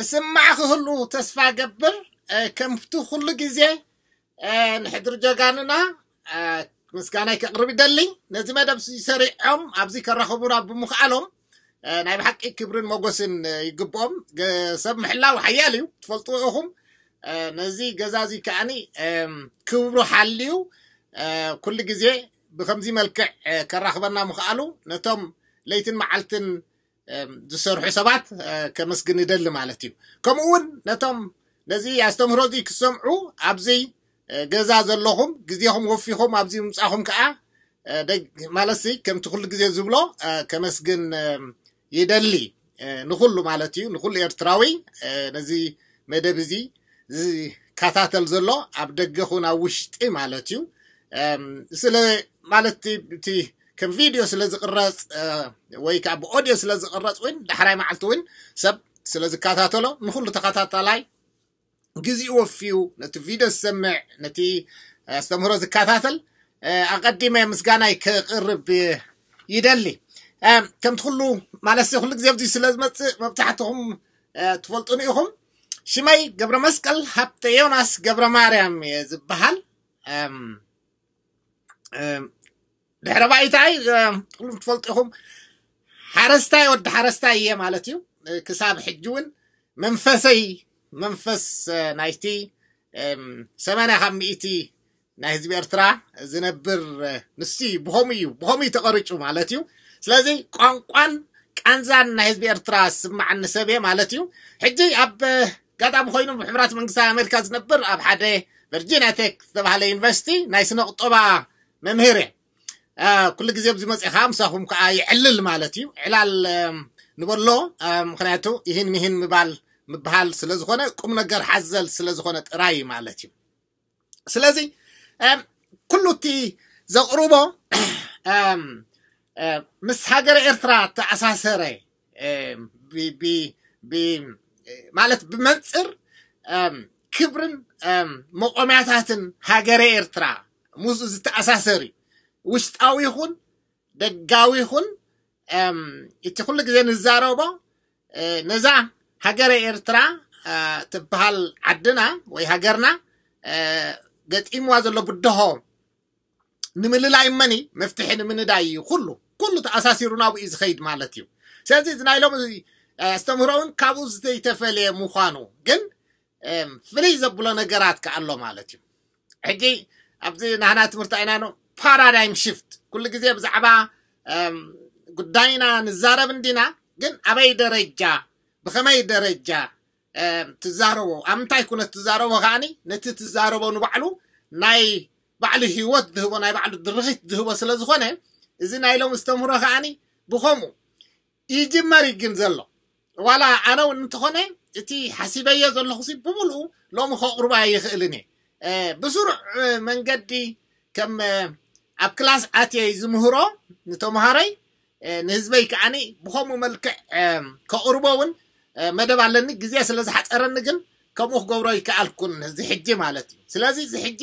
እስማዕ ክህሉ ተስፋ ገብር። ከምቲ ኩሉ ግዜ ንሕድር ጀጋንና ምስጋናይ ከቕርብ ይደሊ። ነዚ መደብ ሰሪዖም ኣብዚ ከራኸቡና ብምኽኣሎም ናይ ብሓቂ ክብርን ሞጎስን ይግብኦም። ሰብ ምሕላው ሓያል እዩ፣ ትፈልጥዎ ኢኹም። ነዚ ገዛ እዚ ከዓኒ ክብሩ ሓልዩ ኩሉ ግዜ ብከምዚ መልክዕ ከራኽበና ምኽኣሉ ነቶም ለይትን መዓልትን ዝሰርሑ ሰባት ከመስግን ይደሊ ማለት እዩ። ከምኡ እውን ነቶም ነዚ ኣስተምህሮ እዚ ክሰምዑ ኣብዚ ገዛ ዘለኹም ግዜኹም ወፊኹም ኣብዚ ምምጻኹም ከዓ ማለት ከምቲ ኩሉ ግዜ ዝብሎ ከመስግን ይደሊ ንኩሉ ማለት እዩ፣ ንኩሉ ኤርትራዊ ነዚ መደብ እዚ ዝከታተል ዘሎ ኣብ ደገ ኩን ኣብ ውሽጢ ማለት እዩ። ስለ ማለት እቲ ከም ቪድዮ ስለ ዝቕረጽ ወይ ከዓ ብኦድዮ ስለ ዝቕረጽ እውን ዳሕራይ መዓልቲ እውን ሰብ ስለ ዝከታተሎ ንኩሉ ተኸታታላይ ግዜኡ ወፊዩ ነቲ ቪድዮ ዝሰምዕ ነቲ ኣስተምህሮ ዝከታተል ኣቐዲመ ምስጋናይ ክቕርብ ይደሊ። ከምቲ ኩሉ ማለት ኩሉ ግዜ ኣብዚ ስለ ዝመፅእ መብዛሕትኹም ትፈልጡኒ ኢኹም። ሽመይ ገብረ መስቀል ሃብተ ዮናስ ገብረ ማርያም እየ ዝበሃል። ድሕረ ባይታይ ኩሉም ትፈልጡ ኢኹም። ሓረስታይ ወዲ ሓረስታይ እየ ማለት እዩ። ክሳብ ሕጂ እውን መንፈሰይ መንፈስ ናይቲ ሰማንያ ካብ ሚእቲ ናይ ህዝቢ ኤርትራ ዝነብር ንሱ እዩ። ብኸምኡ እዩ ብኸምኡ እዩ ተቐሪጩ ማለት እዩ። ስለዚ ቋንቋን ቃንዛን ናይ ህዝቢ ኤርትራ ዝስማዓኒ ሰብ እየ ማለት እዩ። ሕጂ ኣብ ኣጋጣሚ ኮይኑ ብሕቡራት መንግስታት ኣሜሪካ ዝነብር ኣብ ሓደ ቨርጂኒያ ቴክ ዝተባሃለ ዩኒቨርሲቲ ናይ ስነ ቁጠባ መምህር እየ። ኩሉ ግዜ ኣብዚ መፅእ ከዓ ምሳኹም ከዓ ይዕልል ማለት እዩ። ዕላል ንበሎ ምክንያቱ ይህን ምሂን ምባል ምብሃል ስለዝኾነ ቁም ነገር ሓዘል ስለዝኾነ ጥራይ ማለት እዩ። ስለዚ ኩሉ እቲ ዘቕርቦ ምስ ሃገረ ኤርትራ ተኣሳሰረ ማለት ብመንፅር ክብርን መቆምያታትን ሃገረ ኤርትራ ምስ ዝተኣሳሰር እዩ። ውሽጣዊ ይኹን ደጋዊ ይኹን እቲ ኩሉ ግዜ ንዛረቦ ነዛ ሃገረ ኤርትራ ትበሃል ዓድና ወይ ሃገርና ገጢምዋ ዘሎ ብድሆ ንምልላይ መኒ መፍትሒ ንምንዳይ እዩ። ኩሉ ኩሉ ተኣሳሲሩ ናብኡ እዩ ዝኸይድ ማለት እዩ። ስለዚ እዚ ናይ ሎም ኣስተምህሮ እውን ካብኡ ዝተይተፈለየ ምዃኑ ግን ፍልይ ዘብሎ ነገራት ከኣሎ ማለት እዩ። ሕጂ ኣብዚ ናህና ትምህርቲ ኣይና ነው ፓራዳይም ሽፍት ኩሉ ግዜ ብዛዕባ ጉዳይና ንዛረብ እንዲና፣ ግን ኣበይ ደረጃ ብኸመይ ደረጃ ትዛረቦ ኣብ ምንታይ ኩነት ትዛረቦ ከዓኒ ነቲ ትዛረቦ ንባዕሉ ናይ ባዕሉ ህይወት ዝህቦ ናይ ባዕሉ ድርኺት ዝህቦ ስለ ዝኾነ እዚ ናይ ሎም ዝተምህሮ ከዓኒ ብኸምኡ ይጅመር እዩ ግን ዘሎ ዋላ ኣነ እውን እንተኾነ እቲ ሓሲበዮ ዘለኹ ሲ ብምሉኡ ሎሚ ከቕርባ ይኽእልን እየ። ብስሩዕ መንገዲ ከም ኣብ ክላስ ኣትየ ዝምህሮ ንተምሃረይ ንህዝበይ ከዓኒ ብኸምኡ መልክዕ ከቕርቦ እውን መደብ ኣለኒ። ግዜ ስለ ዝሓፀረኒ ግን ከምኡ ክገብሮ ይከኣልኩን እዚ ሕጂ ማለት እዩ። ስለዚ እዚ ሕጂ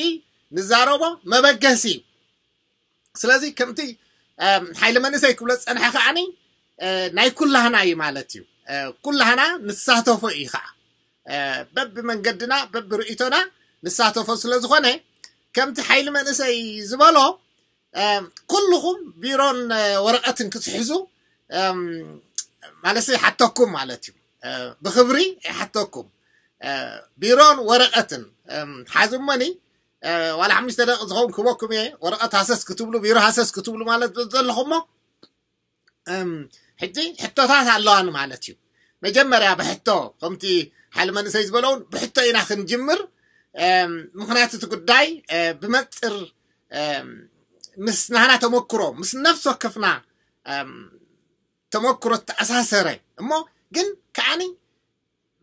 ንዛረቦ መበገሲ እዩ። ስለዚ ከምቲ ሓይሊ መንእሰይ ክብሎ ዝፀንሐ ከዓኒ ናይ ኩላህና እዩ ማለት እዩ። ኩላህና ንሳተፎ እዩ ከዓ በቢ መንገድና በቢ ርእይቶና ንሳተፎ ስለ ዝኾነ ከምቲ ሓይሊ መንእሰይ ዝበሎ ኩልኹም ቢሮን ወረቐትን ክትሕዙ ማለት ይሓተኩም ማለት እዩ። ብክብሪ ይሓተኩም። ቢሮን ወረቐትን ሓዝሞኒ ዋላ ሓሙሽተ ደቂ ዝኸውን ክበኩም እየ። ወረቐት ሃሰስ ክትብሉ ቢሮ ሃሰስ ክትብሉ ማለት ዘለኹሞ ሕጂ ሕቶታት ኣለዋኒ ማለት እዩ። መጀመርያ ብሕቶ ከምቲ ሓይሊ መንእሰይ ዝበለውን ብሕቶ ኢና ክንጅምር። ምክንያቱ እቲ ጉዳይ ብመፅር ምስ ናህና ተመክሮ ምስ ነፍሲ ወከፍና ተመክሮ ተኣሳሰረ እሞ ግን ከዓኒ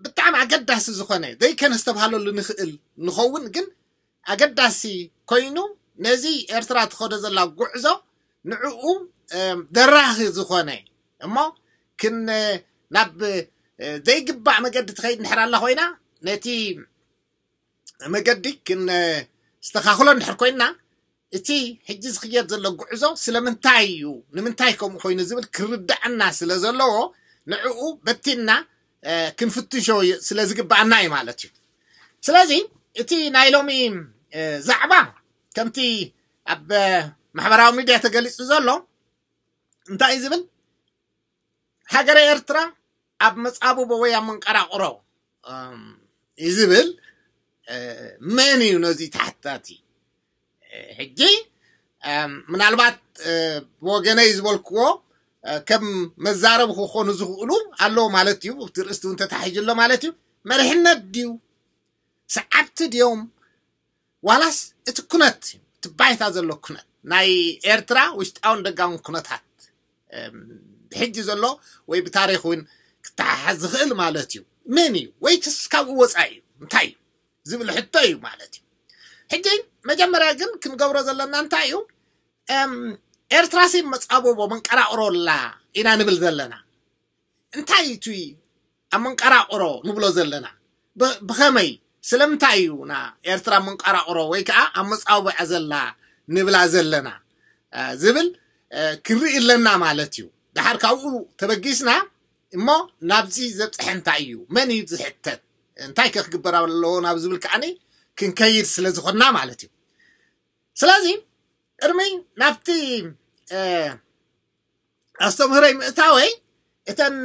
ብጣዕሚ ኣገዳሲ ዝኾነ ዘይከነስተብሃለሉ ንኽእል ንኸውን ግን ኣገዳሲ ኮይኑ ነዚ ኤርትራ ትኸዶ ዘላ ጉዕዞ ንዕኡ ደራኺ ዝኾነ እሞ ክን ናብ ዘይግባእ መገዲ ትኸይድ እንድሕር ኣላ ኮይና ነቲ መገዲ ክንስተኻኽሎ እንድሕር ኮይንና እቲ ሕጂ ዝኽየድ ዘሎ ጉዕዞ ስለምንታይ እዩ ንምንታይ ከምኡ ኮይኑ ዝብል ክርዳዕና ስለ ዘለዎ ንዕኡ በቲንና ክንፍትሾ ስለ ዝግባኣና እዩ ማለት እዩ። ስለዚ እቲ ናይ ሎሚ ዛዕባ ከምቲ ኣብ ማሕበራዊ ሚድያ ተገሊፁ ዘሎ እንታይ እዩ ዝብል? ሃገረ ኤርትራ ኣብ መጻብቦ ወይ ኣብ መንቀራቕሮ እዩ ዝብል። መን እዩ ነዚ ተሓታቲ? ሕጂ ምናልባት ብወገነይ ዝበልክዎ ከም መዛረቢ ክኾኑ ዝኽእሉ ኣለዉ ማለት እዩ። እቲ ርእስቲ እውን ተታሒዙ ኣሎ ማለት እዩ። መሪሕነት ድዩ? ሰዓብቲ ድዮም? ዋላስ እቲ ኩነት፣ እቲ ባይታ ዘሎ ኩነት ናይ ኤርትራ ውሽጣውን ደጋውን ኩነታት ብሕጂ ዘሎ ወይ ብታሪኽ እውን ክተሓሓዝ ዝኽእል ማለት እዩ። መን እዩ ወይስ ካብኡ ወፃኢ እዩ እንታይ እዩ ዝብል ሕቶ እዩ ማለት እዩ። ሕጂ መጀመርያ ግን ክንገብሮ ዘለና እንታይ እዩ? ኤርትራሲ መፃብቦ መንቀራቕሮ ኣላ ኢና ንብል ዘለና። እንታይ እቲ ኣብ መንቀራቕሮ ንብሎ ዘለና? ብኸመይ ስለምንታይ እዩ ና ኤርትራ መንቀራቕሮ ወይ ከዓ ኣብ መፃውብዐ ዘላ ንብላ ዘለና ዝብል ክርኢ ኣለና ማለት እዩ። ድሓር ካብኡ ተበጊስና እሞ ናብዚ ዘብፅሐ እንታይ እዩ? መን እዩ ዝሕተት? እንታይ ከ ክግበር ኣለዎ ናብ ዝብል ከዓኒ ክንከይድ ስለ ዝኾንና ማለት እዩ። ስለዚ ቅድሚ ናብቲ ኣስተምህረይ ምእታወይ እተን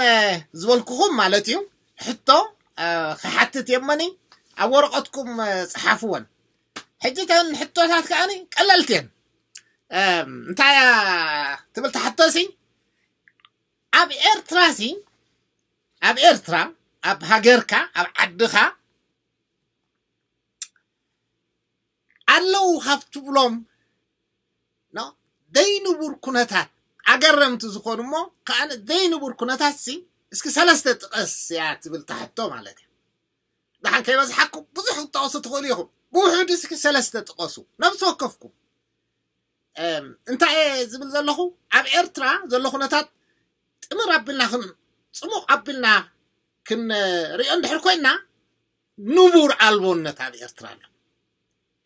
ዝበልኩኹም ማለት እዩ ሕቶ ክሓትት የመኒ ኣብ ወረቐትኩም ፀሓፍወን። ሕጂ እተን ሕቶታት ከዓኒ ቀለልቲ እየን። እንታይ ትብል ትሓቶሲ ኣብ ኤርትራሲ ኣብ ኤርትራ ኣብ ሃገርካ ኣብ ዓድኻ ኣለዉ ካብ ትብሎም ዘይንቡር ኩነታት ኣገረምቲ ዝኾኑ እሞ ከኣ ዘይንቡር ኩነታት ሲ እስኪ ሰለስተ ጥቀስ እያ ትብል ትሕቶ ማለት እዩ። ደሓን ከይበዝሓኩም ብዙሕ ክትጠቕሱ ትኽእሉ ኢኹም። ብውሕዱ እስኪ ሰለስተ ጥቀሱ ነብሲ ወከፍኩም። እንታይ እየ ዝብል ዘለኹ ኣብ ኤርትራ ዘሎ ኩነታት ጥምር ኣቢልና ክን ፅሙቕ ኣቢልና ክንሪኦ እንድሕር ኮይና ንቡር ኣልቦነት ኣብ ኤርትራ ኣሎ።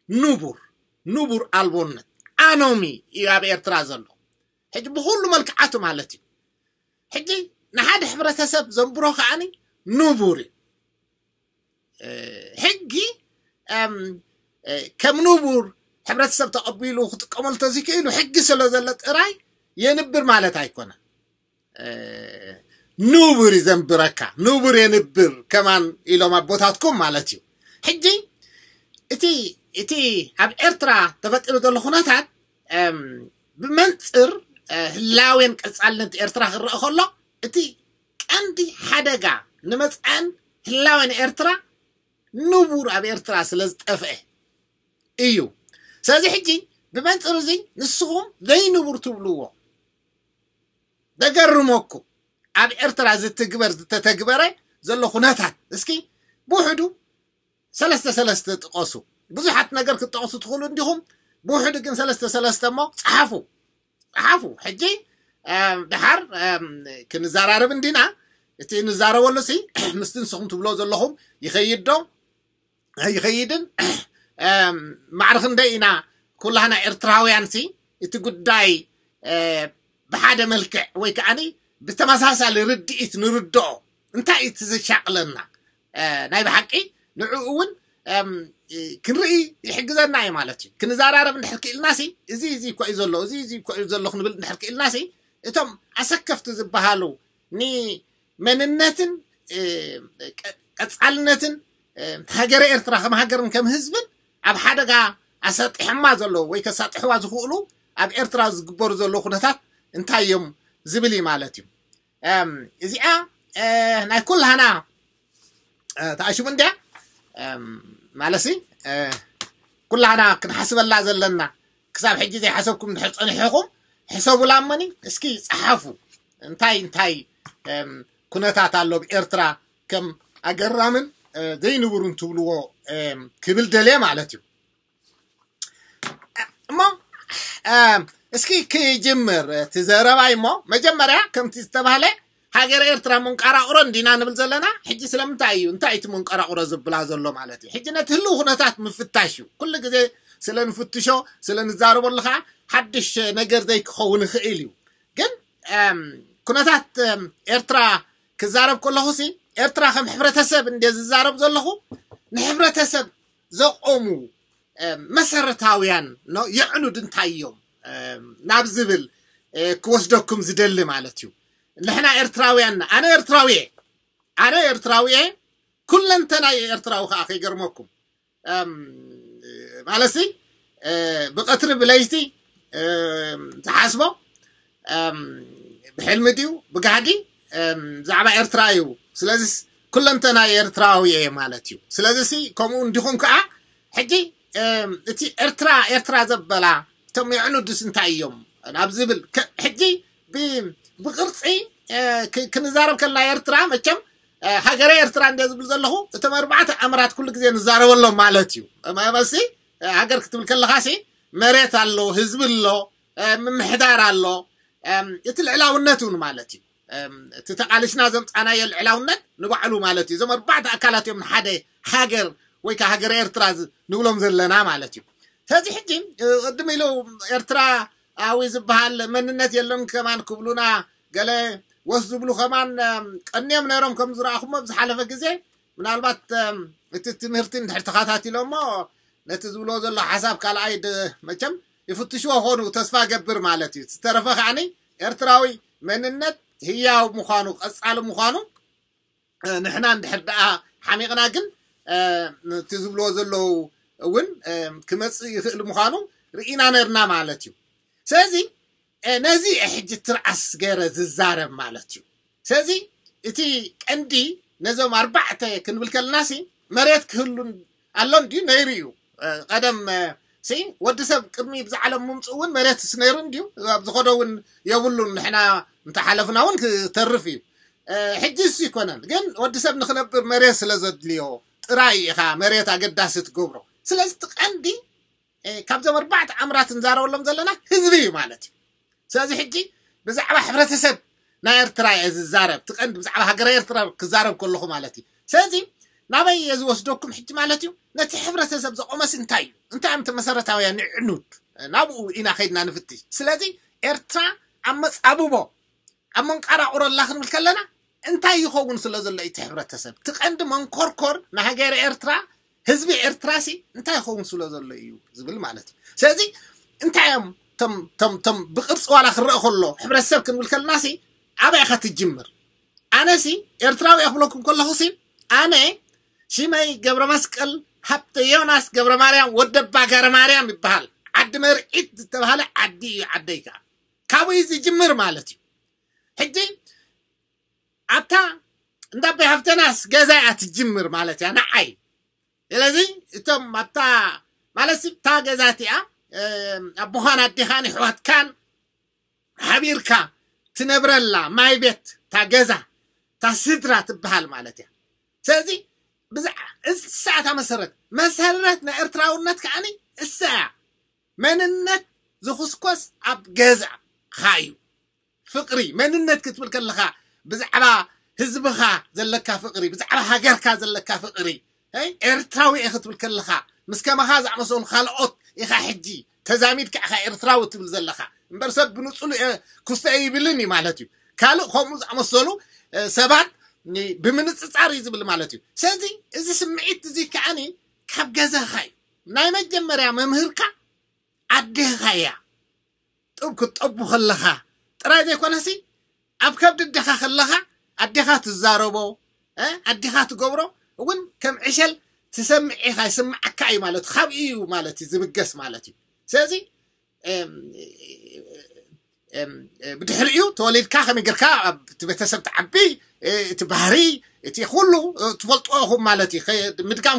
ንቡር ንቡር ኣልቦነት ኣኖሚ እዩ ኣብ ኤርትራ ዘሎ። ሕጂ ብኩሉ መልክዓቱ ማለት እዩ። ሕጂ ንሓደ ሕብረተሰብ ዘንብሮ ከዓኒ ንቡር እዩ። ሕጊ ከም ንቡር ሕብረተሰብ ተቐቢሉ ክጥቀመሉ ተዝክእሉ ሕጊ ስለ ዘሎ ጥራይ የንብር ማለት ኣይኮነን። ንቡር ይዘንብረካ ንቡር የንብር ከማን ኢሎም ኣቦታትኩም ማለት እዩ። ሕጂ እቲ እቲ ኣብ ኤርትራ ተፈጢሩ ዘሎ ኩነታት ብመንፅር ህላዌን ቀፃልነት ኤርትራ ክረአ ከሎ እቲ ቀንዲ ሓደጋ ንመፅኣን ህላዌን ኤርትራ ንቡር ኣብ ኤርትራ ስለ ዝጠፍአ እዩ። ስለዚ ሕጂ ብመንፅር እዚ ንስኹም ዘይንቡር ትብልዎ ደገርመኩም ኣብ ኤርትራ ዝትግበር ዝተተግበረ ዘሎ ኩነታት እስኪ ብውሕዱ ሰለስተ ሰለስተ ጥቀሱ። ብዙሓት ነገር ክትጠቕሱ ትኽእሉ እንዲኹም፣ ብውሕዱ ግን ሰለስተ ሰለስተ እሞ ፀሓፉ ፀሓፉ። ሕጂ ድሓር ክንዘራረብ እንዲና። እቲ ንዛረበሉ ሲ ምስቲ ንስኹም ትብሎ ዘለኹም ይኸይድ ዶ ኣይኸይድን? ማዕረ ክንደይ ኢና ኩላህና ኤርትራውያን ሲ እቲ ጉዳይ ብሓደ መልክዕ ወይ ከዓኒ ብተመሳሳሊ ርድኢት ንርድኦ? እንታይ እቲ ዘሻቕለና? ናይ ብሓቂ ንዕኡ እውን ክንርኢ ይሕግዘና እዩ ማለት እዩ። ክንዘራረብ እንድሕር ክኢልና ሲ እዚ እዚ እኮ እዩ ዘሎ እዚ እዚ እኮ እዩ ዘሎ ክንብል እንድሕር ክኢልና ሲ እቶም ኣሰከፍቲ ዝበሃሉ ንመንነትን ቀፃልነትን ሃገረ ኤርትራ ከም ሃገርን ከም ህዝብን ኣብ ሓደጋ ኣሳጢሖማ ዘለዉ ወይ ከሳጥሕዋ ዝኽእሉ ኣብ ኤርትራ ዝግበሩ ዘለዉ ኩነታት እንታይ እዮም ዝብል እዩ ማለት እዩ። እዚኣ ናይ ኩላህና ተኣሽሙ እንድያ ማለሲ ኩላህና ክንሓስበላ ዘለና። ክሳብ ሕጂ ዘይሓሰብኩም እንድሕር ፀኒሕኹም ሕሰቡላ እመኒ እስኪ ፀሓፉ። እንታይ እንታይ ኩነታት ኣሎ ኣብ ኤርትራ ከም ኣገራምን ዘይንቡርን ትብልዎ ክብል ደልየ ማለት እዩ። እሞ እስኪ ክጅምር እቲ ዘረባይ እሞ መጀመርያ ከምቲ ዝተባህለ ሃገር ኤርትራ መንቀራቕሮ እንዲና ንብል ዘለና። ሕጂ ስለምንታይ እዩ እንታይ እቲ መንቀራቕሮ ዝብላ ዘሎ ማለት እዩ። ሕጂ ነቲ ህልው ኩነታት ምፍታሽ እዩ። ኩሉ ግዜ ስለ ንፍትሾ ስለ ንዛረበሉ ከዓ ሓድሽ ነገር ዘይክኸውን ይኽእል እዩ። ግን ኩነታት ኤርትራ ክዛረብ ከለኹ ሲ ኤርትራ ከም ሕብረተሰብ እንደ ዝዛረብ ዘለኹ ንሕብረተሰብ ዘቆሙ መሰረታውያን የዕኑድ እንታይ እዮም ናብ ዝብል ክወስደኩም ዝደሊ ማለት እዩ። ንሕና ኤርትራውያን፣ ኣነ ኤርትራዊ እየ፣ ኣነ ኤርትራዊ እየ፣ ኩለንተናይ ኤርትራዊ ከዓ ከይገርመኩም ማለት ብቀትሪ ብለይቲ ዝሓስቦ ብሕልሚ ድዩ ብጋህዲ ብዛዕባ ኤርትራ እዩ። ስለዚ ኩለንተና ኤርትራዊ እየ ማለት እዩ። ስለዚ ከምኡ እንዲኹም ከዓ ሕጂ እቲ ኤርትራ ኤርትራ ዘበላ እቶም የዕኑድስ እንታይ እዮም ናብ ዝብል ሕጂ ብቅርፂ ክንዛረብ ከልና ኤርትራ መቸም ሃገረ ኤርትራ እንደ ዝብል ዘለኹ እቶም ኣርባዕተ ኣምራት ኩሉ ግዜ ንዛረበሎም ማለት እዩ። መሲ ሃገር ክትብል ከለኻ ሲ መሬት ኣሎ፣ ህዝቢ ኣሎ፣ ምምሕዳር ኣሎ፣ እቲ ልዕላውነት እውን ማለት እዩ። እቲ ተቃሊስና ዘምፃናዮ ልዕላውነት ንባዕሉ ማለት እዩ። እዞም ኣርባዕተ ኣካላት እዮም ንሓደ ሃገር ወይ ከዓ ሃገረ ኤርትራ ንብሎም ዘለና ማለት እዩ። ስለዚ ሕጂ ቅድም ኢሉ ኤርትራዊ ዝበሃል መንነት የለን ከማን ክብሉና ገለ ወስ ዝብሉ ከማን ቀንዮም ነይሮም ከም ዝረኣኹሞ ብዝሓለፈ ግዜ። ምናልባት እቲ ትምህርቲ እንድሕር ተኸታቲሎሞ ነቲ ዝብልዎ ዘሎ ሓሳብ ካልኣይ መቸም ይፍትሽዎ ኾኑ ተስፋ ገብር ማለት እዩ። ዝተረፈ ከዓኒ ኤርትራዊ መንነት ህያው ምዃኑ ቀፃሊ ምዃኑ ንሕና እንድሕር ደኣ ሓሚቕና ግን እቲ ዝብልዎ ዘለዉ እውን ክመፅእ ይኽእል ምዃኑ ርኢና ነርና ማለት እዩ። ስለዚ ነዚ ሕጂ ትርኣስ ገይረ ዝዛረብ ማለት እዩ። ስለዚ እቲ ቀንዲ ነዞም ኣርባዕተ ክንብል ከለናሲ መሬት ክህሉ ኣሎ እንድዩ ነይሩ እዩ። ቀደም ሲ ወዲ ሰብ ቅድሚ ብዛዕለም ምምፅኡ እውን መሬትስ ነይሩ እንድዩ ኣብ ዝኸዶ እውን የብሉን። ንሕና እንተሓለፍና እውን ክተርፍ እዩ። ሕጂ እሱ ይኮነን ግን ወዲ ሰብ ንክነብር መሬት ስለ ዘድልዮ ጥራይ ኢኻ መሬት ኣገዳሲ ትገብሮ። ስለዚ እቲ ቀንዲ ካብዞም ኣርባዕተ ኣምራት ንዛረበሎም ዘለና ህዝቢ እዩ ማለት እዩ። ስለዚ ሕጂ ብዛዕባ ሕብረተሰብ ናይ ኤርትራ እየ ዝዛረብ፣ ትቀንዲ ብዛዕባ ሃገረ ኤርትራ ክዛረብ ከለኹ ማለት እዩ። ስለዚ ናበይ እየ ዝወስደኩም ሕጂ ማለት እዩ? ነቲ ሕብረተሰብ ዘቆመስ እንታይ እዩ? እንታይ እዮም እቲ መሰረታውያን ንዕኑድ? ናብኡ ኢና ከይድና ንፍትሽ። ስለዚ ኤርትራ ኣብ መጻብቦ ኣብ መንቃራቁሮ ኣላ ክንብል ከለና እንታይ ይኸውን ስለ ዘሎ እቲ ሕብረተሰብ? እቲ ቀንዲ መንኮርኮር ንሃገረ ኤርትራ ህዝቢ ኤርትራ ሲ እንታይ ይኸውን ስለ ዘሎ እዩ ዝብል ማለት እዩ። ስለዚ እንታይ እዮም ቶም ብቅርፂ ዋላ ክረአ ከሎ ሕብረተሰብ ክንብል ከለና ሲ ኣበይ ኢኻ ትጅምር? ኣነ ሲ ኤርትራዊ እየ ክብለኩም ከለኹ ሲ ኣነ ሽመይ ገብረ መስቀል ሃብተ ዮናስ ገብረ ማርያም ወደባ ገረ ማርያም ይበሃል። ዓዲ መርዒት ዝተባሃለ ዓዲ እዩ ዓደይ ከዓ ካብኡ እዩ ዝጅምር ማለት እዩ። ሕጂ ኣብታ እንዳ ኣቦይ ሃብተናስ ገዛ እያ ትጅምር ማለት እያ ንዓይ። ስለዚ እቶም ኣብታ ማለት እታ ገዛ እቲኣ ኣቦኻን ኣዴኻን ኣሕዋትካን ሓቢርካ ትነብረላ ማይ ቤት እታ ገዛ እታ ስድራ ትበሃል ማለት እያ። ስለዚ እሳ እታ መሰረት መሰረት ናይ ኤርትራውነት ከዓኒ እሳ እያ። መንነት ዝኹስኮስ ኣብ ገዛኻ እዩ። ፍቅሪ መንነት ክትብል ከለኻ ብዛዕባ ህዝብኻ ዘለካ ፍቅሪ ብዛዕባ ሃገርካ ዘለካ ፍቅሪ ኤርትራዊ እየ ክትብል ከለኻ ምስ ከማኻ ዝኣመሰሉ ካልኦት ኢኻ ሕጂ ተዛሚድካ ኢኻ ኤርትራዊ ትብል ዘለኻ እምበር ሰብ ብንጹሉ ኩስተ ይብልን እዩ ማለት እዩ። ካልእ ከምኡ ዝኣመሰሉ ሰባት ብምንጽጻር እዩ ዝብል ማለት እዩ። ስለዚ እዚ ስምዒት እዚ ከዓኒ ካብ ገዛኻ እዩ። ናይ መጀመርያ መምህርካ ኣዴኻ እያ። ጡብ ክትጠቡ ከለኻ ጥራይ ዘይኮነሲ ኣብ ከብዲ ኣዴኻ ከለኻ ኣዴኻ ትዛረቦ ኣዴኻ ትገብሮ እውን ከም ዕሸል ትሰምዕ ኢኻ ይስምዓካ እዩ ማለት ካብኡ እዩ ማለት እዩ ዝብገስ ማለት እዩ። ስለዚ ብድሕሪኡ ተወሊድካ ከመይ ጌርካ ኣብቲ ቤተሰብ ትዓቢ እቲ ባህሪ እቲ ኩሉ ትፈልጥዎ ኢኹም ማለት እዩ። ምድጋም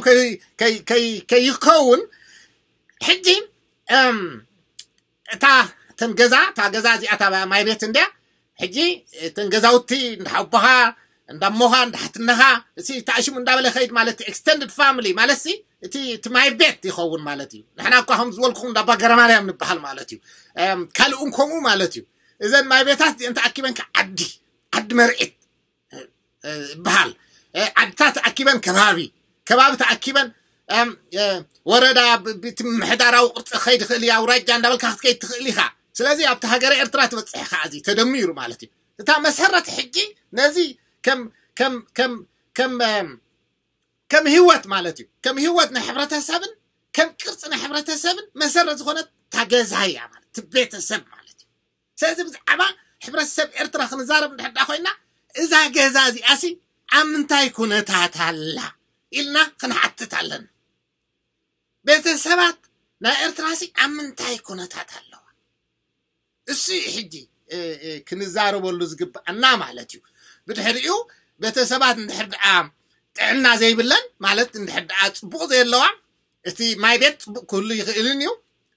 ከይከውን ሕጂ እታ እተን ገዛ እታ ገዛ እዚኣ እታ ማይ ቤት እንድያ ሕጂ እተን ገዛውቲ እንዳሓቦኻ እንዳሞኻ እንዳሓትነኻ እቲ ተኣሽሙ እንዳበለ ከይድ ማለት extended family ማለት ሲ እቲ እቲ ማይ ቤት ይኸውን ማለት እዩ። ንሕና እኳ ከም ዝበልኩኹም እንዳባ ገረማርያም ንበሃል ማለት እዩ። ካልእውን ከምኡ ማለት እዩ። እዘን ማይ ቤታት እዚአን ተኣኪበን ዓዲ ዓዲ መርዒት ይበሃል። ዓድታት ተኣኪበን ከባቢ ከባቢ ተኣኪበን ወረዳ ምምሕዳራዊ ቅርፂ ክኸይድ ይኽእል እዩ ኣውራጃ እንዳበልካ ክትከይድ ትኽእል ኢኻ። ስለዚ ኣብቲ ሃገረ ኤርትራ ትበፅሕ ኢኻ እዚ ተደሚሩ ማለት እዩ። እታ መሰረት ሕጂ ነዚ ከም ከም ከም ከም ከም ህይወት ማለት እዩ። ከም ህይወት ናይ ሕብረተሰብን ከም ቅርፂ ናይ ሕብረተሰብን መሰረት ዝኾነት እታ ገዛ እያ ማለት እቲ ቤተሰብ ማለት እዩ። ስለዚ ብዛዕባ ሕብረተሰብ ኤርትራ ክንዛረብ እንድሕር ኮይና እዛ ገዛ እዚኣሲ ኣብ ምንታይ ኩነታት ኣላ ኢልና ክንሓትት ኣለና። ቤተሰባት ናይ ኤርትራሲ ኣብ ምንታይ ኩነታት ኣለዋ? እሱ እዩ ሕጂ ክንዛረበሉ ዝግብኣና ማለት እዩ። ብድሕሪኡ ቤተሰባት እንድሕር ደኣ ጥዕና ዘይብለን ማለት እንድሕር ደኣ ፅቡቕ ዘየለዋ እቲ ማይ ቤት ፅቡቕ ክህሉ ይኽእልን እዩ።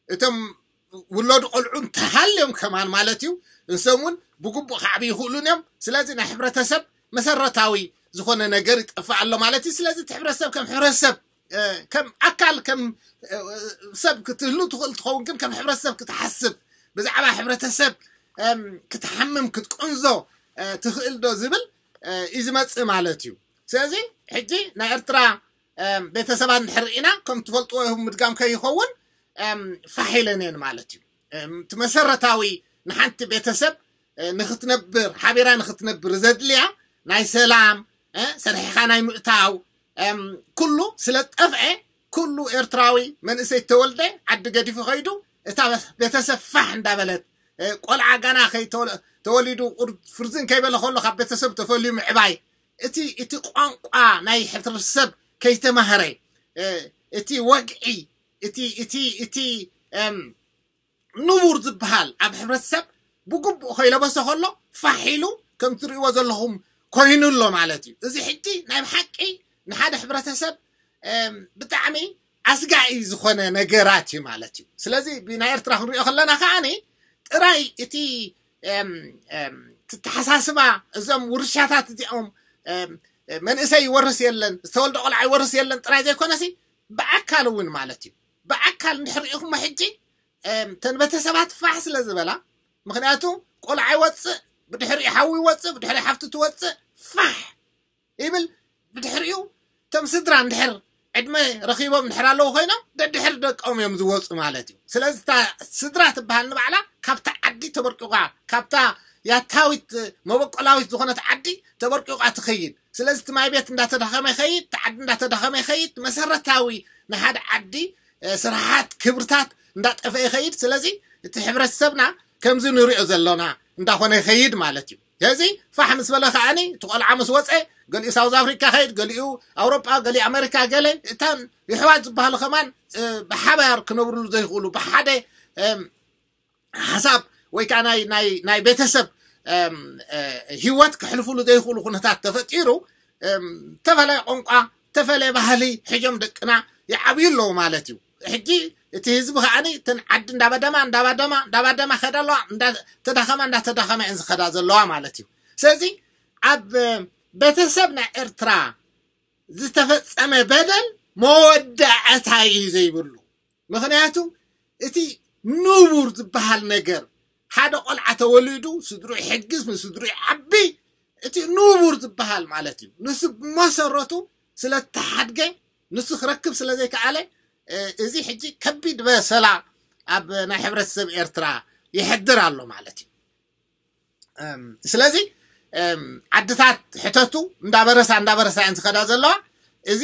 እቶም ውለዱ ቆልዑ እንተሃልዮም ከማን ማለት እዩ እንሶም እውን ብግቡእ ክዓብዩ ይኽእሉን እዮም። ስለዚ ናይ ሕብረተሰብ መሰረታዊ ዝኾነ ነገር ይጠፍእ ኣሎ ማለት እዩ። ስለዚ እቲ ሕብረተሰብ ከም ሕብረተሰብ ከም ኣካል ከም ሰብ ክትህሉ ትኽእል ትኸውን ግን ከም ሕብረተሰብ ክትሓስብ ብዛዕባ ሕብረተሰብ ክትሓምም ክትቅንዞ ትኽእል ዶ ዝብል እዩ ዝመፅእ ማለት እዩ። ስለዚ ሕጂ ናይ ኤርትራ ቤተሰባት እንድሕር ርኢና ከም ትፈልጥዎ ይኹን ምድጋም ከይኸውን ፋሕ ኢለን እየን ማለት እዩ። እቲ መሰረታዊ ንሓንቲ ቤተሰብ ንክትነብር ሓቢራ ንክትነብር ዘድልያ ናይ ሰላም ሰሪሕኻ ናይ ምእታው ኩሉ ስለ ጠፍዐ ኩሉ ኤርትራዊ መንእሰይ ተወልደ ዓዲ ገዲፉ ከይዱ እታ ቤተሰብ ፋሕ እንዳበለት ቆልዓ ጋና ተወሊዱ ፍርዝን ከይበለ ከሎ ካብ ቤተሰብ ተፈልዩ ምዕባይ እቲ እቲ ቋንቋ ናይ ሕብረተሰብ ከይተማህረ እቲ ወግዒ እቲ እቲ እቲ ንቡር ዝበሃል ኣብ ሕብረተሰብ ብግቡእ ከይለበሶ ከሎ ፋሕ ኢሉ ከም ትርእይዎ ዘለኹም ኮይኑ ኣሎ ማለት እዩ። እዚ ሕጂ ናይ ብሓቂ ንሓደ ሕብረተሰብ ብጣዕሚ ኣስጋኢ ዝኾነ ነገራት እዩ ማለት እዩ። ስለዚ ብናይ ኤርትራ ክንሪኦ ከለና ከዓኒ ጥራይ እቲ ትተሓሳስባ እዞም ውርሻታት እዚኦም መንእሰይ ይወርስ የለን ዝተወልደ ቆልዓ ይወርስ የለን ጥራይ ዘይኮነሲ ብኣካል እውን ማለት እዩ። ብኣካል እንድሕር ርኢኹሞ ሕጂ ተን ቤተሰባት ፋሕ ስለ ዝበላ ምክንያቱ ቆልዓ ይወፅእ ብድሕሪኡ ሓዊ ይወፅእ ብድሕሪ ሓፍቲ ትወፅእ ፋሕ ይብል ብድሕሪኡ እቶም ስድራ እንድሕር ዕድመ ረኺቦም እንድሕር ኣለዉ ኮይኖም ደድሕር ደቆም እዮም ዝወፁ ማለት እዩ። ስለዚ እታ ስድራ ትበሃል ንባዕላ ካብታ ዓዲ ተበርቂቋ ካብታ ያታዊት መበቆላዊት ዝኾነት ዓዲ ተበርቂቋ ትኸይድ። ስለዚ እቲ ማይ ቤት እንዳተዳኸመ ይኸይድ፣ እቲ ዓዲ እንዳተዳኸመ ይኸይድ፣ መሰረታዊ ንሓደ ዓዲ ስራሓት ክብርታት እንዳጠፈ ይኸይድ። ስለዚ እቲ ሕብረተሰብና ከምዚ ንሪኦ ዘሎና እንዳኾነ ይኸይድ ማለት እዩ። ስለዚ ፋሕ ምስ በለ ከዓኒ እቲ ቆልዓ ምስ ወፀ ገሊኡ ሳውዝ ኣፍሪካ ከይድ፣ ገሊኡ ኣውሮጳ፣ ገሊኡ ኣሜሪካ ገለ እታን ይሕዋት ዝበሃሉ ከማን ብሓባር ክነብርሉ ዘይኽእሉ ብሓደ ሓሳብ ወይ ከዓ ናይ ናይ ናይ ቤተሰብ ህይወት ክሕልፍሉ ዘይኽእሉ ኩነታት ተፈጢሩ ተፈለየ ቋንቋ ተፈለየ ባህሊ ሕጆም ደቅና ይዓብዩ ኣለዉ ማለት እዩ። ሕጂ እቲ ህዝቢ ከዓኒ እተን ዓዲ እንዳባደማ እንዳባደማ እንዳባደማ ከዳ ኣለዋ እንዳተዳኸማ እንዳተዳኸማ እየን ዝኸዳ ዘለዋ ማለት እዩ። ስለዚ ኣብ ቤተሰብ ናይ ኤርትራ ዝተፈጸመ በደል መወዳእታ እዩ ዘይብሉ። ምኽንያቱ እቲ ንቡር ዝበሃል ነገር ሓደ ቆልዓ ተወሊዱ ስድሩ ይሕግዝ ንስድሩ ይዓቢ እቲ ንቡር ዝበሃል ማለት እዩ። ንሱ ብመሰረቱ ስለተሓድገ ንሱ ክረክብ ስለ ዘይከኣለ እዚ ሕጂ ከቢድ በሰላ ኣብ ናይ ሕብረተሰብ ኤርትራ ይሕድር ኣሎ ማለት እዩ። ስለዚ ዓድታት ሕተቱ እንዳበረሳ እንዳበረሳ እየን ዝኸዳ ዘለዋ። እዚ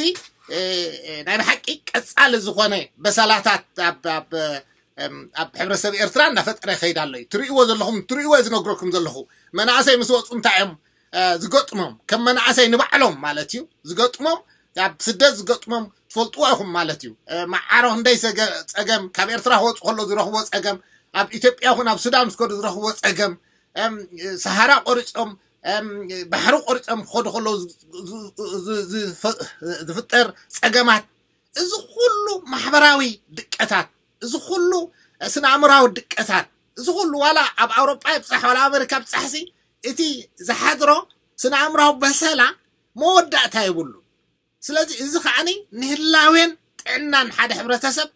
ናይ ብሓቂ ቀፃሊ ዝኾነ በሰላታት ኣብ ሕብረተሰብ ኤርትራ እንዳፈጠረ ይኸይድ ኣሎ እዩ። ትርእይዎ ዘለኹም ትርእይዎ ዝነግረኩም ዘለኹ መናእሰይ ምስ ወፁ እንታይ እዮም ዝገጥሞም ከም መናእሰይ ንባዕሎም ማለት እዩ ዝገጥሞም ኣብ ስደት ዝገጥሞም ትፈልጥዎ ኢኹም ማለት እዩ። መዓሮ ክንደይ ጸገም ካብ ኤርትራ ክወፁ ከሎ ዝረኽቦ ጸገም ኣብ ኢትዮጵያ ይኹን ኣብ ሱዳን ምስ ከዱ ዝረኽቦ ጸገም ሰሃራ ቆሪጾም ባሕሪ ቆሪጾም ክኸዱ ከለዉ ዝፍጠር ጸገማት እዚ ኩሉ ማሕበራዊ ድቀታት እዚ ኩሉ ስነ ኣእምራዊ ድቀታት እዚ ኩሉ ዋላ ኣብ ኣውሮጳ ይብፃሕ ዋላ ኣሜሪካ ብፃሕሲ እቲ ዝሓድሮ ስነ ኣእምራዊ በሰላ መወዳእታ የብሉ። ስለዚ እዚ ከዓኒ ንህላዌን ጥዕናን ሓደ ሕብረተሰብ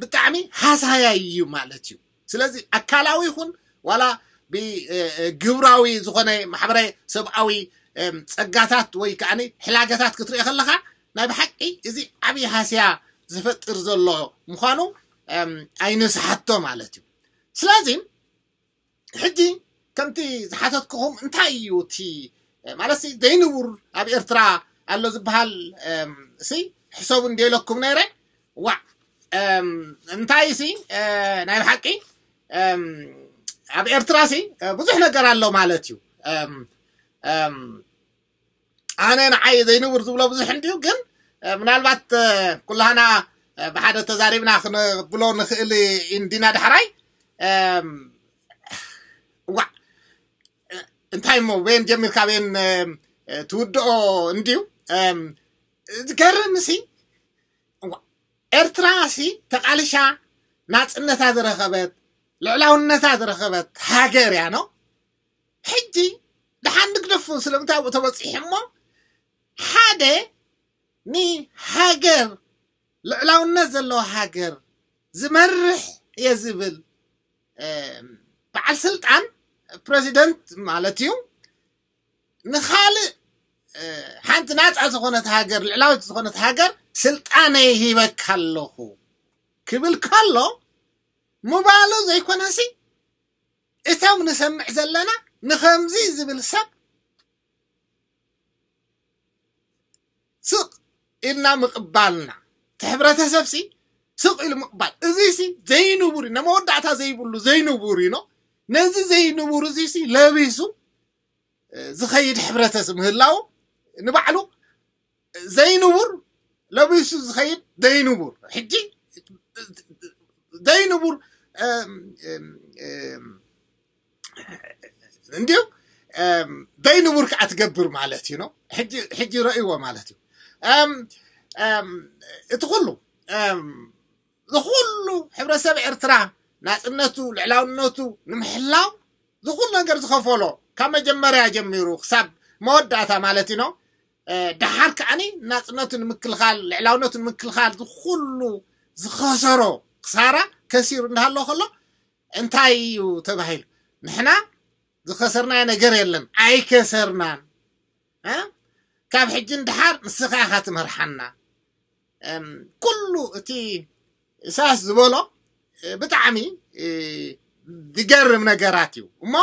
ብጣዕሚ ሃሳያይ እዩ ማለት እዩ። ስለዚ ኣካላዊ ይኹን ዋላ ብግብራዊ ዝኾነ ማሕበረ ሰብኣዊ ፀጋታት ወይ ከዓ ሕላገታት ክትርኢ ከለካ ናይ ብሓቂ እዚ ዓብዪ ሃስያ ዝፈጥር ዘሎ ምዃኑ ኣይንስሓቶ ማለት እዩ። ስለዚ ሕጂ ከምቲ ዝሓተትኩኹም እንታይ እዩ እቲ ማለት ዘይንቡር ኣብ ኤርትራ ኣሎ ዝበሃል ሲ ሕሰቡ እንዲለኩም ነይረ። ዋ እንታይ ሲ ናይ ብሓቂ ኣብ ኤርትራ ሲ ብዙሕ ነገር ኣሎ ማለት እዩ። ኣነ ንዓይ ዘይንቡር ዝብሎ ብዙሕ እንድዩ፣ ግን ምናልባት ኩላህና ብሓደ ተዛሪብና ክንብሎ ንኽእል እንዲና። ዳሕራይ ዋ እንታይ እሞ በየን ጀሚርካ በየን ትውድኦ እንድዩ። ዝገርም ሲ ኤርትራ ሲ ተቃልሻ ናጽነታ ዝረኸበት ልዕላውነታ ዝረኸበት ሃገር እያ ነው። ሕጂ ደሓን ንግደፎ ስለምንታይ ኣብኡ ተበጺሑ እሞ ሓደ ንሃገር ልዕላውነት ዘለዎ ሃገር ዝመርሕ እየ ዝብል በዓል ስልጣን ፕረዚደንት ማለት እዩ ንኻልእ ሓንቲ ናፃ ዝኾነት ሃገር ልዕላዊት ዝኾነት ሃገር ስልጣነይ ሂበካ ኣለኹ ክብል ከሎ ምባሉ ዘይኮነሲ እቶም ንሰምዕ ዘለና ንኸምዚ ዝብል ሰብ ስቕ ኢልና ምቕባልና እቲ ሕብረተሰብ ሲ ስቕ ኢሉ ምቕባል እዚ ሲ ዘይንቡር እዩ። ንመወዳእታ ዘይብሉ ዘይንቡር እዩ። ነዚ ዘይንቡር እዚ ሲ ለቢሱ ዝኸይድ ሕብረተሰብ ምህላው ንባዕሉ ዘይንቡር ለቢሱ ዝኸይድ ዘይንቡር ሕጂ ዘይንቡር እንዲዩ ዘይንቡር ከዓ ትገብር ማለት እዩ ነው። ሕጂ ረእይዎ ማለት እዩ። እቲ ኩሉ ዝኩሉ ሕብረተሰብ ኤርትራ ናፅነቱ ልዕላውነቱ ንምሕላው ዝኩሉ ነገር ዝኸፈሎ ካብ መጀመርያ ጀሚሩ ክሳብ መወዳእታ ማለት እዩ ነው። ደሓር ከዓኒ ናፅነቱ ንምክልኻል ልዕላውነቱ ንምክልኻል ዝኩሉ ዝኸሰሮ ክሳራ ከሲሩ እንዳሃሎ ከሎ እንታይ እዩ ተባሂሉ? ንሕና ዝኸሰርናዮ ነገር የለን፣ ኣይከሰርናን። ካብ ሕጂ ንድሓር ንስኻ ኢኻ ትመርሓና። ኩሉ እቲ እሳስ ዝበሎ ብጣዕሚ ዝገርም ነገራት እዩ እሞ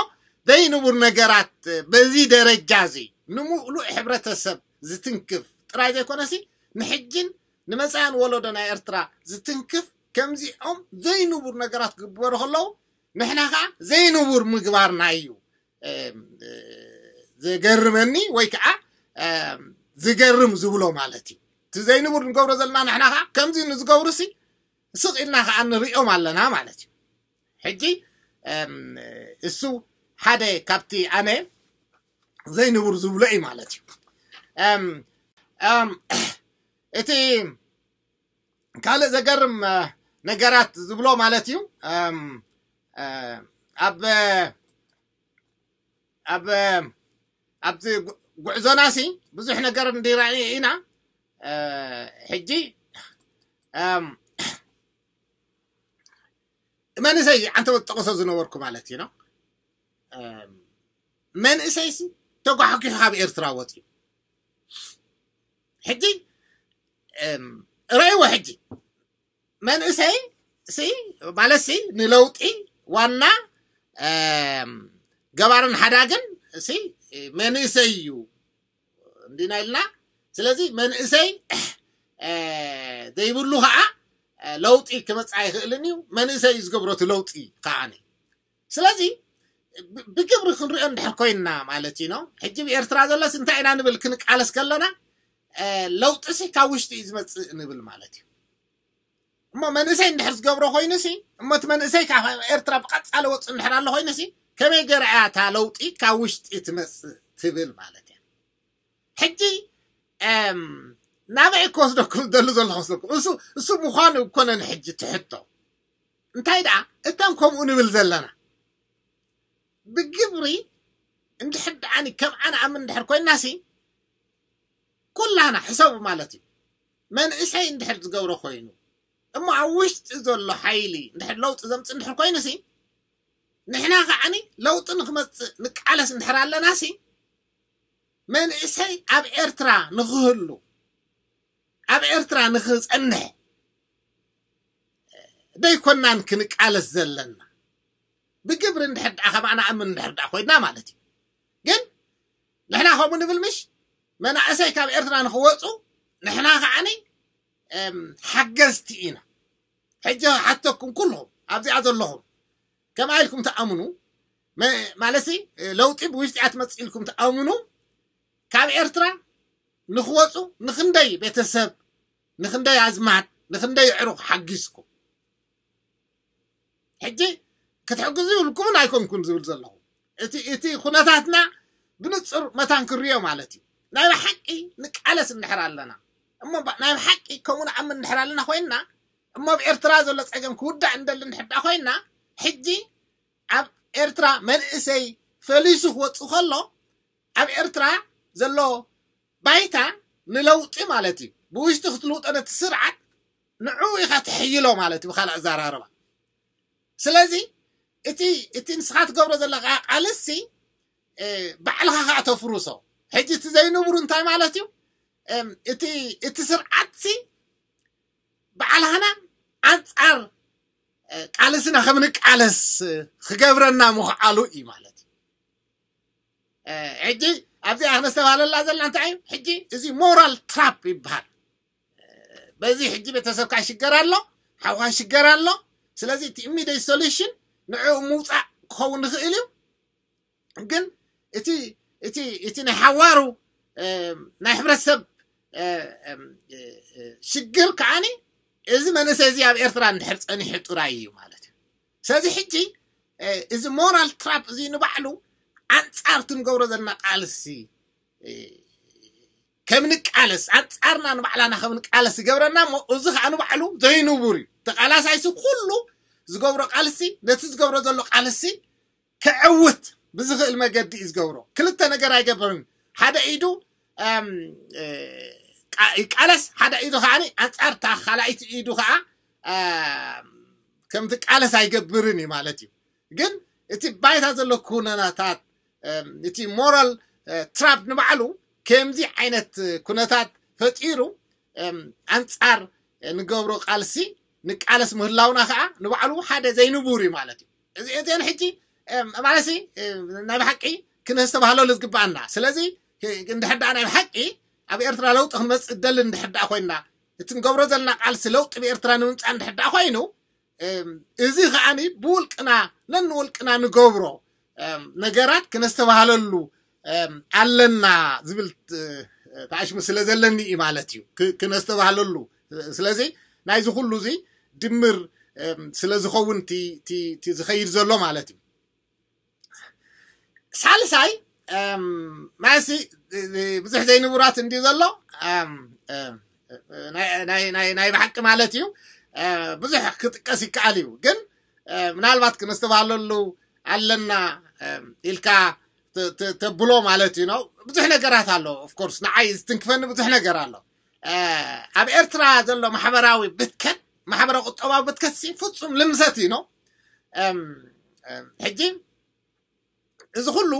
ዘይንቡር ነገራት በዚ ደረጃ እዚ ንምሉእ ሕብረተሰብ ዝትንክፍ ጥራይ ዘይኮነሲ ንሕጅን ንመፃእን ወለዶ ናይ ኤርትራ ዝትንክፍ ከምዚኦም ዘይንቡር ነገራት ክግበሩ ከለዉ ንሕና ከዓ ዘይንቡር ምግባርና እዩ። ዝገርመኒ ወይ ከዓ ዝገርም ዝብሎ ማለት እዩ። እቲ ዘይንቡር ንገብሮ ዘለና ንሕና ከዓ ከምዚ ንዝገብሩ ሲ ስቕ ኢልና ከዓ ንሪኦም ኣለና ማለት እዩ። ሕጂ እሱ ሓደ ካብቲ ኣነ ዘይንቡር ዝብሎ እዩ ማለት እዩ። እቲ ካልእ ዘገርም ነገራት ዝብሎ ማለት እዩ ኣብ ኣብ ኣብዚ ጉዕዞና ሲ ብዙሕ ነገር እንዲራእና ኢና። ሕጂ መንእሰይ ኣንተ ጠቕሶ ዝነበርኩ ማለት እዩ ነው። መንእሰይ ሲ ተጓሕኪሑ ካብ ኤርትራ ወፂኡ ሕጂ ረእይዎ ሕጂ መንእሰይ ሲ ማለት ሲ ንለውጢ ዋና ገባርን ሓዳግን ሲ መንእሰይ እዩ እንዲና ኢልና። ስለዚ መንእሰይ ዘይብሉ ከዓ ለውጢ ክመፅእ ኣይኽእልን እዩ። መንእሰይ እዩ ዝገብሮ እቲ ለውጢ ከዓ። ስለዚ ብግብሪ ክንሪኦ እንድሕር ኮይንና ማለት እዩ ነው። ሕጂ ብኤርትራ ዘሎስ እንታይ ኢና ንብል ክንቃለስ ከለና ለውጢ ሲ ካብ ውሽጢ እዩ ዝመፅእ ንብል ማለት እዩ። እሞ መንእሰይ እንድሕር ዝገብሮ ኮይኑ ሲ እሞ እቲ መንእሰይ ካብ ኤርትራ ብቐፃሊ ወፅእ እንድሕር ኣሎ ኮይኑ ሲ ከመይ ገይራ እያ እታ ለውጢ ካብ ውሽጢ ትመፅእ ትብል ማለት እያ። ሕጂ ናበይ ክወስደኩም ደሉ ዘለኹ መስለኩም እሱ እሱ ምዃኑ እኮነን ሕጂ ትሕቶ እንታይ ደኣ እቶም ከምኡ ንብል ዘለና ብግብሪ እንድሕር ደኣኒ ከም ኣነ ኣምን እንድሕር ኮይንና ሲ ኩላና ሕሰቡ ማለት እዩ። መንእሰይ እንድሕር ዝገብሮ ኮይኑ እሞ ኣብ ውሽጢ ዘሎ ሓይሊ እንድሕር ለውጢ ዘምፅእ እንድሕር ኮይኑ ሲ ንሕና ከዓኒ ለውጢ ንክመፅእ ንቃለስ እንድሕር ኣለና ሲ መንእሰይ ኣብ ኤርትራ ንክህሉ ኣብ ኤርትራ ንክፀንሕ ደይኮናን ክንቃለስ ዘለና ብግብሪ እንድሕር ደኣ ከማና ኣምን እንድሕር ደኣ ኮይና ማለት እዩ። ግን ንሕና ከምኡ ንብል ምሽ መናእሰይ ካብ ኤርትራ ንክወፁ ንሕና ከዓኒ ሓገዝቲ ኢና። ሕጂ ሓተኩም ኩልኹም ኣብዚኣ ዘለኹም ከመይ ኢልኩም ትኣምኑ? ማለትሲ ለውጢ ብውሽጢ እያ ትመፅእ ኢልኩም ትኣምኑ? ካብ ኤርትራ ንክወፁ ንክንደይ ቤተሰብ፣ ንክንደይ ኣዝማድ፣ ንክንደይ ኣዕሩኽ ሓጊዝኩም? ሕጂ ክትሕግዙ ይብልኩምን ኣይኮንኩን ዝብል ዘለኹ እቲ እቲ ኩነታትና ብንፁር መታን ክርዮ ማለት እዩ። ናይ ብሓቂ ንቃለስ እንድሕር ኣለና እሞ ናይ ብሓቂ ከምኡ ንኣምን እንድሕር ኣለና ኮይንና እሞ ኣብ ኤርትራ ዘሎ ፀገም ክውዳእ እንደሊ እንድሕር ኮይንና ሕጂ ኣብ ኤርትራ መንእሰይ ፈሊሱ ክወፅእ ከሎ ኣብ ኤርትራ ዘሎ ባይታ ንለውጢ ማለት እዩ። ብውሽጢ ክትልውጦ ነቲ ስርዓት ንዕኡ ኢኻ ትሕይሎ ማለት እዩ ብካልእ ኣዘራርባ። ስለዚ እቲ እቲ ንስኻ ትገብሮ ዘለካ ቃልሲ ባዕልኻ ከዓ ተፍርሶ። ሕጂ እቲ ዘይንቡር እንታይ ማለት እዩ? እቲ እቲ ስርዓትሲ ባዕልኻና ኣንፃር ቃልስና ከም ንቃለስ ክገብረና ምኽዓሉ እዩ ማለት እዩ። ሕጂ ኣብዚኣ ክነስተባሃለላ ዘለና እንታይ እዩ? ሕጂ እዚ ሞራል ትራፕ ይበሃል። በዚ ሕጂ ቤተሰብካ ይሽገር ኣሎ፣ ሓውካ ይሽገር ኣሎ። ስለዚ እቲ ኢሚዲየት ሶሉሽን ንዕኡ ምውፃእ ክኸውን ይኽእል እዩ። ግን እቲ እቲ እቲ ናይ ሓዋሩ ናይ ሕብረተሰብ ሽግር ከዓኒ እዚ መንእሰይ እዚ ኣብ ኤርትራ እንድሕር ፀኒሑ ጥራይ እዩ ማለት እዩ። ስለዚ ሕጂ እዚ ሞራል ትራፕ እዚ ንባዕሉ ኣንፃር ትንገብሮ ዘለና ቃልሲ ከም ንቃለስ ኣንፃርና ንባዕላና ከም ንቃለስ ይገብረና እሞ እዚ ከዓ ንባዕሉ ዘይንቡር እዩ። ተቃላሳይሲ ኩሉ ዝገብሮ ቃልሲ ነቲ ዝገብሮ ዘሎ ቃልሲ ክዕውት ብዝኽእል መገዲ እዩ ዝገብሮ። ክልተ ነገር ኣይገብርን። ሓደ ኢዱ ይቃለስ፣ ሓደ ኢዱ ከዓ ኣንፃር እታ ካልኣይቲ ኢዱ ከዓ ከምቲ ቃለስ ኣይገብርን እዩ ማለት እዩ። ግን እቲ ባይታ ዘሎ ኩነታት እቲ ሞራል ትራፕ ንባዕሉ ከምዚ ዓይነት ኩነታት ፈጢሩ ኣንፃር ንገብሮ ቃልሲ ንቃለስ ምህላውና ከዓ ንባዕሉ ሓደ ዘይንቡር እዩ ማለት እዩ። እዚ እዚአን ሕጂ ማለት ናይ ብሓቂ ክነስተባህለሉ ዝግባኣና። ስለዚ እንድሕር ደኣ ናይ ብሓቂ ኣብ ኤርትራ ለውጢ ክንመፅእ ደሊ እንድሕር ደኣ ኮይንና እቲ ንገብሮ ዘለና ቃልሲ ለውጢ ብኤርትራ ንምምፃእ እንድሕር ደኣ ኮይኑ እዚ ከዓኒ ብውልቅና ነንውልቅና ንገብሮ ነገራት ክነስተባህለሉ ኣለና ዝብል ተኣሽሙ ስለ ዘለኒ እዩ ማለት እዩ ክነስተባህለሉ። ስለዚ ናይዚ ኩሉ እዚ ድምር ስለ ዝኸውን ዝኸይድ ዘሎ ማለት እዩ። ሳልሳይ ማሲ ብዙሕ ዘይንቡራት እንዲ ዘሎ ናይ ብሓቂ ማለት እዩ ብዙሕ ክጥቀስ ይከኣል እዩ። ግን ምናልባት ክነስተባሃለሉ ኣለና ኢልካ ተብሎ ማለት እዩ ነው። ብዙሕ ነገራት ኣሎ። ኦፍኮርስ ንዓይ ዝትንክፈኒ ብዙሕ ነገር ኣሎ። ኣብ ኤርትራ ዘሎ ማሕበራዊ ብትከት ማሕበረ ቁጠባዊ ብትከት ፍፁም ልምሰት እዩ ነው። ሕጂ እዚ ኩሉ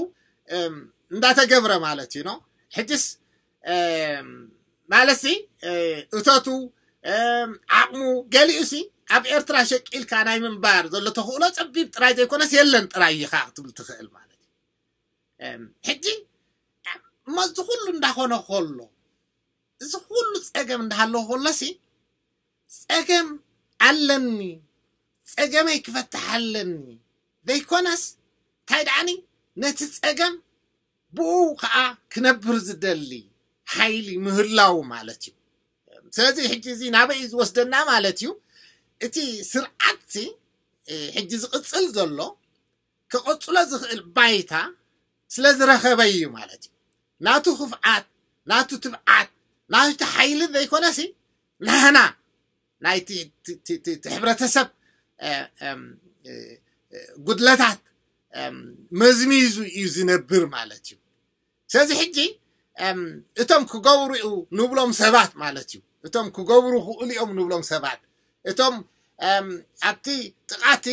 እንዳተገብረ ማለት እዩ ነው። ሕጅስ ማለትሲ እተቱ ዓቕሙ ገሊኡሲ ኣብ ኤርትራ ሸቂልካ ናይ ምንባር ዘሎ ተኽእሎ ጸቢብ ጥራይ ዘይኮነስ የለን ጥራይ ኢኻ ክትብል ትኽእል ማለት እዩ። ሕጂ እሞ እዚ ኩሉ እንዳኾነ ከሎ እዚ ኩሉ ጸገም እንዳሃለዎ ከሎሲ ጸገም ኣለኒ ጸገመይ ክፈትሕ ኣለኒ ዘይኮነስ እንታይ ደኣኒ ነቲ ጸገም ብኡ ከዓ ክነብር ዝደሊ ሓይሊ ምህላው ማለት እዩ። ስለዚ ሕጂ እዚ ናበይ እዩ ዝወስደና ማለት እዩ? እቲ ስርዓትሲ ሕጂ ዝቕፅል ዘሎ ክቐፅሎ ዝኽእል ባይታ ስለ ዝረኸበ እዩ ማለት እዩ። ናቱ ክፍዓት ናቱ ትብዓት ናቱ ሓይሊ ዘይኮነሲ ናህና ናይቲ ሕብረተሰብ ጉድለታት መዝሚዙ እዩ ዝነብር ማለት እዩ። ስለዚ ሕጂ እቶም ክገብሩ ንብሎም ሰባት ማለት እዩ እቶም ክገብሩ ክእሉ እዮም ንብሎም ሰባት እቶም ኣብቲ ጥቓቲ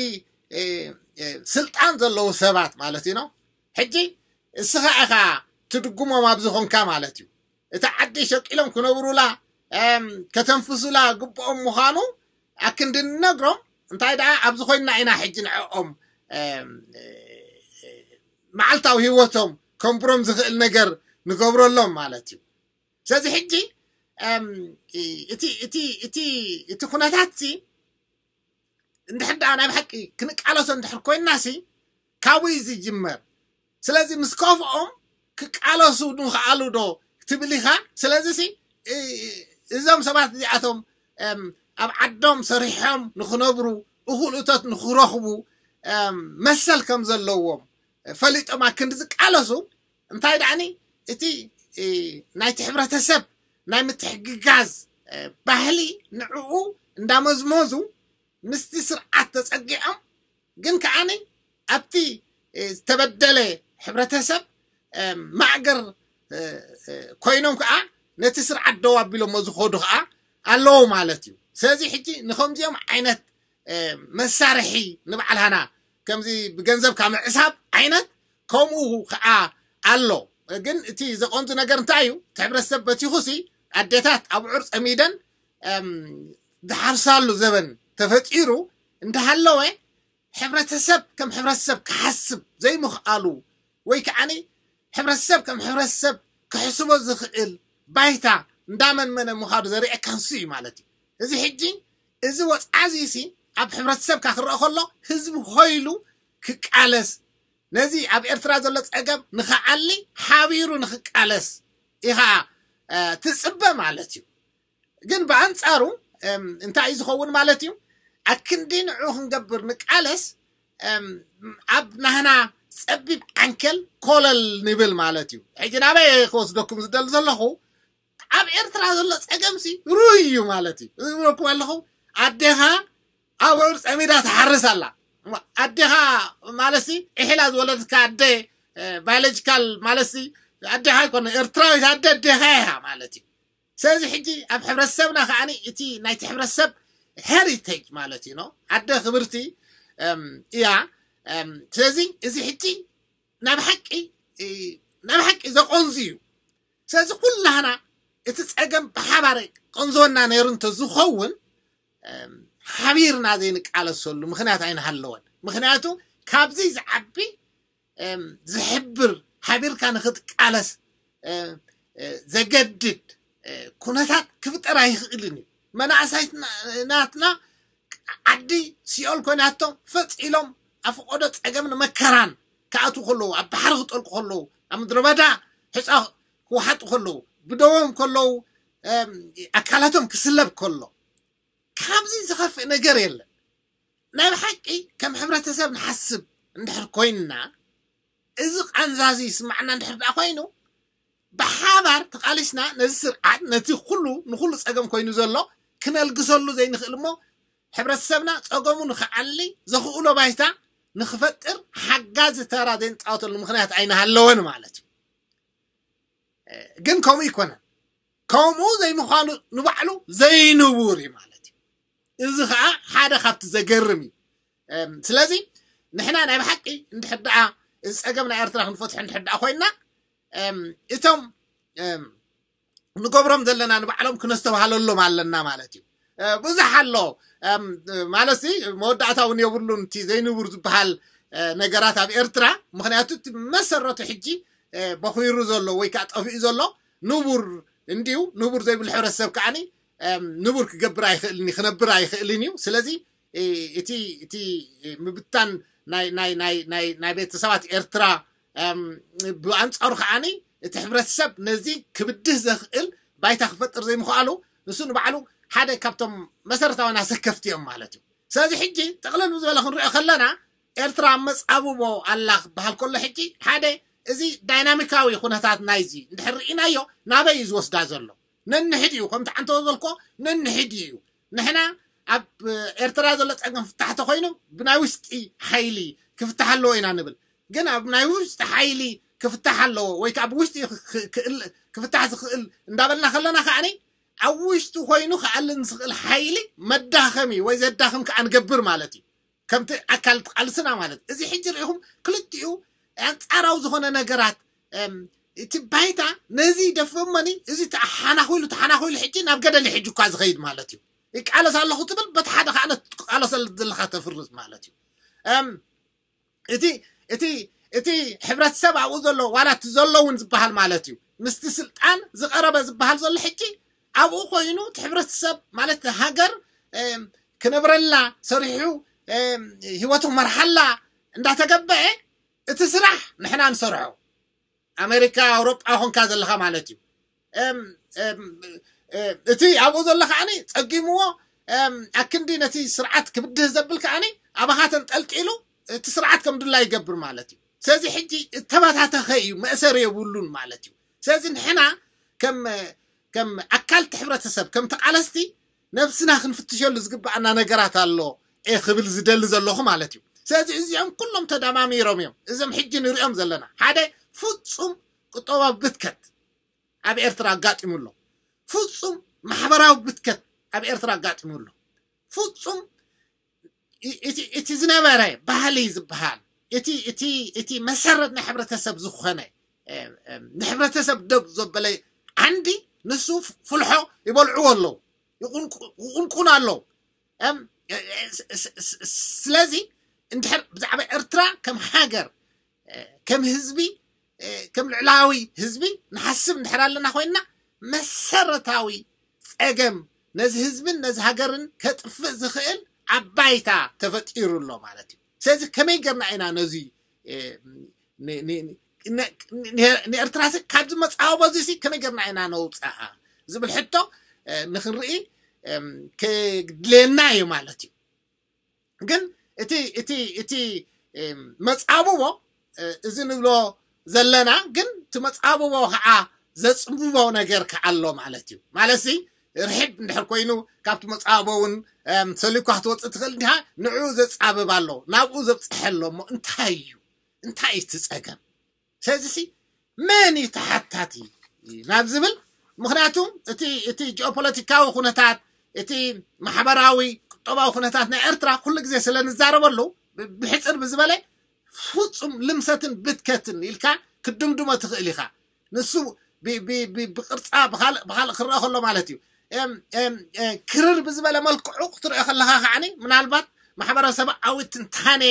ስልጣን ዘለዉ ሰባት ማለት እዩ ነው። ሕጂ እስኻ ኢኻ ትድጉሞም ኣብ ዝኾንካ ማለት እዩ። እቲ ዓዲ ሸቂሎም ክነብሩላ ከተንፍሱላ ግብኦም ምዃኑ ኣክንዲ ንነግሮም እንታይ ደኣ ኣብዚ ኮይንና ኢና ሕጂ ንዕኦም መዓልታዊ ህይወቶም ከንብሮም ዝኽእል ነገር ንገብረሎም ማለት እዩ። ስለዚ ሕጂ እም፣ እቲ እቲ እቲ እቲ ኩነታት ሲ እንድሕር ደኣ ናይ ብሓቂ ክንቃለሶ እንድሕር ኮይንና ሲ ካብኡ እዩ ዝጅመር። ስለዚ ምስ ከፍኦም ክቃለሱ ንኽኣሉ ዶ ትብል ኢኻ? ስለዚ ሲ እ- እዞም ሰባት እዚኣቶም እም፣ ኣብ ዓዶም ሰሪሖም ንኽነብሩ፣ እኹል እቶት ንኽረኽቡ እም፣ መሰል ከም ዘለዎም ፈሊጦም ኣክንዲ ዝቃለሱ እንታይ ደኣኒ እቲ እ፣ ናይቲ ሕብረተሰብ ናይ ምትሕግጋዝ እ፣ ባህሊ ንዕኡ እንዳመዝመዙ ምስቲ ስርዓት ተጸጊዖም ግን ከዓኒ ኣብቲ እ፣ ዝተበደለ ሕብረተሰብ እ፣ ማእገር እ፣ እ፣ ኮይኖም ከዓ ነቲ ስርዓት ደው ኣቢሎሞ ዝኸዱ ከዓ ኣለዉ ማለት እዩ። ስለዚ ሕጂ ንከምዚኦም ዓይነት እ፣ መሳርሒ ንባዕልሃና ከምዚ ብገንዘብካ ምዕሳብ ዓይነት ከምኡ ከዓ ኣሎ። ግን እቲ ዘቐንዙ ነገር እንታይ እዩ? እቲ ሕብረተሰብ በቲኹሲ ኣዴታት ኣብዑር ፀሚደን እም፣ ዝሓርሳሉ ዘበን ተፈጢሩ እንዳሃለወ ሕብረተሰብ ከም ሕብረተሰብ ክሓስብ ዘይምኽኣሉ ወይ ከዓኒ ሕብረተሰብ ከም ሕብረተሰብ ክሕስቦ ዝኽእል ባይታ እንዳመንመነ ምዃኑ ዘርእየካ ንሱ እዩ ማለት እዩ። እዚ ሕጂ እዚ ወፅዓ እዚ ሲ ኣብ ሕብረተሰብካ ክረአ ከሎ ህዝቢ ኮይሉ ክቃለስ ነዚ ኣብ ኤርትራ ዘሎ ፀገም ንኽዓሊ ሓቢሩ ንኽቃለስ ኢኻ እ፣ ትፅበ ማለት እዩ። ግን ብኣንፃሩ እም፣ እንታይ እዩ ዝኸውን ማለት እዩ? ኣክንዲ ንዑ ክንገብር ንቃለስ እም፣ ኣብ ናህና ፀቢብ ዓንኬል ኮለል ንብል ማለት እዩ። ሕጂ ናበይ ክወስደኩም ዝደሊ ዘለኹ ኣብ ኤርትራ ዘሎ ፀገምሲ ሩይ እዩ ማለት እዩ። እዚ ዝብለኩም ኣለኹ ኣዴኻ ኣብዑር ፀሚዳ ትሓርስ ኣላ። ኣዴኻ ማለትሲ ኢሒላ ዝወለድካ ኣደ ባዮሎጂካል ማለትሲ ኣዴኻ ኣይኮነ ኤርትራዊት ኣደ ኣዴኻ ኢኻ ማለት እዩ። ስለዚ ሕጂ ኣብ ሕብረተሰብና ከዓኒ እቲ ናይቲ ሕብረተሰብ ሄሪቴጅ ማለት እዩ ኖ ኣደ ክብርቲ እም፣ እያ። እም፣ ስለዚ እዚ ሕጂ ናብ ሓቂ እ፣ ናብ ሓቂ ዘቆንዙ እዩ። ስለዚ ኩላህና እቲ ፀገም ብሓባር ቆንዝወና ነይሩ እንተዝኸውን እም፣ ሓቢርና ዘይንቃለሰሉ ምክንያት ኣይንሃለወን። ምክንያቱ ካብዚ ዝዓቢ እም፣ ዝሕብር ሓቢርካ ንክትቃለስ እ፣ እ፣ ዘገድድ እ፣ ኩነታት ክፍጠር ኣይኽእልን እዩ። መናእሳይትና ናትና ዓዲ ሲኦል ኮይናቶም ፈፂሎም ኣፍቆዶ ፀገም ንመከራን ክኣትዉ ከለዉ ኣብ ባሕሪ ክጠልቁ ከለዉ ኣብ ምድረ በዳ ሕፃ ክወሓጡ ከለዉ ብደዎም ከለዉ እም፣ ኣካላቶም ክስለብ ከሎ ካብዚ ዝኸፍእ ነገር የለን። ናይ ብሓቂ ከም ሕብረተሰብ ንሓስብ እንድሕር ኮይንና እዚ ቃንዛዚ ይስማዕና እንድሕር ደኣ ኮይኑ ብሓባር ተቃሊስና ነዚ ስርዓት ነቲ ኩሉ ንኩሉ ፀገም ኮይኑ ዘሎ ክነልግሰሉ ዘይንኽእል እሞ ሕብረተሰብና ፀገሙ ንክዓሊ ዘኽእሎ ባይታ ንክፈጥር ሓጋዚ ተራ ዘይንፃወተሉ ምክንያት ኣይንሃለወን ማለት እዩ። ግን ከምኡ ይኮነን። ከምኡ ዘይምዃኑ ንባዕሉ ዘይንቡር እዩ ማለት እዩ። እዚ ከዓ ሓደ ካብቲ ዘገርም እዩ። እም፣ ስለዚ ንሕና ናይ ብሓቂ እንድሕር ደኣ እዚ ፀገም ናይ ኤርትራ ክንፈትሖ እንድሕር ደኣ ኮይንና እም፣ እቶም እም፣ ንገብሮም ዘለና ንባዕሎም ክነስተባሃለሎም ኣለና ማለት እዩ። እ፣ ብዙሕ ኣሎ እም፣ ማለት ሲ መወዳእታ እውን የብሉን እቲ ዘይንቡር ዝበሃል እ፣ ነገራት ኣብ ኤርትራ። ምክንያቱ እቲ መሰረቱ ሕጂ እ፣ በኺሩ ዘሎ ወይ ከዓ ጠፊኡ ዘሎ ንቡር እንድዩ። ንቡር ዘይብሉ ሕብረተሰብ ከዓኒ እም፣ ንቡር ክገብር ኣይኽእልን እዩ፣ ክነብር ኣይኽእልን እዩ። ስለዚ እ፣ እቲ እቲ ምብታን ናይ ናይ ናይ ናይ ናይ ቤተሰባት ኤርትራ እም፣ ብኣንጻሩ ከዓኒ እቲ ሕብረተሰብ ነዚ ክብድህ ዘኽእል ባይታ ክፈጥር ዘይምኽኣሉ ንሱ ንባዕሉ ሓደ ካብቶም መሰረታውያን ኣሰከፍቲ እዮም ማለት እዩ። ስለዚ ሕጂ ጥቕልል ብዝበለ ክንሪኦ ከለና ኤርትራ ኣብ መጻብቦ ኣላ ክበሃል ከሎ ሕጂ ሓደ እዚ ዳይናሚካዊ ኩነታት ናይዚ እንድሕር ርኢናዮ ናበይ እዩ ዝወስዳ ዘሎ? ነንሕድ እዩ ከምቲ ዓንተወ ዘልኮ ነንሕድ እዩ። ንሕና ኣብ ኤርትራ ዘሎ ፀገም ፍታሕ ተኮይኑ ብናይ ውሽጢ ሓይሊ ክፍታሕ ኣለዎ ኢና ንብል። ግን ኣብ ናይ ውሽጢ ሓይሊ ክፍታሕ ኣለዎ ወይ ከዓ ብውሽጢ ክፍታሕ ዝኽእል እንዳበልና ከለና ከዓኒ ኣብ ውሽጢ ኮይኑ ክኣልን ዝኽእል ሓይሊ መዳኸሚ ወይ ዘዳኽም ከዓ ንገብር ማለት እዩ። ከምቲ ኣካል ቃልስና ማለት እዚ ሕጂ ርኢኹም ክልቲኡ ኣንፃራዊ ዝኾነ ነገራት እቲ ባይታ ነዚ ደፍመኒ እዚ ተሓናኺሉ ተሓናኺሉ ሕጂ ናብ ገደል ሕጂ እኳ ዝኸይድ ማለት እዩ። ይቃለስ ኣለኹ ትብል በቲ ሓደ ከዓ ነቲ ትቃለሰሉ ዘለካ ተፍርስ ማለት እዩ። እቲ እቲ እቲ ሕብረተሰብ ኣብኡ ዘሎ ዋላ እቲ ዘሎ እውን ዝበሃል ማለት እዩ ምስቲ ስልጣን ዝቐረበ ዝበሃል ዘሎ ሕጂ ኣብኡ ኮይኑ እቲ ሕብረተሰብ ማለት ሃገር ክነብረላ ሰሪሑ ህይወቱ መርሓላ እንዳተገበአ እቲ ስራሕ ንሕና ንሰርሖ ኣሜሪካ ኣውሮጳ ኮንካ ዘለኻ ማለት እዩ እቲ ኣብኡ ዘሎ ከዓኒ ጸጊምዎ ኣክንዲ ነቲ ስርዓት ክብድህ ዘብል ከዓኒ ኣባኻ ተንጠልጢሉ እቲ ስርዓት ከም ድላ ይገብር ማለት እዩ ስለዚ ሕጂ እተባታተኸ እዩ መእሰር የብሉን ማለት እዩ ስለዚ ንሕና ከም ከም ኣካልቲ ሕብረተሰብ ከም ተቃለስቲ ነብስና ክንፍትሸሉ ዝግባኣና ነገራት ኣሎ ክብል ዝደሊ ዘለኹ ማለት እዩ ስለዚ እዚኦም ኩሎም ተደማሚሮም እዮም እዞም ሕጂ ንሪኦም ዘለና ሓደ ፍጹም ቁጠባዊ ብትከት ኣብ ኤርትራ ኣጋጢሙ ኣሎ ፍጹም ማሕበራዊ ብትከት ኣብ ኤርትራ ኣጋጢሙ ኣሎ ፍጹም እቲ ዝነበረ ባህሊ ዝበሃል እቲ መሰረት ናይ ሕብረተሰብ ዝኾነ ንሕብረተሰብ ደብ ዘበለ ዓንዲ ንሱ ፍልሖ ይበልዕዎ ኣለዉ ይቁንቁን ኣለዉ ስለዚ እንድሕር ብዛዕባ ኤርትራ ከም ሃገር ከም ህዝቢ ከም ልዕላዊ ህዝቢ ንሓስብ እንድሕር ኣለና ኮይንና መሰረታዊ ጸገም ነዚ ህዝብን ነዚ ሃገርን ከጥፍእ ዝኽእል ኣብ ባይታ ተፈጢሩ ኣሎ ማለት እዩ ስለዚ ከመይ ገርና ኢና ነዚ ንኤርትራ ካብዚ መጻወቦ እዚ ከመይ ገርና ኢና ነውፅኣ ዝብል ሕቶ ንክንርኢ ክድልየና እዩ ማለት እዩ ግን እቲ እቲ እቲ መጻብቦ እዚ ንብሎ ዘለና ግን እቲ መጻብቦ ከዓ ዘጽብቦ ነገር ከዓ ኣሎ ማለት እዩ ማለት ርሕድ እንድሕር ኮይኑ ካብቲ መጻብቦ እውን ሰሊኳ ክትወፅእ ትኽእል እንዲሃ ንዕኡ ዘጻብብ ኣሎ ናብኡ ዘብፅሐ ኣሎ እሞ እንታይ እዩ እንታይ እዩ እቲ ፀገም ስለዚሲ መን እዩ ተሓታቲ ናብ ዝብል ምክንያቱ እቲ እቲ ጂኦፖለቲካዊ ኩነታት እቲ ማሕበራዊ ቁጠባዊ ኩነታት ናይ ኤርትራ ኩሉ ግዜ ስለ ንዛረበሉ ብሕፅር ብዝበለ ፍፁም ልምሰትን ብትከትን ኢልካ ክድምድሞ ትኽእል ኢኻ ንሱ ብቅርፃ ብካልእ ክረአ ከሎ ማለት እዩ ክርር ብዝበለ መልክዑ ክትሪኦ ከለካ ከዓኒ ምናልባት ማሕበረሰባዊ ትንታኔ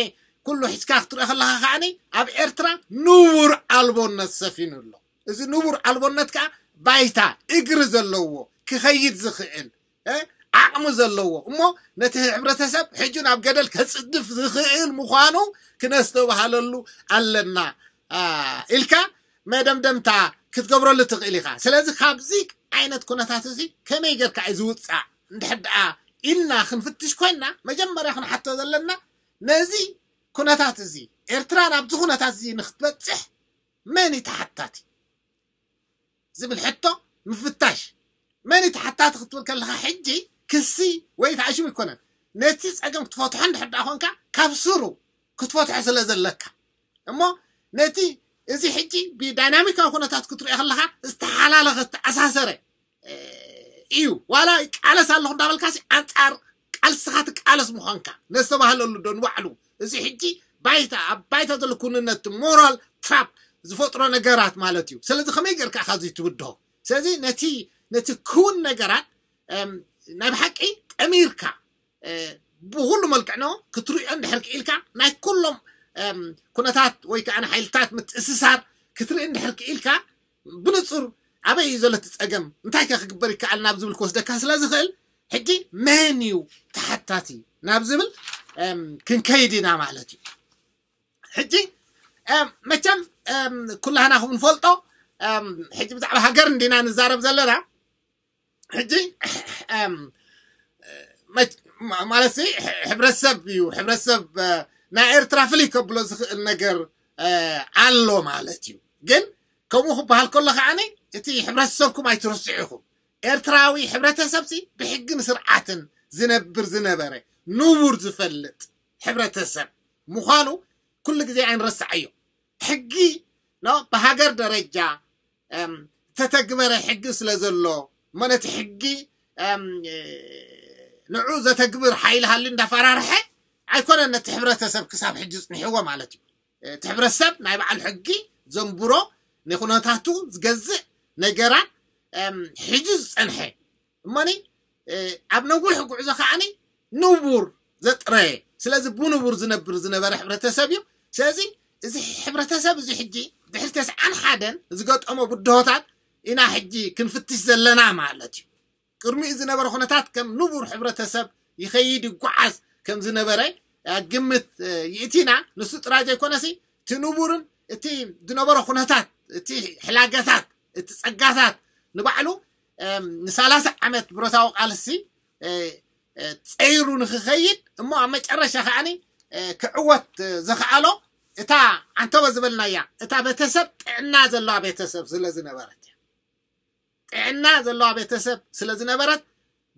ኩሉ ሒዝካ ክትሪኦ ከለካ ከዓኒ ኣብ ኤርትራ ንቡር ኣልቦነት ሰፊኑ ኣሎ እዚ ንቡር ኣልቦነት ከዓ ባይታ እግሪ ዘለዎ ክኸይድ ዝኽእል ዓቕሚ ዘለዎ እሞ ነቲ ሕብረተሰብ ሕጂ ናብ ገደል ከፅድፍ ዝኽእል ምዃኑ ክነስተባሃለሉ ኣለና ኢልካ መደምደምታ ክትገብረሉ ትኽእል ኢኻ ስለዚ ካብዚ ዓይነት ኩነታት እዚ ከመይ ጌርካ እዩ ዝውፃእ እንድሕር ደኣ ኢልና ክንፍትሽ ኮይንና መጀመርያ ክንሓቶ ዘለና ነዚ ኩነታት እዚ ኤርትራ ናብዚ ኩነታት እዚ ንክትበፅሕ መን እዩ ተሓታቲ ዝብል ሕቶ ምፍታሽ መን እዩ ተሓታቲ ክትብል ከለካ ሕጂ ክሲ ወይ ተኣሽሙ ይኮነን ነቲ ፀገም ክትፈትሖ እንድሕር ደኣ ኮንካ ካብ ስሩ ክትፈትሖ ስለ ዘለካ እሞ ነቲ እዚ ሕጂ ብዳይናሚካዊ ኩነታት ክትሪኦ ከለካ ዝተሓላለኸ ዝተኣሳሰረ እዩ ዋላ ይቃለስ ኣለኹ እንዳበልካሲ ኣንፃር ቃልስኻ ትቃለስ ምዃንካ ነዝተባህለሉ ዶ ንባዕሉ እዚ ሕጂ ባይታ ኣብ ባይታ ዘሎ ኩንነት ሞራል ትራፕ ዝፈጥሮ ነገራት ማለት እዩ ስለዚ ከመይ ጌርካ ኢኻ እዚ ትብድሆ ስለዚ ነቲ ነቲ ክውን ነገራት ናይ ብሓቂ ጠሚርካ ብኩሉ መልክዕ ነው ክትሪኦ እንድሕር ክኢልካ ናይ ኩሎም ኩነታት ወይ ከዓ ሓይልታት ምትእስሳር ክትርኢ እንድሕር ክኢልካ ብንፁር ኣበይ እዩ ዘሎ እቲ ፀገም እንታይ ከ ክግበር ይከኣል ናብ ዝብል ክወስደካ ስለ ዝኽእል ሕጂ መን እዩ ተሓታቲ ናብ ዝብል ክንከይድ ኢና ማለት እዩ ሕጂ መቸም ኩላህና ከም ንፈልጦ ሕጂ ብዛዕባ ሃገር እንዲና ንዛረብ ዘለና ሕጂ ማለት ሲ ሕብረተሰብ እዩ ሕብረተሰብ ናይ ኤርትራ ፍልይ ከብሎ ዝኽእል ነገር ኣሎ ማለት እዩ ግን ከምኡ ክበሃል ከሎ ከዓኒ እቲ ሕብረተሰብኩም ኣይትረስዑ ኢኹም ኤርትራዊ ሕብረተሰብ ሲ ብሕግን ስርዓትን ዝነብር ዝነበረ ንቡር ዝፈልጥ ሕብረተሰብ ምዃኑ ኩሉ ግዜ ኣይንረስዓዮ ሕጊ ብሃገር ደረጃ ዝተተግበረ ሕጊ ስለ ዘሎ እሞ ነቲ ሕጊ ንዑ ዘተግብር ሓይሊ ሃልዩ እንዳፈራርሐ ኣይኮነን ነቲ ሕብረተሰብ ክሳብ ሕጂ ዝፅንሕዎ ማለት እዩ እቲ ሕብረተሰብ ናይ በዓል ሕጊ ዘንብሮ ንኩነታቱ ዝገዝእ ነገራት ሕጂ ዝፀንሐ እሞኒ ኣብ ነዊሕ ጉዕዞ ከዓኒ ንቡር ዘጥረየ ስለዚ ብንቡር ዝነብር ዝነበረ ሕብረተሰብ እዩ ስለዚ እዚ ሕብረተሰብ እዚ ሕጂ ድሕሪ ተስዓን ሓደን ዝገጠሞ ብድሆታት ኢና ሕጂ ክንፍትሽ ዘለና ማለት እዩ። ቅድሚኡ ዝነበረ ኩነታት ከም ንቡር ሕብረተሰብ ይኸይድ ይጓዓዝ ከም ዝነበረ ግምት ይእቲና። ንሱ ጥራይ ዘይኮነሲ እቲ ንቡርን እቲ ዝነበረ ኩነታት፣ እቲ ሕላገታት፣ እቲ ጸጋታት ንባዕሉ ንሳላሳ ዓመት ብረታዊ ቃልሲ ጸይሩ ንክኸይድ እሞ ኣብ መጨረሻ ከዓኒ ክዕወት ዘኽኣሎ እታ ዓንተበ ዝበልናያ እታ ቤተሰብ ጥዕና ዘለዋ ቤተሰብ ስለ ዝነበረት እያ። ጥዕና ዘለዋ ቤተሰብ ስለ ዝነበረት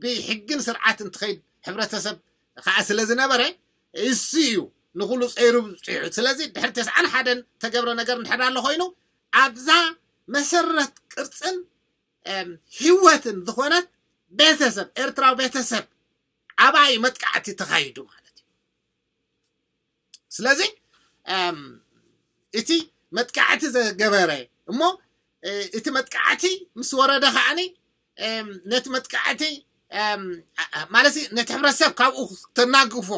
ብሕግን ስርዓትን ትኸይድ ሕብረተሰብ ከዓ ስለ ዝነበረ እሱ እዩ ንኩሉ ጸይሩ ብፅሑ። ስለዚ ድሕሪ ተስዓን ሓደን ተገብረ ነገር እንድሕር ኣሎ ኮይኑ ኣብዛ መሰረት ቅርፅን ህይወትን ዝኾነት ቤተሰብ ኤርትራዊ ቤተሰብ ዓባይ መጥቃዕቲ ተኻይዱ ማለት እዩ። ስለዚ እቲ መጥቃዕቲ ዘገበረ እሞ እቲ መጥቃዕቲ ምስ ወረደ ከዓኒ ነቲ መጥቃዕቲ ማለት ነቲ ሕብረተሰብ ካብኡ ተናግፎ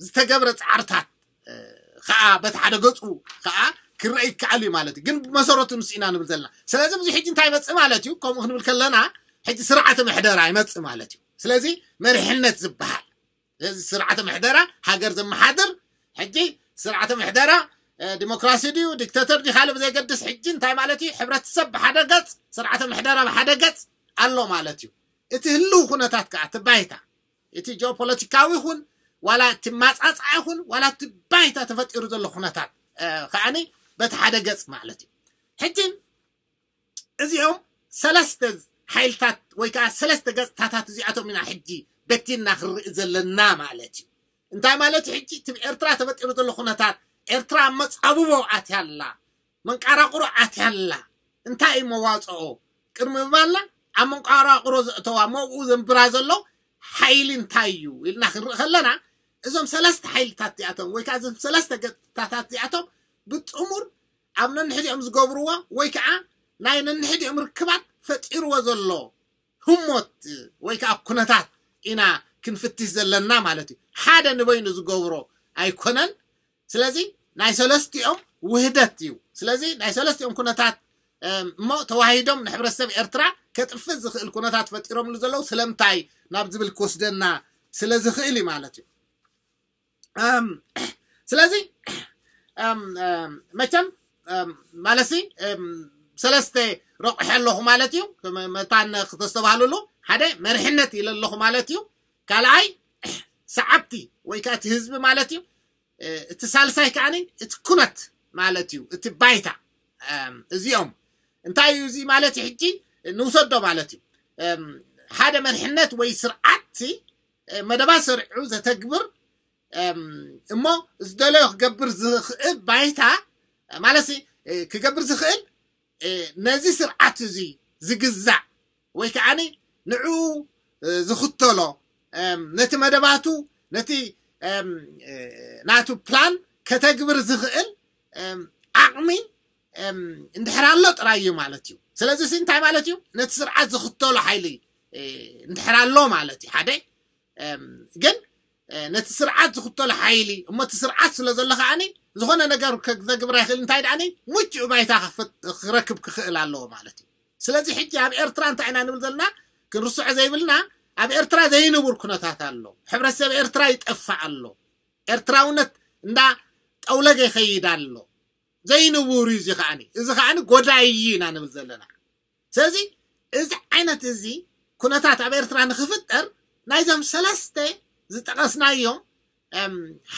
ዝተገብረ ፃዕርታት ከዓ በቲ ሓደ ገፁ ከዓ ክረአ ይከኣል እዩ ማለት እዩ። ግን ብመሰረቱ ንሱ ኢና ንብል ዘለና። ስለዚ ብዙ ሕጂ እንታይ ይመፅእ ማለት እዩ? ከምኡ ክንብል ከለና ሕጂ ስርዓተ ምሕደራ ይመፅእ ማለት እዩ። ስለዚ መሪሕነት ዝበሃል ስለዚ ስርዓተ ምሕደራ ሃገር ዘመሓድር ሕጂ ስርዓተ ምሕደራ ዲሞክራሲ ድዩ ዲክተተር ድዩ ካልእ ብዘይገድስ ሕጂ እንታይ ማለት እዩ? ሕብረተሰብ ብሓደ ገፅ ስርዓተ ምሕደራ ብሓደ ገፅ ኣሎ ማለት እዩ። እቲ ህልው ኩነታት ከዓ እቲ ባይታ እቲ ጂኦፖለቲካዊ ይኹን ዋላ እቲ ማፃፅዓ ይኹን ዋላ እቲ ባይታ ተፈጢሩ ዘሎ ኩነታት ከዓኒ በቲ ሓደ ገፅ ማለት እዩ። ሕጂ እዚኦም ሰለስተ ሓይልታት ወይ ከዓ ሰለስተ ገፅታታት እዚኣቶም ኢና ሕጂ በቲና ክንርኢ ዘለና ማለት እዩ። እንታይ ማለት እዩ? ሕጂ እቲ ኤርትራ ተፈጢሩ ዘሎ ኩነታት ኤርትራ መፃብቦ ኣትያላ መንቃራቁሮ ኣትያላ እንታይ እዩ መዋፅኦ ቅድሚ ምባልና ኣብ መንቃራቁሮ ዘእተዋ መብኡ ዘንብራ ዘሎ ሓይሊ እንታይ እዩ ኢልና ክንርኢ ከለና እዞም ሰለስተ ሓይልታት እዚኣቶም ወይ ከዓ እዞም ሰለስተ ገፅታታት እዚኣቶም ብጥሙር ኣብ ነንሕዲኦም ዝገብርዎ ወይ ከዓ ናይ ነንሕዲኦም ርክባት ፈጢርዎ ዘሎ ህሞት ወይ ከዓ ኩነታት ኢና ክንፍትሽ ዘለና ማለት እዩ። ሓደ ንበይኑ ዝገብሮ ኣይኮነን። ስለዚ ናይ ሰለስቲኦም ውህደት እዩ። ስለዚ ናይ ሰለስቲኦም ኩነታት እሞ ተዋሂዶም ንሕብረተሰብ ኤርትራ ከጥፍእ ዝኽእል ኩነታት ፈጢሮምሉ ዘለዉ ስለምንታይ ናብ ዝብል ክወስደና ስለ ዝኽእል እዩ ማለት እዩ። ስለዚ መቸም ማለትሲ ሰለስተ ረቑሐ ኣለኹ ማለት እዩ። መታን ክተስተባህልሉ ሓደ መርሕነት ኢለ ኣለኹ ማለት እዩ። ካልኣይ ሰዓብቲ ወይ ከዓ እቲ ህዝቢ ማለት እዩ። እቲ ሳልሳይ ከዓኒ እቲ ኩነት ማለት እዩ። እቲ ባይታ እዚኦም እንታይ እዩ እዚ ማለት እዩ? ሕጂ ንውሰዶ ማለት እዩ። ሓደ መርሕነት ወይ ስርዓት መደባት ሰሪዑ ዘተግብር እሞ ዝደለዮ ክገብር ዝኽእል ባይታ ማለት ክገብር ዝኽእል ነዚ ስርዓት እዚ ዝግዛእ ወይ ከዓኒ ንዕኡ ዝኽተሎ ነቲ መደባቱ ነቲ ናቱ ፕላን ከተግብር ዝኽእል ዓቕሚ እንድሕር ኣሎ ጥራይ እዩ ማለት እዩ። ስለዚ እንታይ ማለት እዩ? ነቲ ስርዓት ዝኽተሎ ሓይሊ እንድሕር ኣሎ ማለት እዩ። ሓደ ግን ነቲ ስርዓት ዝኽተሎ ሓይሊ እሞ እቲ ስርዓት ስለ ዘሎ ከዓኒ ዝኾነ ነገር ዘግብር ኣይኽእል። እንታይ ደኣኒ ምቹእ ባይታ ክረክብ ክኽእል ኣለዎ ማለት እዩ። ስለዚ ሕጂ ኣብ ኤርትራ እንታይ ኢና ንብል ዘለና? ክንርስዖ ዘይብልና ኣብ ኤርትራ ዘይንቡር ኩነታት ኣሎ። ሕብረተሰብ ኤርትራ ይጠፍእ ኣሎ። ኤርትራውነት እንዳ ጠውለገ ይኸይድ ኣሎ። ዘይንቡር እዩ እዚ ከዓኒ። እዚ ከዓኒ ጎዳይ እዩ ኢና ንብል ዘለና። ስለዚ እዚ ዓይነት እዚ ኩነታት ኣብ ኤርትራ ንክፍጠር ናይዞም ሰለስተ ዝጠቐስናዮም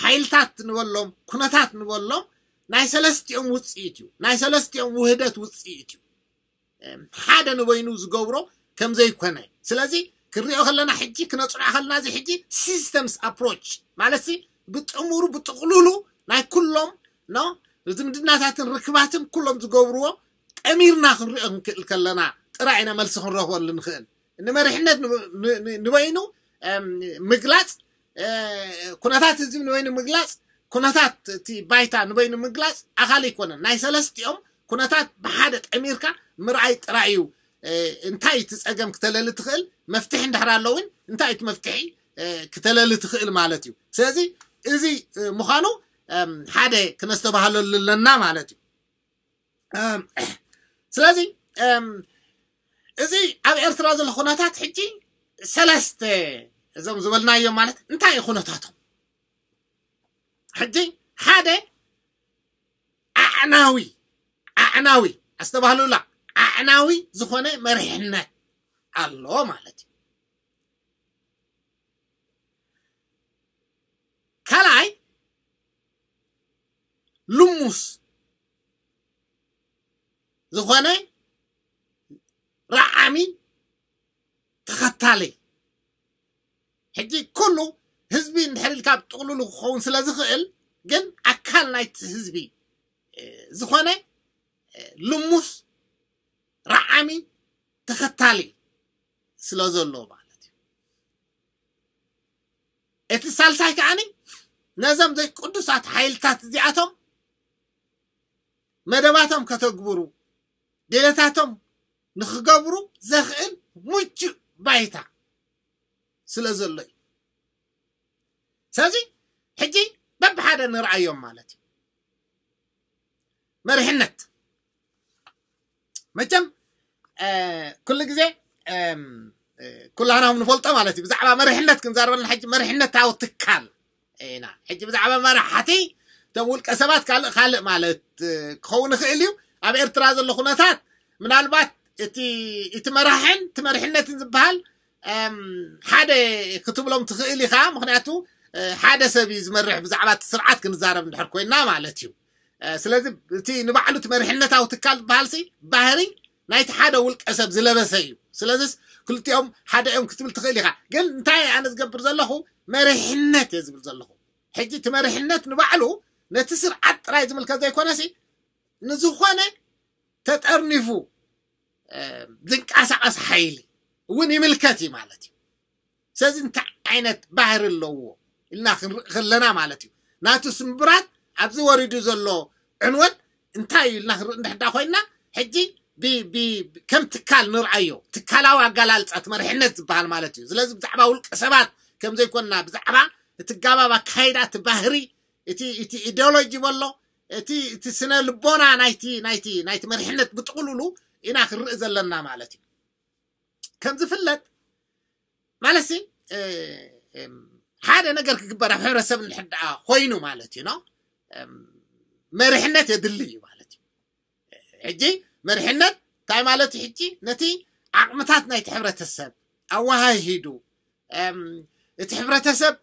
ሓይልታት ንበሎም ኩነታት ንበሎም ናይ ሰለስቲኦም ውፅኢት እዩ። ናይ ሰለስቲኦም ውህደት ውፅኢት እዩ። ሓደ ንበይኑ ዝገብሮ ከም ዘይኮነ ስለዚ ክንሪኦ ከለና ሕጂ ክነፅንዖ ከለና እዚ ሕጂ systems approach ማለት ብጥሙሩ ብጥቕሉሉ ናይ ኩሎም ኖ ዝምድናታትን ርክባትን ኩሎም ዝገብርዎ ጠሚርና ክንሪኦ ክንክእል ከለና ጥራይ ኢና መልሲ ክንረኽበሉ ንኽእል። ንመሪሕነት ንበይኑ ምግላፅ ኩነታት ህዝቢ ንበይኑ ምግላፅ ኩነታት እቲ ባይታ ንበይኑ ምግላፅ ኣኻል ኣይኮነን። ናይ ሰለስቲኦም ኩነታት ብሓደ ጠሚርካ ምርኣይ ጥራይ እዩ። እንታይ እቲ ፀገም ክተለሊ ትኽእል መፍትሒ እንድሕር ኣሎ እውን እንታይ እቲ መፍትሒ ክተለሊ ትኽእል ማለት እዩ። ስለዚ እዚ ምዃኑ ሓደ ክነስተባህለሉ ኣለና ማለት እዩ። ስለዚ እም፣ እዚ ኣብ ኤርትራ ዘሎ ኩነታት ሕጂ ሰለስተ እዞም ዝበልናዮም ማለት እንታይ እዩ ኩነታቶም? ሕጂ ሓደ ኣዕናዊ ኣዕናዊ ኣስተባህሉላ ኣዕናዊ ዝኾነ መሪሕነት ኣሎ ማለት እዩ። ካልኣይ ልሙስ ዝኾነ ረዓሚ ተኸታሊ። ሕጂ ኩሉ ህዝቢ እንድሕር ኢልካ ብጥቕሉሉ ክኸውን ስለ ዝኽእል፣ ግን ኣካል ናይቲ ህዝቢ እ፣ ዝኾነ እ፣ ልሙስ ረዓሚ ተኸታሊ ስለ ዘሎ ማለት እዩ። እቲ ሳልሳይ ከዓኒ ነዞም ዘይቅዱሳት ሓይልታት እዚኣቶም መደባቶም ከተግብሩ ድሌታቶም ንክገብሩ ዘኽእል ምቹእ ባይታ ስለ ዘሎ እዩ። ስለዚ ሕጂ በብሓደ ንርኣዮም ማለት እዩ። መሪሕነት መቸም ኩሉ ግዜ ኩላና ንፈልጦ ማለት እዩ። ብዛዕባ መሪሕነት ክንዛረበልና ሕጂ መሪሕነታዊ ትካል ኢና። ሕጂ ብዛዕባ መራሕቲ እቶም ውልቀ ሰባት ካልእ ካልእ ማለት ክኸውን ይኽእል እዩ። ኣብ ኤርትራ ዘሎ ኩነታት ምናልባት እቲ እቲ መራሕን እቲ መሪሕነትን ዝበሃል ሓደ ክትብሎም ትኽእል ኢኻ። ምክንያቱ ሓደ ሰብ እዩ ዝመርሕ። ብዛዕባ እቲ ስርዓት ክንዛረብ እንድሕር ኮይና ማለት እዩ። ስለዚ እቲ ንባዕሉ እቲ መሪሕነታዊ ትካል ዝበሃል ሲ ባህሪ ናይቲ ሓደ ውልቀ ሰብ ዝለበሰ እዩ። ስለዚስ ክልቲኦም ሓደ እዮም ክትብል ትኽእል ኢኻ። ግን እንታይ ኣነ ዝገብር ዘለኹ መሪሕነት እየ ዝብል ዘለኹ። ሕጂ እቲ መሪሕነት ንባዕሉ ነቲ ስርዓት ጥራይ ዝምልከት ዘይኮነሲ ንዝኾነ ተጠርኒፉ ዝንቀሳቐስ ሓይሊ እውን ይምልከት እዩ ማለት እዩ። ስለዚ እንታይ ዓይነት ባህሪ ኣለዎ ኢልና ክንርኢ ከለና ማለት እዩ ናቱ ስምብራት ኣብዚ ወሪዱ ዘሎ ዕንወት እንታይ እዩ ኢልና ክንርኢ እንድሕዳ ኮይና ሕጂ ከም ትካል ንርኣዮ። ትካላዊ ኣጋላልፃ እቲ መሪሕነት ዝበሃል ማለት እዩ። ስለዚ ብዛዕባ ውልቀ ሰባት ከም ዘይኮንና ብዛዕባ እቲ ጋባብ ኣካይዳ እቲ ባህሪ እቲ ኢዲዮሎጂ በሎ እቲ ስነ ልቦና ናይቲ ናይቲ ናይቲ መሪሕነት ብጥቕሉሉ ኢና ክንርኢ ዘለና ማለት እዩ። ከም ዝፍለጥ ማለት ሓደ ነገር ክግበር ኣብ ሕብረተሰብ እንድሕር ደኣ ኮይኑ ማለት እዩ ኖ መሪሕነት የድሊ እዩ ማለት እዩ። ሕጂ መሪሕነት እንታይ ማለት እዩ? ሕጂ ነቲ ዓቕምታት ናይቲ ሕብረተሰብ ኣወሃሂዱ እቲ ሕብረተሰብ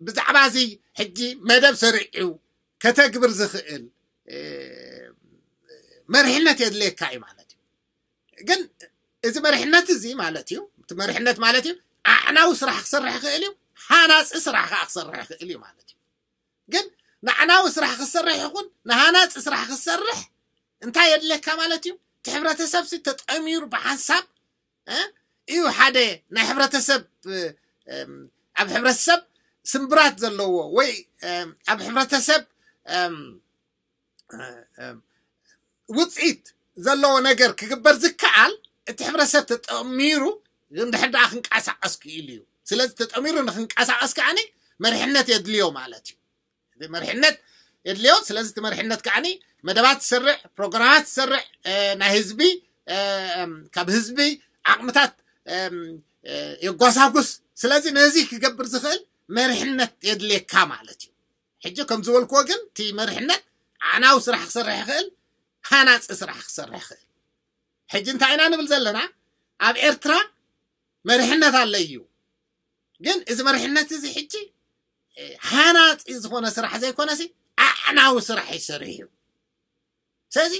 ብዛዕባ እዚ ሕጂ መደብ ሰሪዑ ከተግብር ዝኽእል መሪሕነት የድልየካ እዩ ማለት እዩ። ግን እዚ መሪሕነት እዚ ማለት እዩ እቲ መሪሕነት ማለት እዩ ኣዕናዊ ስራሕ ክሰርሕ ይኽእል እዩ፣ ሃናፂ ስራሕ ከዓ ክሰርሕ ይኽእል እዩ ማለት እዩ። ግን ንኣዕናዊ ስራሕ ክሰርሕ ይኹን ንሃናፂ ስራሕ ክሰርሕ እንታይ የድልየካ ማለት እዩ? እቲ ሕብረተሰብ ሲ ተጠሚሩ ብሓንሳብ እዩ ሓደ ናይ ሕብረተሰብ ኣብ ሕብረተሰብ ስምብራት ዘለዎ ወይ ኣብ ሕብረተሰብ ውፅኢት ዘለዎ ነገር ክግበር ዝከኣል እቲ ሕብረተሰብ ተጠሚሩ እንድሕር ደኣ ክንቀሳቀስ ክኢሉ እዩ። ስለዚ ተጠሚሩ ንክንቀሳቀስ ከዓኒ መሪሕነት የድልዮ ማለት እዩ። መሪሕነት የድልዮ። ስለዚ እቲ መሪሕነት ከዓኒ መደባት ትሰርዕ፣ ፕሮግራማት ትሰርዕ፣ ናይ ህዝቢ ካብ ህዝቢ ዓቕምታት የጓሳጉስ። ስለዚ ነዚ ክገብር ዝኽእል መሪሕነት የድልየካ ማለት እዩ። ሕጂ ከም ዝበልክዎ ግን እቲ መሪሕነት ኣዕናዊ ስራሕ ክሰርሕ ይኽእል፣ ሃናፂ ስራሕ ክሰርሕ ይኽእል። ሕጂ እንታይ ኢና ንብል ዘለና? ኣብ ኤርትራ መሪሕነት ኣሎ እዩ፣ ግን እዚ መሪሕነት እዚ ሕጂ ሃናፂ ዝኾነ ስራሕ ዘይኮነሲ ኣዕናዊ ስራሕ ይሰርሕ እዩ። ስለዚ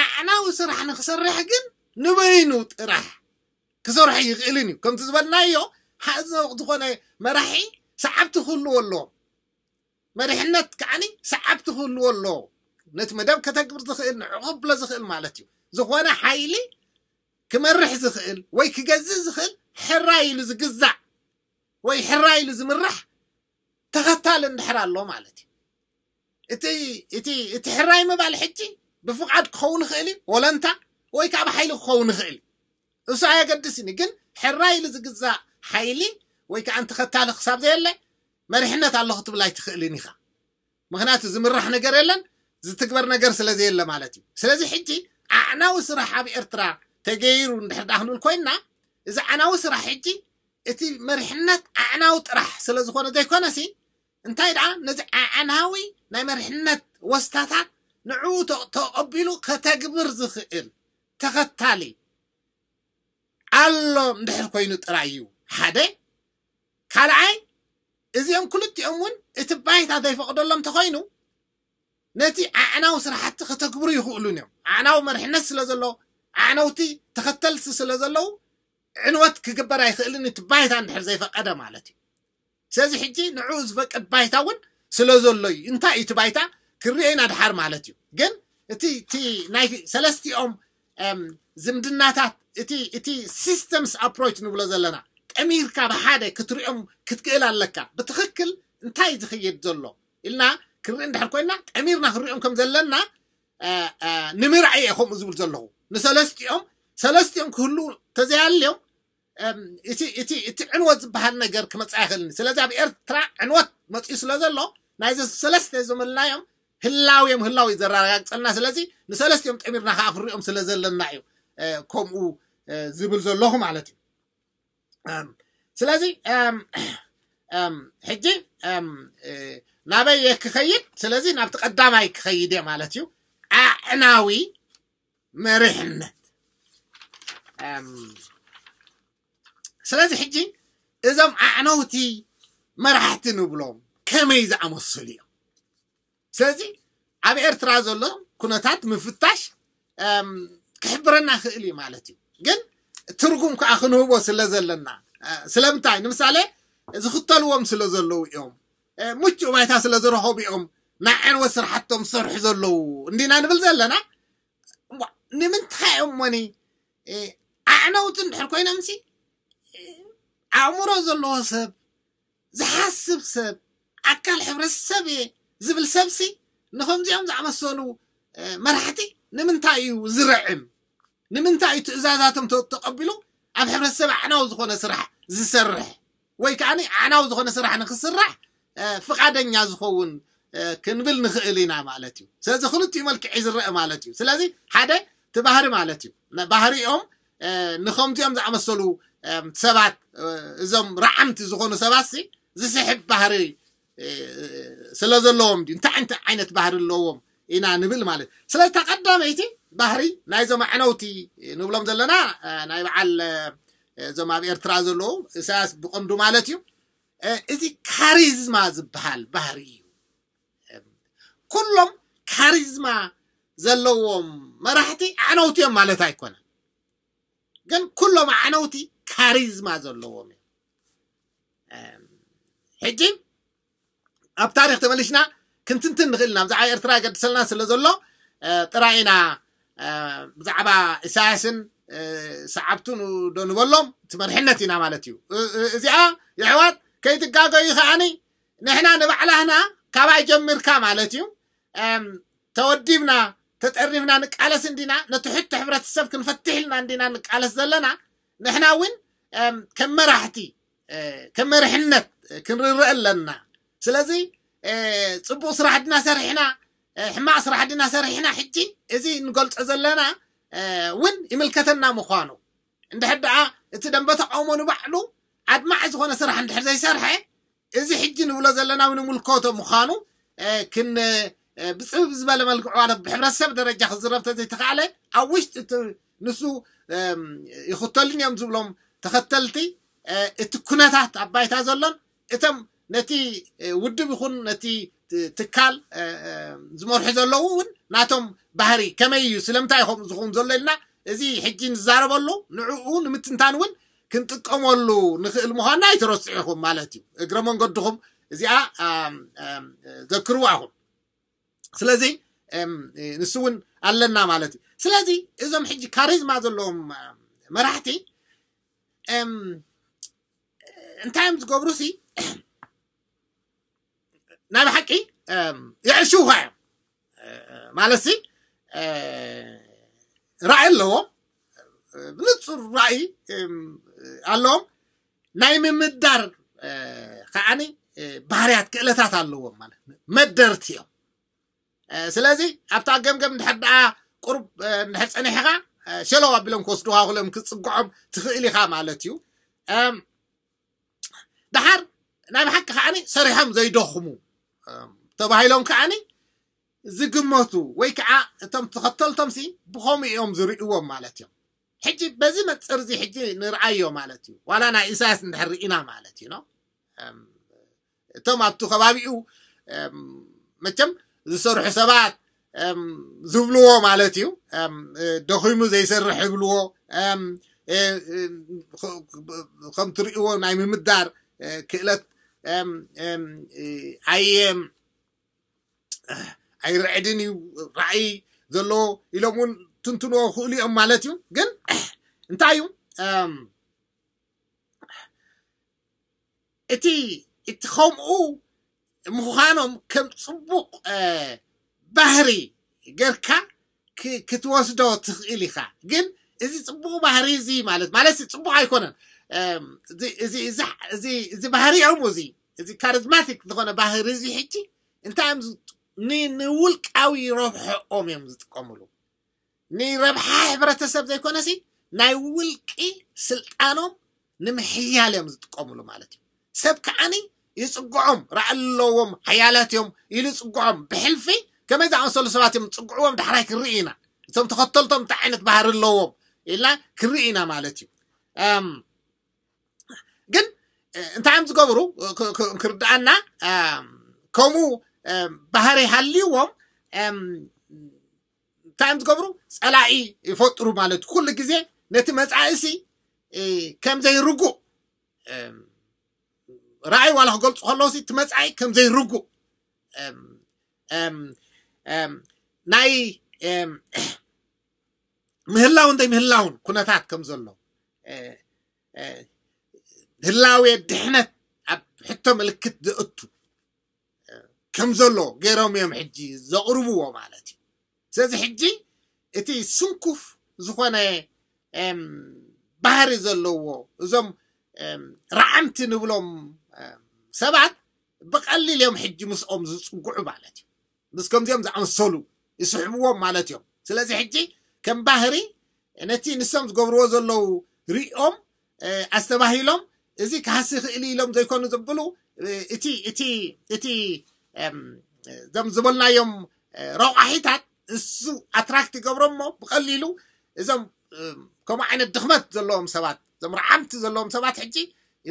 ኣዕናዊ ስራሕ ንክሰርሕ ግን ንበይኑ ጥራሕ ክሰርሖ ይኽእልን እዩ። ከምቲ ዝበልናዮ ሓደ ዝኾነ መራሒ ሰዓብቲ ክህልዎ ኣለዎም። መሪሕነት ከዓኒ ሰዓብቲ ክህልዎ ኣለዎ። ነቲ መደብ ከተግብር ዝኽእል ንዕቑ ክብሎ ዝኽእል ማለት እዩ። ዝኾነ ሓይሊ ክመርሕ ዝኽእል ወይ ክገዝእ ዝኽእል ሕራይ ኢሉ ዝግዛእ ወይ ሕራይ ኢሉ ዝምራሕ ተኸታሊ እንድሕር ኣሎ ማለት እዩ። እቲ እቲ እቲ ሕራይ ምባል ሕጂ ብፍቓድ ክኸውን ይኽእል እዩ፣ ወለንታ ወይ ከዓ ብሓይሊ ክኸውን ይኽእል እዩ። እሱ ኣየገድስን እዩ። ግን ሕራይ ኢሉ ዝግዛእ ሓይሊ ወይ ከዓ ተኸታሊ ክሳብ ዘየለ መሪሕነት ኣሎ ክትብል ኣይትኽእልን ኢኻ። ምክንያቱ ዝምራሕ ነገር የለን፣ ዝትግበር ነገር ስለ ዘየለ ማለት እዩ። ስለዚ ሕጂ ኣዕናዊ ስራሕ ኣብ ኤርትራ ተገይሩ እንድሕር ደኣ ክንብል ኮይንና፣ እዚ ኣዕናዊ ስራሕ ሕጂ እቲ መሪሕነት ኣዕናዊ ጥራሕ ስለ ዝኾነ ዘይኮነሲ፣ እንታይ ደኣ ነዚ ኣዕናዊ ናይ መሪሕነት ወስታታት ንዕኡ ተ- ተቐቢሉ ከተግብር ዝኽእል ተኸታሊ ኣሎ እንድሕር ኮይኑ ጥራይ እዩ ሓደ። ካልኣይ፣ እዚኦም ክልቲኦም እውን እቲ ባይታ ዘይፈቕደሎም እንተኾይኑ፣ ነቲ ኣዕናዊ ስራሕቲ ከተግብሩ ይኽእሉን እዮም። ኣዕናዊ መሪሕነት ስለ ዘሎ፣ ኣዕነውቲ ተኸተልቲ ስለ ዘለዉ፣ ዕንወት ክግበር ኣይኽእልን፣ እቲ ባይታ እንድሕር ዘይፈቀደ ማለት እዩ። ስለዚ ሕጂ ንዕኡ ዝፈቅድ ባይታ እውን ስለ ዘሎ እዩ። እንታይ እዩ እቲ ባይታ? ክርኤና ድሓር ማለት እዩ። ግን እቲ እቲ ናይ ሰለስቲኦም ዝምድናታት፣ እቲ እቲ ሲስተምስ ኣፕሮች ንብሎ ዘለና፣ ጠሚርካ ብሓደ ክትሪኦም ክትክእል ኣለካ። ብትኽክል እንታይ ዝኽየድ ዘሎ ኢልና ክንርኢ እንድሕር ኮይና፣ ጠሚርና ክንሪኦም ከም ዘለና ንምርኣይ እየ ከምኡ ዝብል ዘለኹ። ንሰለስቲኦም ሰለስቲኦም ክህሉ ተዘያልዮም እቲ እቲ እቲ ዕንወት ዝበሃል ነገር ክመፅእ ኣይኽእልን። ስለዚ ኣብ ኤርትራ ዕንወት መፅኡ ስለ ዘሎ፣ ናይዚ ሰለስተ ዝመልናዮም ህላውዮም ህላው እዩ ዘረጋግፀልና። ስለዚ ንሰለስቲኦም ጠሚርና ከዓ ክንሪኦም ስለ ዘለና እዩ ከምኡ ዝብል ዘለኹ ማለት እዩ። ስለዚ ሕጂ ናበይ እየ ክኸይድ? ስለዚ ናብቲ ቀዳማይ ክኸይድ እየ ማለት እዩ። ኣዕናዊ መሪሕነት። ስለዚ ሕጂ እዞም ኣዕነውቲ መራሕቲ ንብሎም ከመይ ዝኣመሰሉ እዮም? ስለዚ ኣብ ኤርትራ ዘሎ ኩነታት ምፍታሽ ክሕብረና ክእል እዩ ማለት እዩ። ግን ትርጉም ከዓ ክንህቦ ስለ ዘለና፣ ስለምንታይ? ንምሳሌ ዝኽተልዎም ስለ ዘለዉ እዮም፣ ምቹእ ባይታ ስለ ዝረኸቡ እዮም ናይ ዕንወት ስራሕቶም ዝሰርሑ ዘለዉ እንዲና ንብል ዘለና። ንምንታይ እዮም ሞኒ ኣዕነውቲ እንድሕር ኮይኖምሲ፣ ኣእምሮ ዘለዎ ሰብ፣ ዝሓስብ ሰብ፣ ኣካል ሕብረተሰብ እየ ዝብል ሰብሲ ንከምዚኦም ዝኣመሰሉ መራሕቲ ንምንታይ እዩ ዝርዕም? ንምንታይ እዩ ትእዛዛቶም ተቐቢሉ ኣብ ሕብረተሰብ ኣዕናዊ ዝኾነ ስራሕ ዝሰርሕ ወይ ከዓ ኣዕናዊ ዝኾነ ስራሕ ንክስራሕ ፍቓደኛ ዝኸውን ክንብል ንኽእል ኢና ማለት እዩ። ስለዚ ክልቲኡ መልክዕ እዩ ዝረአ ማለት እዩ። ስለዚ ሓደ እቲ ባህሪ ማለት እዩ። ባህሪኦም ንከምዚኦም ዝኣመሰሉ ሰባት፣ እዞም ረዓምቲ ዝኾኑ ሰባት ዝስሕብ ባህሪ ስለ ዘለዎም ድዩ? እንታይ ዓይነት ዓይነት ባህሪ ኣለዎም ኢና ንብል ማለት። ስለዚ እታ ቀዳመይቲ ባህሪ ናይዞም ኣዕነውቲ ንብሎም ዘለና ናይ በዓል እዞም ኣብ ኤርትራ ዘለዉ ኢሳያስ ብቐንዱ ማለት እዩ። እዚ ካሪዝማ ዝበሃል ባህሪ እዩ። ኩሎም ካሪዝማ ዘለዎም መራሕቲ ኣዕነውቲ እዮም ማለት ኣይኮነን። ግን ኩሎም ኣዕነውቲ ካሪዝማ ዘለዎም እዮም። ሕጂ ኣብ ታሪክ ተመሊስና ክንትንትን ንኽእል ኢና። ብዛዕባ ኤርትራ ይገድሰልና ስለ ዘሎ ጥራይ ኢና ብዛዕባ ኢሳያስን ሰዓብቱን ዶ ንበሎም እቲ መርሕነት ኢና ማለት እዩ። እዚኣ የሕዋት ከይትጋገዩ ከዓኒ ንሕና ንባዕላህና ካባይ ጀሚርካ ማለት እዩ ተወዲብና ተጠሪፍና ንቃለስ እንዲና፣ ነቲ ሕቶ ሕብረተሰብ ክንፈትሕ ኢልና እንዲና ንቃለስ ዘለና። ንሕና እውን ከም መራሕቲ ከም መርሕነት ክንርረእ ኣለና። ስለዚ ፅቡቅ ስራሕ ድና ሰሪሕና ሕማቅ ስራሕ ድና ሰሪሕና ሕጂ እዚ ንገልፆ ዘለና እውን ይምልከተና ምኳኑ እንድሕር ደኣ እቲ ደንበ ተቃውሞ ንባዕሉ ኣድማዒ ዝኾነ ስራሕ እንድሕር ዘይሰርሐ እዚ ሕጂ ንብሎ ዘለና እውን ይምልከቶ ምኳኑ ክን ብፅብብ ዝበለ መልክዑ ማለት ብሕብረተሰብ ደረጃ ክዝረብ ተዘይተኻእለ ኣብ ውሽጢ እቲ ንሱ ይኽተሉን እዮም ዝብሎም ተኸተልቲ እቲ ኩነታት ኣብ ባይታ ዘሎን እቶም ነቲ ውድብ ይኹን ነቲ ትካል ዝመርሑ ዘለዉ እውን ናቶም ባህሪ ከመይ እዩ ስለምንታይ ከምኡ ዝኸውን ዘሎ ኢልና እዚ ሕጂ ንዛረበሉ ንዕኡ ንምትንታን እውን ክንጥቀመሉ ንኽእል ምዃንና ኣይትረስዑ ኢኹም ማለት እዩ። እግረ መንገድኹም እዚኣ ዘክርዋ ኢኹም። ስለዚ ንሱ እውን ኣለና ማለት እዩ። ስለዚ እዞም ሕጂ ካሪዝማ ዘለዎም መራሕቲ እንታይ እዮም ዝገብሩ ሲ ናይ ብሓቂ የዕሽውኻ እዮም ማለት ሲ ራእይ ኣለዎም፣ ብንፁር ራእይ ኣለዎም። ናይ ምምዳር ከዓኒ ባህርያት ክእለታት ኣለዎም ማለት መደርቲ እዮም። ስለዚ ኣብታ ገምገም እንድሕር ደኣ ቁሩብ እንድሕር ፀኒሕኻ ሸለው ኣቢሎም ክወስዱኻ ክሎም ክፅግዖም ትኽእል ኢኻ ማለት እዩ። ደሓር ናይ ብሓቂ ከዓኒ ሰሪሖም ዘይደኽሙ ተባሂሎም ከዓኒ ዝግመቱ ወይ ከዓ እቶም ተኸተልቶም ሲ ብኸምኡ እዮም ዝርእዎም ማለት እዮም። ሕጂ በዚ መፅር እዚ ሕጂ ንርኣዮ ማለት እዩ። ዋላ ናይ ኢሳያስ እንድሕር ርኢና ማለት እዩ። እቶም ኣብቲ ከባቢኡ መቸም ዝሰርሑ ሰባት ዝብልዎ ማለት እዩ። ደኺሙ ዘይሰርሕ ይብልዎ። ከም ትርእይዎ ናይ ምምዳር ክእለት ኣየ ኣይርዕድን እዩ፣ ራእይ ዘለዎ ኢሎም እውን ትንትንዎ ክእሉ እዮም ማለት እዩ። ግን እንታይ እዩ እቲ እቲ ከምኡ ምዃኖም ከም ፅቡቕ ባህሪ ገርካ ክትወስዶ ትኽእል ኢኻ። ግን እዚ ፅቡቕ ባህሪ እዚ ማለት ማለት ፅቡቕ ኣይኮነን። እዚ ባህሪኦም እዚ እዚ ካሪዝማቲክ ዝኾነ ባህሪ እዚ ሕጂ እንታይ እዮም ንውልቃዊ ረብሐኦም እዮም ዝጥቀምሉ። ንረብሓ ሕብረተሰብ ዘይኮነሲ ናይ ውልቂ ስልጣኖም ንምሕያል እዮም ዝጥቀምሉ ማለት እዩ። ሰብ ከዓኒ ይፅግዖም፣ ራእይ ኣለዎም፣ ሓያላት እዮም ኢሉ ይፅግዖም። ብሕልፊ ከመይ ዝኣመሰሉ ሰባት እዮም ዝፅግዕዎም ዳሕራይ ክንርኢ ኢና። እቶም ተኸተልቶም እንታይ ዓይነት ባህሪ ኣለዎም ኢልና ክንርኢ ኢና ማለት እዩ። ግን እንታይ እዮም ዝገብሩ ክርድኣና ከምኡ ባህሪ ሃልይዎም እንታይ እዮም ዝገብሩ? ፀላኢ ይፈጥሩ ማለት ኩሉ ግዜ ነቲ መፃእሲ ከም ዘይርጉእ ራእይ ዋላ ክገልፁ ከለውሲ እቲ መፃኢ ከም ዘይርጉእ ናይ ምህላውን ዘይምህላውን ኩነታት ከም ዘሎ ህላዌ ድሕነት ኣብ ሕቶ ምልክት ዘእቱ ከም ዘሎ ገይሮም እዮም ሕጂ ዘቕርብዎ ማለት እዩ። ስለዚ ሕጂ እቲ ስንኩፍ ዝኾነ ባህሪ ዘለዎ እዞም ረዓምቲ ንብሎም ሰባት ብቐሊል እዮም ሕጂ ምስኦም ዝፅጉዑ ማለት እዩ። ምስ ከምዚኦም ዝኣመሰሉ ይስሕብዎም ማለት እዮም። ስለዚ ሕጂ ከም ባህሪ ነቲ ንሶም ዝገብርዎ ዘለዉ ሪኦም ኣስተባሂሎም እዚ ክሃሲ ይኽእል ኢሎም ዘይኮኑ ዘብሉ እቲ እቲ እቲ እዞም ዝበልናዮም ረቋሒታት እሱ ኣትራክት ይገብሮሞ ብቐሊሉ እዞም ከምኡ ዓይነት ድኽመት ዘለዎም ሰባት እዞም ረዓምቲ ዘለዎም ሰባት ሕጂ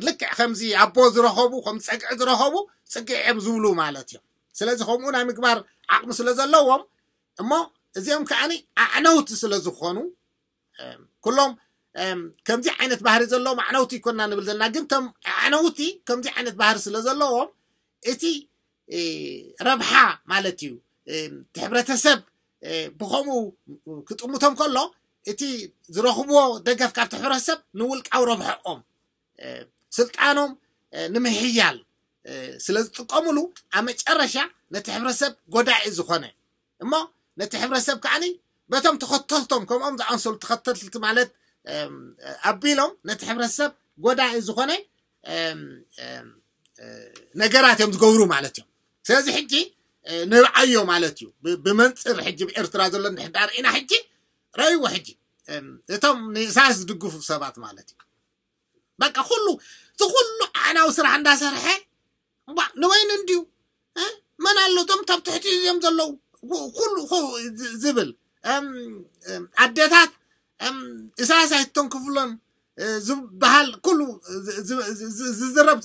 ልክዕ ከምዚ ኣቦ ዝረኸቡ ከም ፀግዒ ዝረኸቡ ፅግዒ እዮም ዝብሉ ማለት እዮም። ስለዚ ከምኡ ናይ ምግባር ዓቕሚ ስለ ዘለዎም እሞ እዚኦም ከዓኒ ኣዕነውቲ ስለ ዝኾኑ ኩሎም ከምዚ ዓይነት ባህሪ ዘለዎም ኣዕነውቲ ይኮና ንብል ዘለና ግን ቶም ኣዕነውቲ ከምዚ ዓይነት ባህሪ ስለ ዘለዎም እቲ ረብሓ ማለት እዩ እቲ ሕብረተሰብ ብኸምኡ ክጥምቶም ከሎ እቲ ዝረኽብዎ ደገፍ ካብቲ ሕብረተሰብ ንውልቃዊ ረብሐኦም ስልጣኖም ንምሕያል ስለ ዝጥቀምሉ ኣብ መጨረሻ ነቲ ሕብረተሰብ ጎዳኢ ዝኾነ እሞ ነቲ ሕብረተሰብ ከዓኒ በቶም ተኸተልቶም ከምኦም ዝኣንሰሉ ተኸተልቲ ማለት ኣቢሎም ነቲ ሕብረተሰብ ጎዳኢ ዝኾነ ነገራት እዮም ዝገብሩ ማለት እዮም። ስለዚ ሕጂ ንርኣዮ ማለት እዩ። ብመንፅር ሕጂ ብኤርትራ ዘሎ ንሕዳር ኢና ሕጂ ረእይዎ ሕጂ እቶም ንኢሳያስ ዝድግፉ ሰባት ማለት እዩ። በቃ ኩሉ እቲ ኩሉ ኣዕናዊ ስራሕ እንዳሰርሐ ንበይኑ እንድዩ መን ኣሎ እቶም ካብ ትሕቲ እዮም ዘለዉ ኩሉ ዝብል ኣደታት ኢሳያስ ኣይተንክፍሎን ዝበሃል ኩሉ ዝዝረብ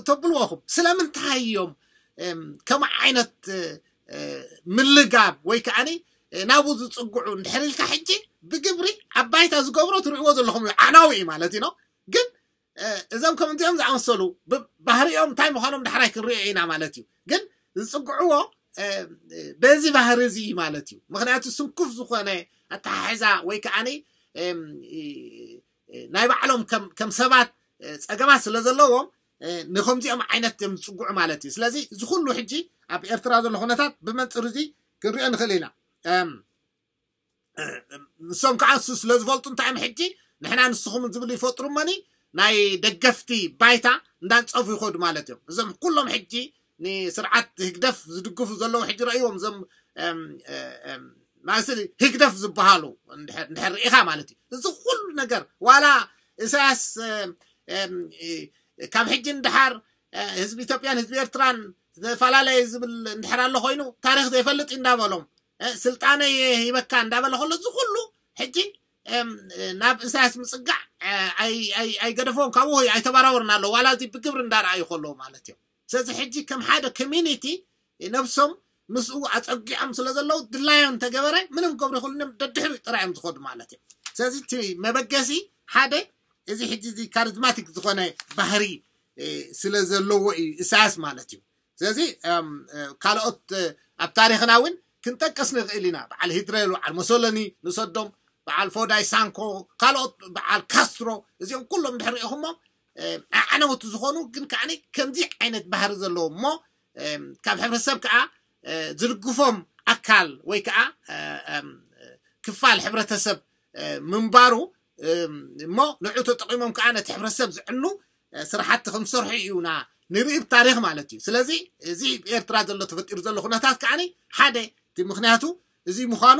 ተብልዎኹም ስለምንታይ እዮም ከም ዓይነት ምልጋብ ወይ ከዓኒ ናብኡ ዝፅግዑ እንድሕር ኢልካ ሕጂ ብግብሪ ኣብ ባይታ ዝገብሮ ትርእይዎ ዘለኹም እዩ ዓናዊ እዩ ማለት እዩ ግን እዞም ከምዚኦም ዝኣመሰሉ ባህሪኦም እንታይ ምዃኖም ዳሕራይ ክንሪኦ ኢና ማለት እዩ ግን ዝፅግዕዎ በዚ ባህሪ እዚ ማለት እዩ ምክንያቱ ስንኩፍ ዝኾነ ኣተሓሕዛ ወይ ከዓኒ ናይ ባዕሎም ከም ሰባት ፀገማት ስለ ዘለዎም ንከምዚኦም ዓይነት እዮም ዝፅግዑ ማለት እዩ ስለዚ እዚ ኩሉ ሕጂ ኣብ ኤርትራ ዘሎ ኩነታት ብመንፅር እዚ ክንሪኦ ንኽእል ኢና ንሶም ከዓ ንሱ ስለ ዝፈልጡ እንታይ እዮም ሕጂ ንሕና ንስኹም ዝብል ይፈጥሩ እመኒ ናይ ደገፍቲ ባይታ እንዳንፀፉ ይኸዱ ማለት እዮም እዞም ኩሎም ሕጂ ንስርዓት ህግደፍ ዝድግፉ ዘለዉ ሕጂ ረእይዎም እዞም ማለት ህግደፍ ዝበሃሉ እንድሕር ርኢኻ ማለት እዩ። እዚ ኩሉ ነገር ዋላ ኢሳያስ ካብ ሕጂ ንደሓር ህዝቢ ኢትዮጵያን ህዝቢ ኤርትራን ዝተፈላለየ ዝብል እንድሕር ኣሎ ኮይኑ ታሪኽ ዘይፈልጥ እዩ እንዳበሎም ስልጣነ ይበካ እንዳበለ ከሎ እዚ ኩሉ ሕጂ ናብ ኢሳያስ ምፅጋዕ ኣይገደፎም ካብኡ ኣይተበራወርን ኣሎ ዋላ እዚ ብግብሪ እንዳረኣዩ ከለዉ ማለት እዮም። ስለዚ ሕጂ ከም ሓደ ኮሚኒቲ ነብሶም ምስኡ ኣፀጊዖም ስለ ዘለዉ ድላዮም እንተገበረ ምንም ክገብሩ ይኽእሉ እዮም። ደድሕሪ ጥራይ እዮም ዝኸዱ ማለት እዮም። ስለዚ እቲ መበገሲ ሓደ እዚ ሕጂ እዚ ካሪዝማቲክ ዝኾነ ባህሪ ስለ ዘለዎ እዩ ኢሳያስ ማለት እዩ። ስለዚ ካልኦት ኣብ ታሪኽና እውን ክንጠቅስ ንኽእል ኢና። በዓል ሂትለር፣ በዓል ሞሶሎኒ ንሰዶም፣ በዓል ፎዳይ ሳንኮ፣ ካልኦት በዓል ካስትሮ እዚኦም ኩሎም ድሕሪ ኢኹሞም ኣዕነውቲ ዝኾኑ ግን ከዓ ከምዚ ዓይነት ባህሪ ዘለዎ እሞ ካብ ሕብረተሰብ ከዓ ዝድግፎም ኣካል ወይ ከዓ ክፋል ሕብረተሰብ ምንባሩ እሞ ንዑ ተጠቂሞም ከዓ ነቲ ሕብረተሰብ ዝዕኑ ስራሕቲ ከምሰርሑ እዩና ንርኢ ብታሪኽ ማለት እዩ። ስለዚ እዚ ኤርትራ ዘሎ ተፈጢሩ ዘሎ ኩነታት ከዓ ሓደ እቲ ምክንያቱ እዚ ምዃኑ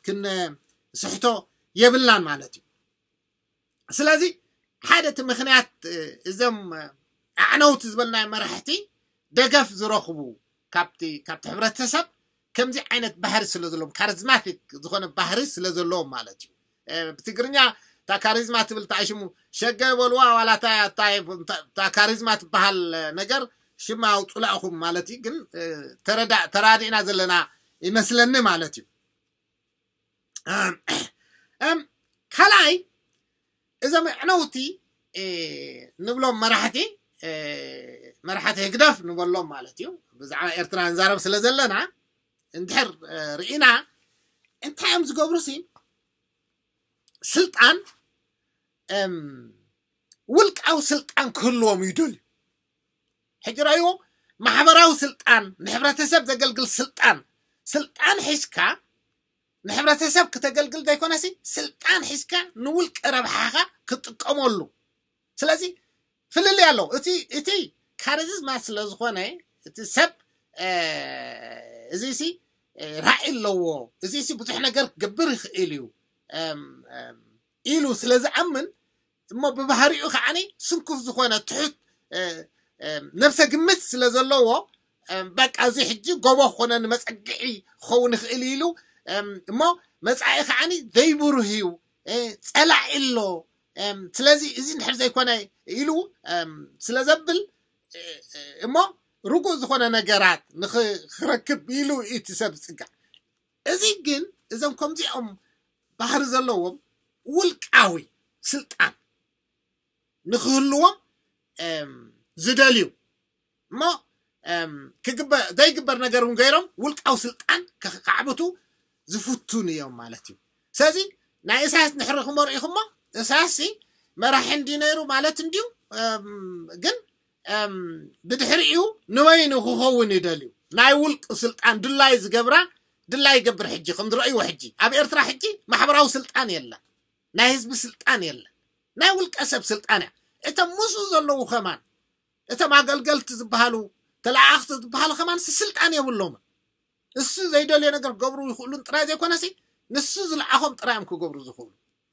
ክንስሕቶ የብልናን ማለት እዩ። ስለዚ ሓደ እቲ ምክንያት እዞም ኣዕነውቲ ዝበልናዮ መራሕቲ ደገፍ ዝረኽቡ ካብቲ ካብቲ ሕብረተሰብ ከምዚ ዓይነት ባህሪ ስለ ዘለዎም ካሪዝማቲክ ዝኾነ ባህሪ ስለ ዘለዎም ማለት እዩ። ብትግርኛ እታ ካሪዝማ ትብል እታ ሽሙ ሸገ በልዋ ዋላ እታ ካሪዝማ ትበሃል ነገር ሽማ ኣውፁላ ኢኹም ማለት እዩ። ግን ተራዲእና ዘለና ይመስለኒ ማለት እዩ። ካልኣይ እዞም ኣዕነውቲ ንብሎም መራሕቲ መራሕቲ ህግደፍ ንበሎም ማለት እዩ። ብዛዕባ ኤርትራ ንዛረብ ስለ ዘለና እንድሕር ርኢና እንታይ እዮም ዝገብሩ ሲ ስልጣን ውልቃዊ ስልጣን ክህልዎም ይደልዩ። ሕጂ ረእይዎ ማሕበራዊ ስልጣን ንሕብረተሰብ ዘገልግል ስልጣን ስልጣን ሒዝካ ንሕብረተሰብ ክተገልግል ዘይኮነሲ ስልጣን ሒዝካ ንውልቀ ረብሓኻ ክትጥቀመሉ። ስለዚ ፍልልይ ኣለዎ። እቲ እቲ ካሪዝማ ስለ ዝኾነ እቲ ሰብ እዚ ሲ ራእይ ኣለዎ። እዚ ሲ ብዙሕ ነገር ክገብር ይኽእል እዩ ኢሉ ስለ ዝኣምን እሞ ብባህሪኡ ከዓኒ ስንኩፍ ዝኾነ ትሑት ነብሰ ግምት ስለ ዘለዎ በቃ እዚ ሕጂ ጎቦ ክኾነ ንመፀግዒ ክኸውን ይኽእል ኢሉ እሞ መፃኢ ከዓኒ ዘይብሩህ እዩ፣ ፀላኢ ኣሎ። ስለዚ እዚ እንድሕር ዘይኮነ ኢሉ ስለ ዘብል እሞ ርጉእ ዝኾነ ነገራት ንኽረክብ ኢሉ እቲ ሰብ ዝፅጋዕ። እዚ ግን እዞም ከምዚኦም ባህሪ ዘለዎም ውልቃዊ ስልጣን ንክህልዎም ዝደልዩ እሞ ዘይግበር ነገር እውን ገይሮም ውልቃዊ ስልጣን ከዕብቱ ዝፍቱን እዮም ማለት እዩ። ስለዚ ናይ እሳያስ ንሕሪ ክመርኢኹሞ እሳያስ መራሒ እንዲ ነይሩ ማለት እንዲዩ። ግን ብድሕሪኡ ንበይኑ ክኸውን ይደልዩ ናይ ውልቂ ስልጣን ድላይ ዝገብራ ድላይ ይገብር። ሕጂ ከም ዝረእይዎ ሕጂ ኣብ ኤርትራ ሕጂ ማሕበራዊ ስልጣን የለን፣ ናይ ህዝቢ ስልጣን የለን፣ ናይ ውልቀ ሰብ ስልጣን እያ። እቶም ምስኡ ዘለዉ ከማን እቶም ኣገልገልቲ ዝበሃሉ ተለኣኣኽቲ ዝበሃሉ ከማን ስልጣን የብሎምን። እሱ ዘይደልዮ ነገር ክገብሩ ይኽእሉን ጥራይ ዘይኮነሲ ንሱ ዝለኣኾም ጥራይ እዮም ክገብሩ ዝኽእሉ።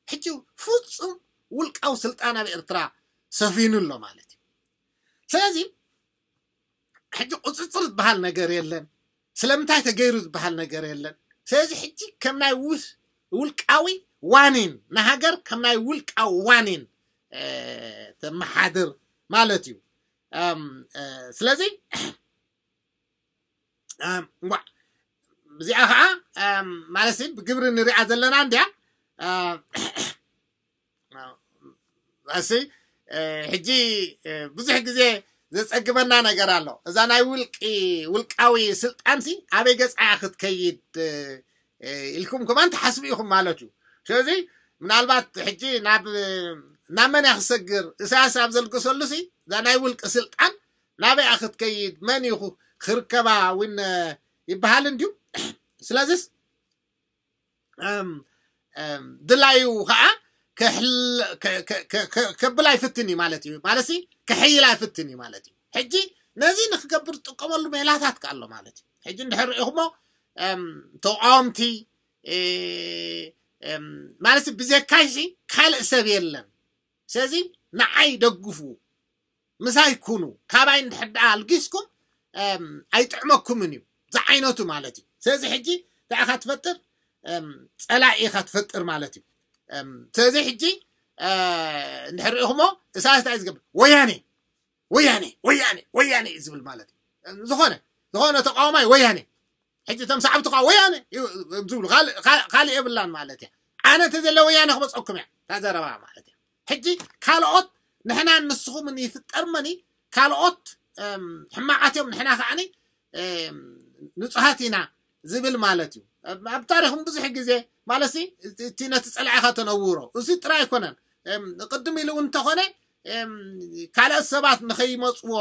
ሕጂ ፍጹም ውልቃዊ ስልጣን ኣብ ኤርትራ ሰፊኑ ኣሎ ማለት እዩ። ስለዚ ሕጂ ቁፅፅር ዝበሃል ነገር የለን። ስለምንታይ ተገይሩ ዝበሃል ነገር የለን። ስለዚ ሕጂ ከም ናይ ውልቃዊ ዋኒን ንሃገር ከም ናይ ውልቃዊ ዋኒን ተመሓድር ማለት እዩ። ስለዚ እዚኣ ከዓ ማለት ብግብሪ ንሪኣ ዘለና እንዲያ እሲ ሕጂ ብዙሕ ግዜ ዘፀግበና ነገር ኣሎ። እዛ ናይ ውልቂ ውልቃዊ ስልጣንሲ ኣበይ ገፃ ክትከይድ ኢልኩም ከማን ትሓስቡ ኢኹም ማለት እዩ። ስለዚ ምናልባት ሕጂ ናብ ናብ መን እያ ክሰግር እሳያስ ኣብ ዘልግሰሉ ሲ እዛ ናይ ውልቂ ስልጣን ናበይ እያ ክትከይድ መን እዩ ክርከባ እውን ይበሃል እንድዩ። ስለዚስ ድላዩ ከዓ ከብላ ይፍትን እዩ ማለት እዩ። ማለት ከሕይላ ይፍትን እዩ ማለት እዩ። ሕጂ ነዚ ንክገብር ዝጥቀመሉ ሜላታት ከ ኣሎ ማለት እዩ። ሕጂ እንድሕር ርኢኹሞ ተቃወምቲ ማለት ብዘካይሲ ካልእ ሰብ የለን። ስለዚ ንዓይ ደግፉ፣ ምሳይ ኩኑ፣ ካባይ እንድሕር ደኣ ኣልጊስኩም ኣይጥዕመኩምን እዩ ዝዓይነቱ ማለት እዩ። ስለዚ ሕጂ እንታይ ኢኻ ትፈጥር? ጸላኢ ኢኻ ትፈጥር ማለት እዩ። ስለዚ ሕጂ እንድሕር ርኢኹሞ፣ እሳያስ እንታይ እዩ ዝገብር? ወያኔ ወያኔ ወያኔ ወያኔ እዩ ዝብል ማለት እዩ። ዝኾነ ዝኾነ ተቃዋማይ ወያኔ። ሕጂ እቶም ሰዓብቲ ከዓ ወያነ ዝብሉ ካልእ የብላን ማለት እያ። ኣነ እንተዘለ ወያነ ክመፀኩም እያ ታዘረባ ማለት እያ። ሕጂ ካልኦት ንሕናን ንስኹምን ይፍጠር መኒ ካልኦት ሕማቃት እዮም፣ ንሕና ከዓኒ ንፁሃት ኢና ዝብል ማለት እዩ። ኣብ ታሪኽም ብዙሕ ግዜ ማለት እቲ ነቲ ፀላዒኻ ተነውሮ እዚ ጥራይ ኣይኮነን። ቅድም ኢሉ እውን እንተኾነ ካልኦት ሰባት ንኸይመፅዎ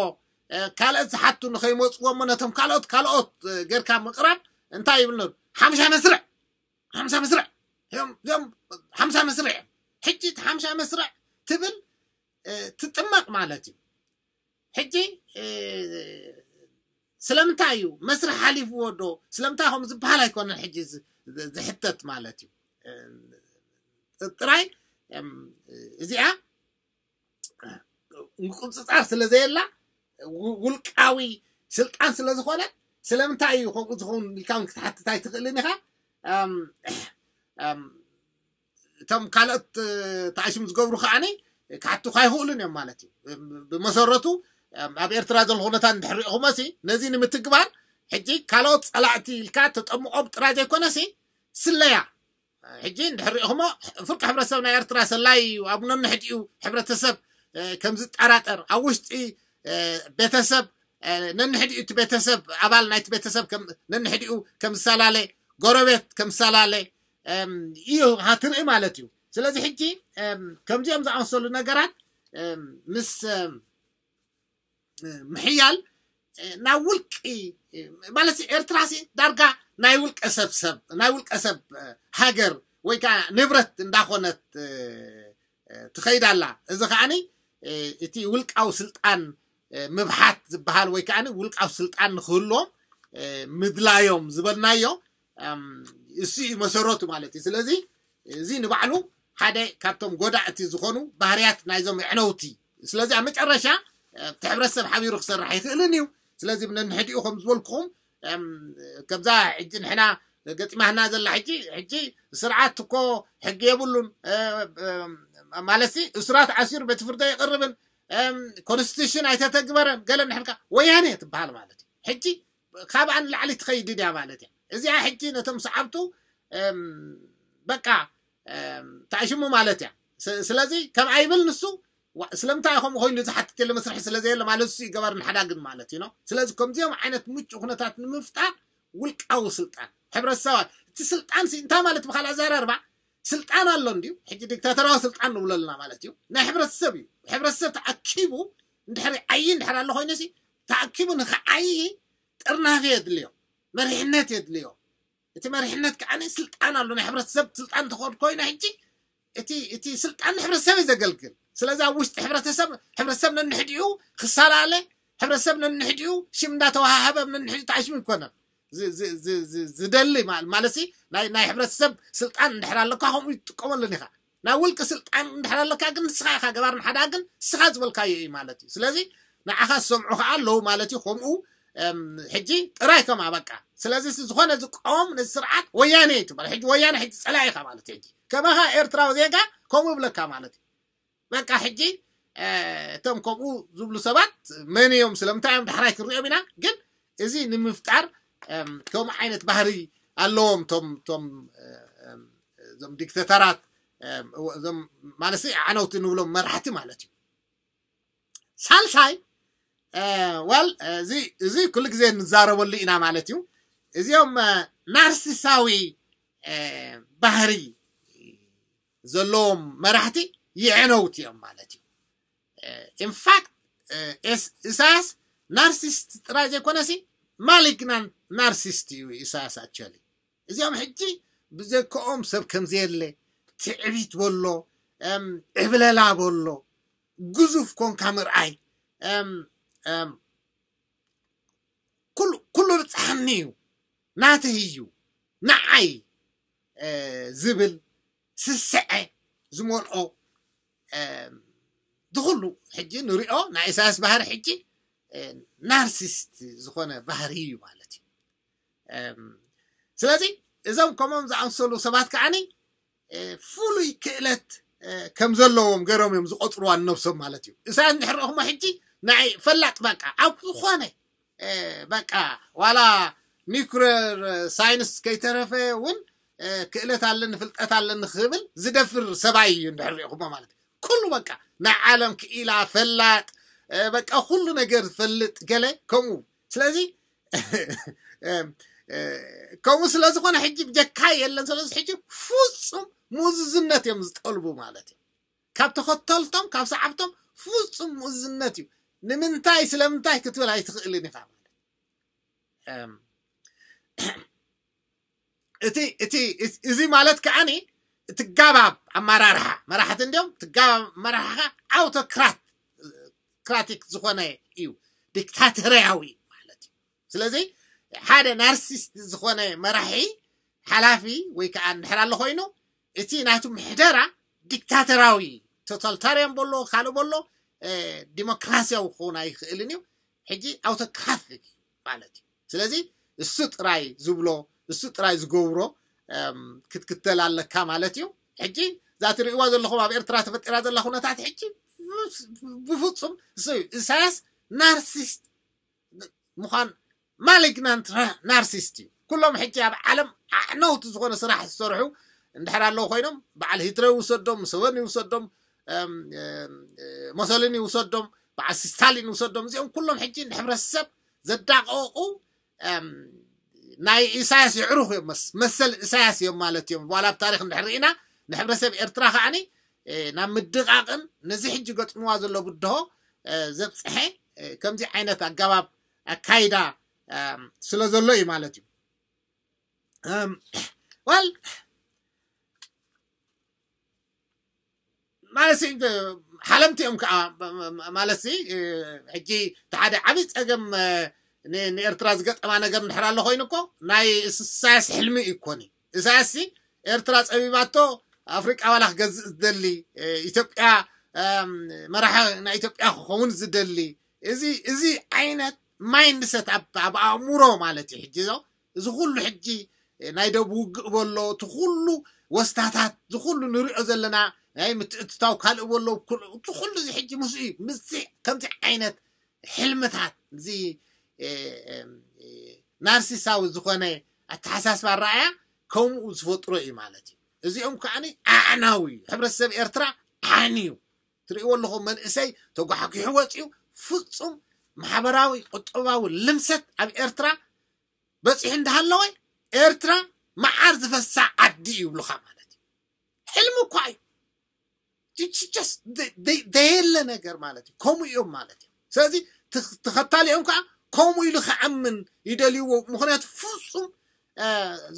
ካልኦት ዝሓቱ ንኸይመፅዎ እሞ ነቶም ካልኦት ካልኦት ጌርካ ምቕራብ እንታይ ይብል ነሩ? ሓምሻ መስርዕ ሓምሳ መስርዕ እዮም እዚኦም። ሓምሳ መስርዕ እዮም። ሕጂ እቲ ሓምሳ መስርዕ ትብል ትጥመቕ ማለት እዩ። ሕጂ ስለምንታይ እዩ መስርሕ ሓሊፍዎ ዶ ስለምንታይ ከም ዝበሃል ኣይኮነን ሕጂ ዝሕተት ማለት እዩ። ጥራይ እዚኣ ምቁፅፃር ስለ ዘየላ ውልቃዊ ስልጣን ስለ ዝኾነ ስለምንታይ እዩ ከምኡ ዝኸውን ኢልካ እውን ክትሓትት ኣይትኽእልን ኢኻ። እቶም ካልኦት ተኣሽም ዝገብሩ ከዓኒ ክሓቱኻ ኣይኽእሉን እዮም ማለት እዩ። ብመሰረቱ ኣብ ኤርትራ ዘሎ ኩነታት እንድሕር ሪእኹሞ ሲ ነዚ ንምትግባር ሕጂ ካልኦት ጸላእቲ ኢልካ ተጠምቖም ጥራይ ዘይኮነ ሲ ስለያ ሕጂ እንድሕር ሪእኹሞ ፍርቂ ሕብረተሰብ ናይ ኤርትራ ሰላይ እዩ። ኣብ ነንሕዲኡ ሕብረተሰብ ከም ዝጠራጠር ኣብ ውሽጢ ቤተሰብ ነንሕዲኡ እቲ ቤተሰብ ኣባል ናይቲ ቤተሰብ ነንሕዲኡ ከም ዝሰላለ ጎረቤት ከም ዝሰላለ እዩ ሃትርኢ ማለት እዩ። ስለዚ ሕጂ ከምዚኦም ዝኣመሰሉ ነገራት ምስ ምሕያል ናብ ውልቂ ማለት ኤርትራ ሲ ዳርጋ ናይ ውልቀ ሰብ ሰብ ናይ ውልቀ ሰብ ሃገር ወይ ከዓ ንብረት እንዳኾነት ትኸይድ ኣላ። እዚ ከዓኒ እቲ ውልቃዊ ስልጣን ምብሓት ዝበሃል ወይ ከዓ ውልቃዊ ስልጣን ንክህልዎም ምድላዮም ዝበልናዮ እሱ እዩ መሰረቱ ማለት እዩ። ስለዚ እዚ ንባዕሉ ሓደ ካብቶም ጎዳእቲ ዝኾኑ ባህርያት ናይዞም ኣዕነውቲ። ስለዚ ኣብ መጨረሻ እቲ ሕብረተሰብ ሓቢሩ ክሰርሕ ኣይኽእልን እዩ። ስለዚ ነንሕዲኡ ከም ዝበልኩኹም ከምዛ ሕጂ ንሕና ገጢማህና ዘላ ሕጂ ሕጂ ስርዓት እኮ ሕጊ የብሉን ማለት እሱራት ዓሲሩ ቤት ፍርዲ ኣይቕርብን ኮንስቲቱሽን ኣይተተግበረን ገለ ንሕልካ ወያኔ ትበሃል ማለት እዩ። ሕጂ ካብኣ ንላዕሊ ትኸይድ ድያ ማለት እያ። እዚኣ ሕጂ ነቶም ሰዓብቱ በቃ ተኣሽሙ ማለት እያ። ስለዚ ከም ኣይብል ንሱ ስለምንታይ ከምኡ ኮይኑ ዝሓትት የለ መስርሒ ስለ ዘየለ ማለት እሱ ይገበር ንሓዳግን ማለት እዩ። ስለዚ ከምዚኦም ዓይነት ምቹ ኩነታት ንምፍጣር ውልቃዊ ስልጣን ሕብረተሰባት እቲ ስልጣን እንታይ ማለት ብካል ኣዘራርባ ስልጣን ኣሎ እንዲዩ። ሕጂ ዲክታተራዊ ስልጣን ንብሎ ኣለና ማለት እዩ። ናይ ሕብረተሰብ እዩ። ሕብረተሰብ ተኣኪቡ እንድሕሪ ዓይ እንድሕር ኣሎ ኮይኑ ሲ ተኣኪቡ ንክዓይ ጥርናፈ የድልዮ፣ መሪሕነት የድልዮ። እቲ መሪሕነት ከዓ ስልጣን ኣሎ ናይ ሕብረተሰብ ስልጣን ተኾን ኮይነ ሕጂ እቲ እቲ ስልጣን ንሕብረተሰብ እዩ ዘገልግል። ስለዚ ኣብ ውሽጢ ሕብረተሰብ ሕብረተሰብ ነንሕዲኡ ክሳላለ ሕብረተሰብ ነንሕዲኡ ሽም እንዳተዋሃሃበ ነንሕዲኡ ተኣሽሙ ይኮነን ዝደሊ ማለት ናይ ናይ ሕብረተሰብ ስልጣን እንድሕር ኣለካ ከምኡ ይጥቀመሉን ኢኻ። ናይ ውልቂ ስልጣን እንድሕር ኣለካ ግን ንስኻ ኢኻ ገባርን ሓዳግን ንስኻ ዝበልካዮ እዩ ማለት እዩ። ስለዚ ንዓኻ ዝሰምዑ ከዓ ኣለዉ ማለት እዩ። ከምኡ ሕጂ ጥራይ ከም ኣበቃ ስለዚ ዝኾነ ዝቃወም ነዚ ስርዓት ወያነ ትበል ሕጂ ወያነ ሕጂ ፀላኢ ኢኻ ማለት እዩ። ሕጂ ከማኻ ኤርትራዊ ዜጋ ከምኡ ይብለካ ማለት እዩ። በቃ ሕጂ እቶም ከምኡ ዝብሉ ሰባት መን እዮም ስለምንታይ እዮም ዳሕራይ ክንሪኦም ኢና። ግን እዚ ንምፍጣር ከምኡ ዓይነት ባህሪ ኣለዎም ቶም ቶም እዞም ዲክተተራት ማለት ኣዕነውቲ ንብሎም መራሕቲ ማለት እዩ። ሳልሳይ ዋል እዚ ኩሉ ግዜ ንዛረበሉ ኢና ማለት እዩ። እዚኦም ናርሲሳዊ ባህሪ ዘለዎም መራሕቲ የዕነውቲ እዮም ማለት እዩ። ኢንፋክት ኢሳያስ ናርሲስት ጥራይ ዘይኮነሲ ማሊግናንት ናርሲስት እዩ ኢሳያስ ኣቸሊ። እዚኦም ሕጂ ብዘከኦም ሰብ ከምዘየለ ትዕቢት በሎ ዕብለላ በሎ ግዙፍ ኮንካ ምርኣይ ኩሉ ብፅሓኒ እዩ ናተይ እዩ ንዓይ ዝብል ስስዐ ዝመልኦ ዝኩሉ ሕጂ ንሪኦ ናይ ኢሳያስ ባህሪ ሕጂ ናርሲስት ዝኾነ ባህሪ እዩ ማለት እዩ። ስለዚ እዞም ከምኦም ዝኣምሰሉ ሰባት ከዓኒ ፍሉይ ክእለት ከም ዘለዎም ገይሮም እዮም ዝቆፅርዋ ንነብሶም ማለት እዩ። ኢሳያስ እንድሕር ረእኹሞ ሕጂ ናይ ፈላጥ በቃ ኣብ ዝኾነ በቃ ዋላ ኒኩሌር ሳይንስ ከይተረፈ እውን ክእለት ኣለኒ ፍልጠት ኣለኒ ክብል ዝደፍር ሰብኣይ እዩ እንድሕር ሪእኹሞ ማለት እዩ። ኩሉ በቃ ናይ ዓለም ክኢላ ፈላጥ በቃ ኩሉ ነገር ዝፈልጥ ገለ ከምኡ። ስለዚ ከምኡ ስለዝኾነ ሕጂ ብጀካ የለን። ስለዚ ሕጂ ፍፁም ምእዙዝነት እዮም ዝጠልቡ ማለት እዩ። ካብ ተኸተልቶም ካብ ሰዓብቶም ፍፁም ምእዙዝነት እዩ። ንምንታይ ስለምንታይ ክትብል ኣይትኽእልን ኢኻ ማለት እቲ እቲ እዚ ማለት ከዓኒ እቲ ጋባብ ኣመራርሓ መራሕቲ እንዲኦም እቲ ጋባብ ኣመራርሓ ኣውቶክራት ክራቲክ ዝኾነ እዩ። ዲክታተርያዊ ማለት እዩ። ስለዚ ሓደ ናርሲስት ዝኾነ መራሒ ሓላፊ ወይ ከዓ እንድሕር ኣሎ ኮይኑ እቲ ናቱ ምሕደራ ዲክታተራዊ ቶታልታርያን በሎ ካልእ በሎ ዲሞክራሲያዊ ክኸውን ኣይኽእልን እዩ። ሕጂ ኣውቶክራቲክ ማለት እዩ። ስለዚ እሱ ጥራይ ዝብሎ እሱ ጥራይ ዝገብሮ ክትክተል ኣለካ ማለት እዩ። ሕጂ እዛ ትርእይዋ ዘለኹም ኣብ ኤርትራ ተፈጢራ ዘላ ኩነታት ሕጂ ብፍፁም እሱ እዩ። ኢሳያስ ናርሲስት ምዃን ማሊግናንት ናርሲስት እዩ። ኩሎም ሕጂ ኣብ ዓለም ኣዕነውቲ ዝኾነ ስራሕ ዝሰርሑ እንድሕር ኣለዉ ኮይኖም በዓል ሂትለር ይውሰዶም፣ ሙሰቨኒ ይውሰዶም፣ ሞሶሊኒ ይውሰዶም፣ በዓል ስታሊን ይውሰዶም፣ እዚኦም ኩሎም ሕጂ ንሕብረተሰብ ዘዳቀቁ ናይ ኢሳያስ የዕሩኽ እዮም። መሰል ኢሳያስ እዮም ማለት እዮም። ዋላ ኣብ ታሪክ እንድሕር ርኢና ንሕብረተሰብ ኤርትራ ከዓኒ ናብ ምድቃቅን ነዚ ሕጂ ገጥምዋ ዘሎ ብድሆ ዘብፅሐ ከምዚ ዓይነት ኣገባብ ኣካይዳ ስለ ዘሎ እዩ ማለት እዩ። ዋል ማለት ሓለምቲ እዮም ከዓ ማለት ሕጂ እቲ ሓደ ዓብዪ ፀገም ንኤርትራ ዝገጠማ ነገር እንድሕር ኣሎ ኮይኑ እኮ ናይ ኢሳያስ ሕልሚ እዩ እኮ። ኢሳያስ ኤርትራ ፀቢባቶ ኣፍሪቃ ዋላ ክገዝእ ዝደሊ ኢትዮጵያ መራሒ ናይ ኢትዮጵያ ክኸውን ዝደሊ እዚ እዚ ዓይነት ማይንድሰት ኣብ ኣእምሮ ማለት እዩ። ሕጂ ዞ እዚ ኩሉ ሕጂ ናይ ደብ ውግእ በሎ እቲ ኩሉ ወስታታት እዚ ኩሉ ንሪኦ ዘለና ናይ ምትእትታው ካልእ በሎ እቲ ኩሉ እዚ ሕጂ ምስ እዩ ምስ ከምዚ ዓይነት ሕልምታት እዚ ናርሲሳዊ ዝኾነ ኣተሓሳስባ ኣረኣያ ከምኡ ዝፈጥሮ እዩ ማለት እዩ። እዚኦም ከዓኒ ኣዕናዊ እዩ። ሕብረተሰብ ኤርትራ ዓኒ እዩ። ትርእይዎ ኣለኹም መንእሰይ ተጓሕጒሑ ወፂኡ ፍፁም ማሕበራዊ ቁጠባዊ ልምሰት ኣብ ኤርትራ በፂሑ እንዳሃለወ ኤርትራ መዓር ዝፈሳ ዓዲ ይብሉኻ ማለት እዩ። ሕልሚ እኳ እዩ። ደየለ ነገር ማለት እዩ። ከምኡ እዮም ማለት እዩ። ስለዚ ተኸታሊኦም ከዓ ከምኡ ኢሉ ክኣምን ይደልይዎ። ምክንያቱ ፍፁም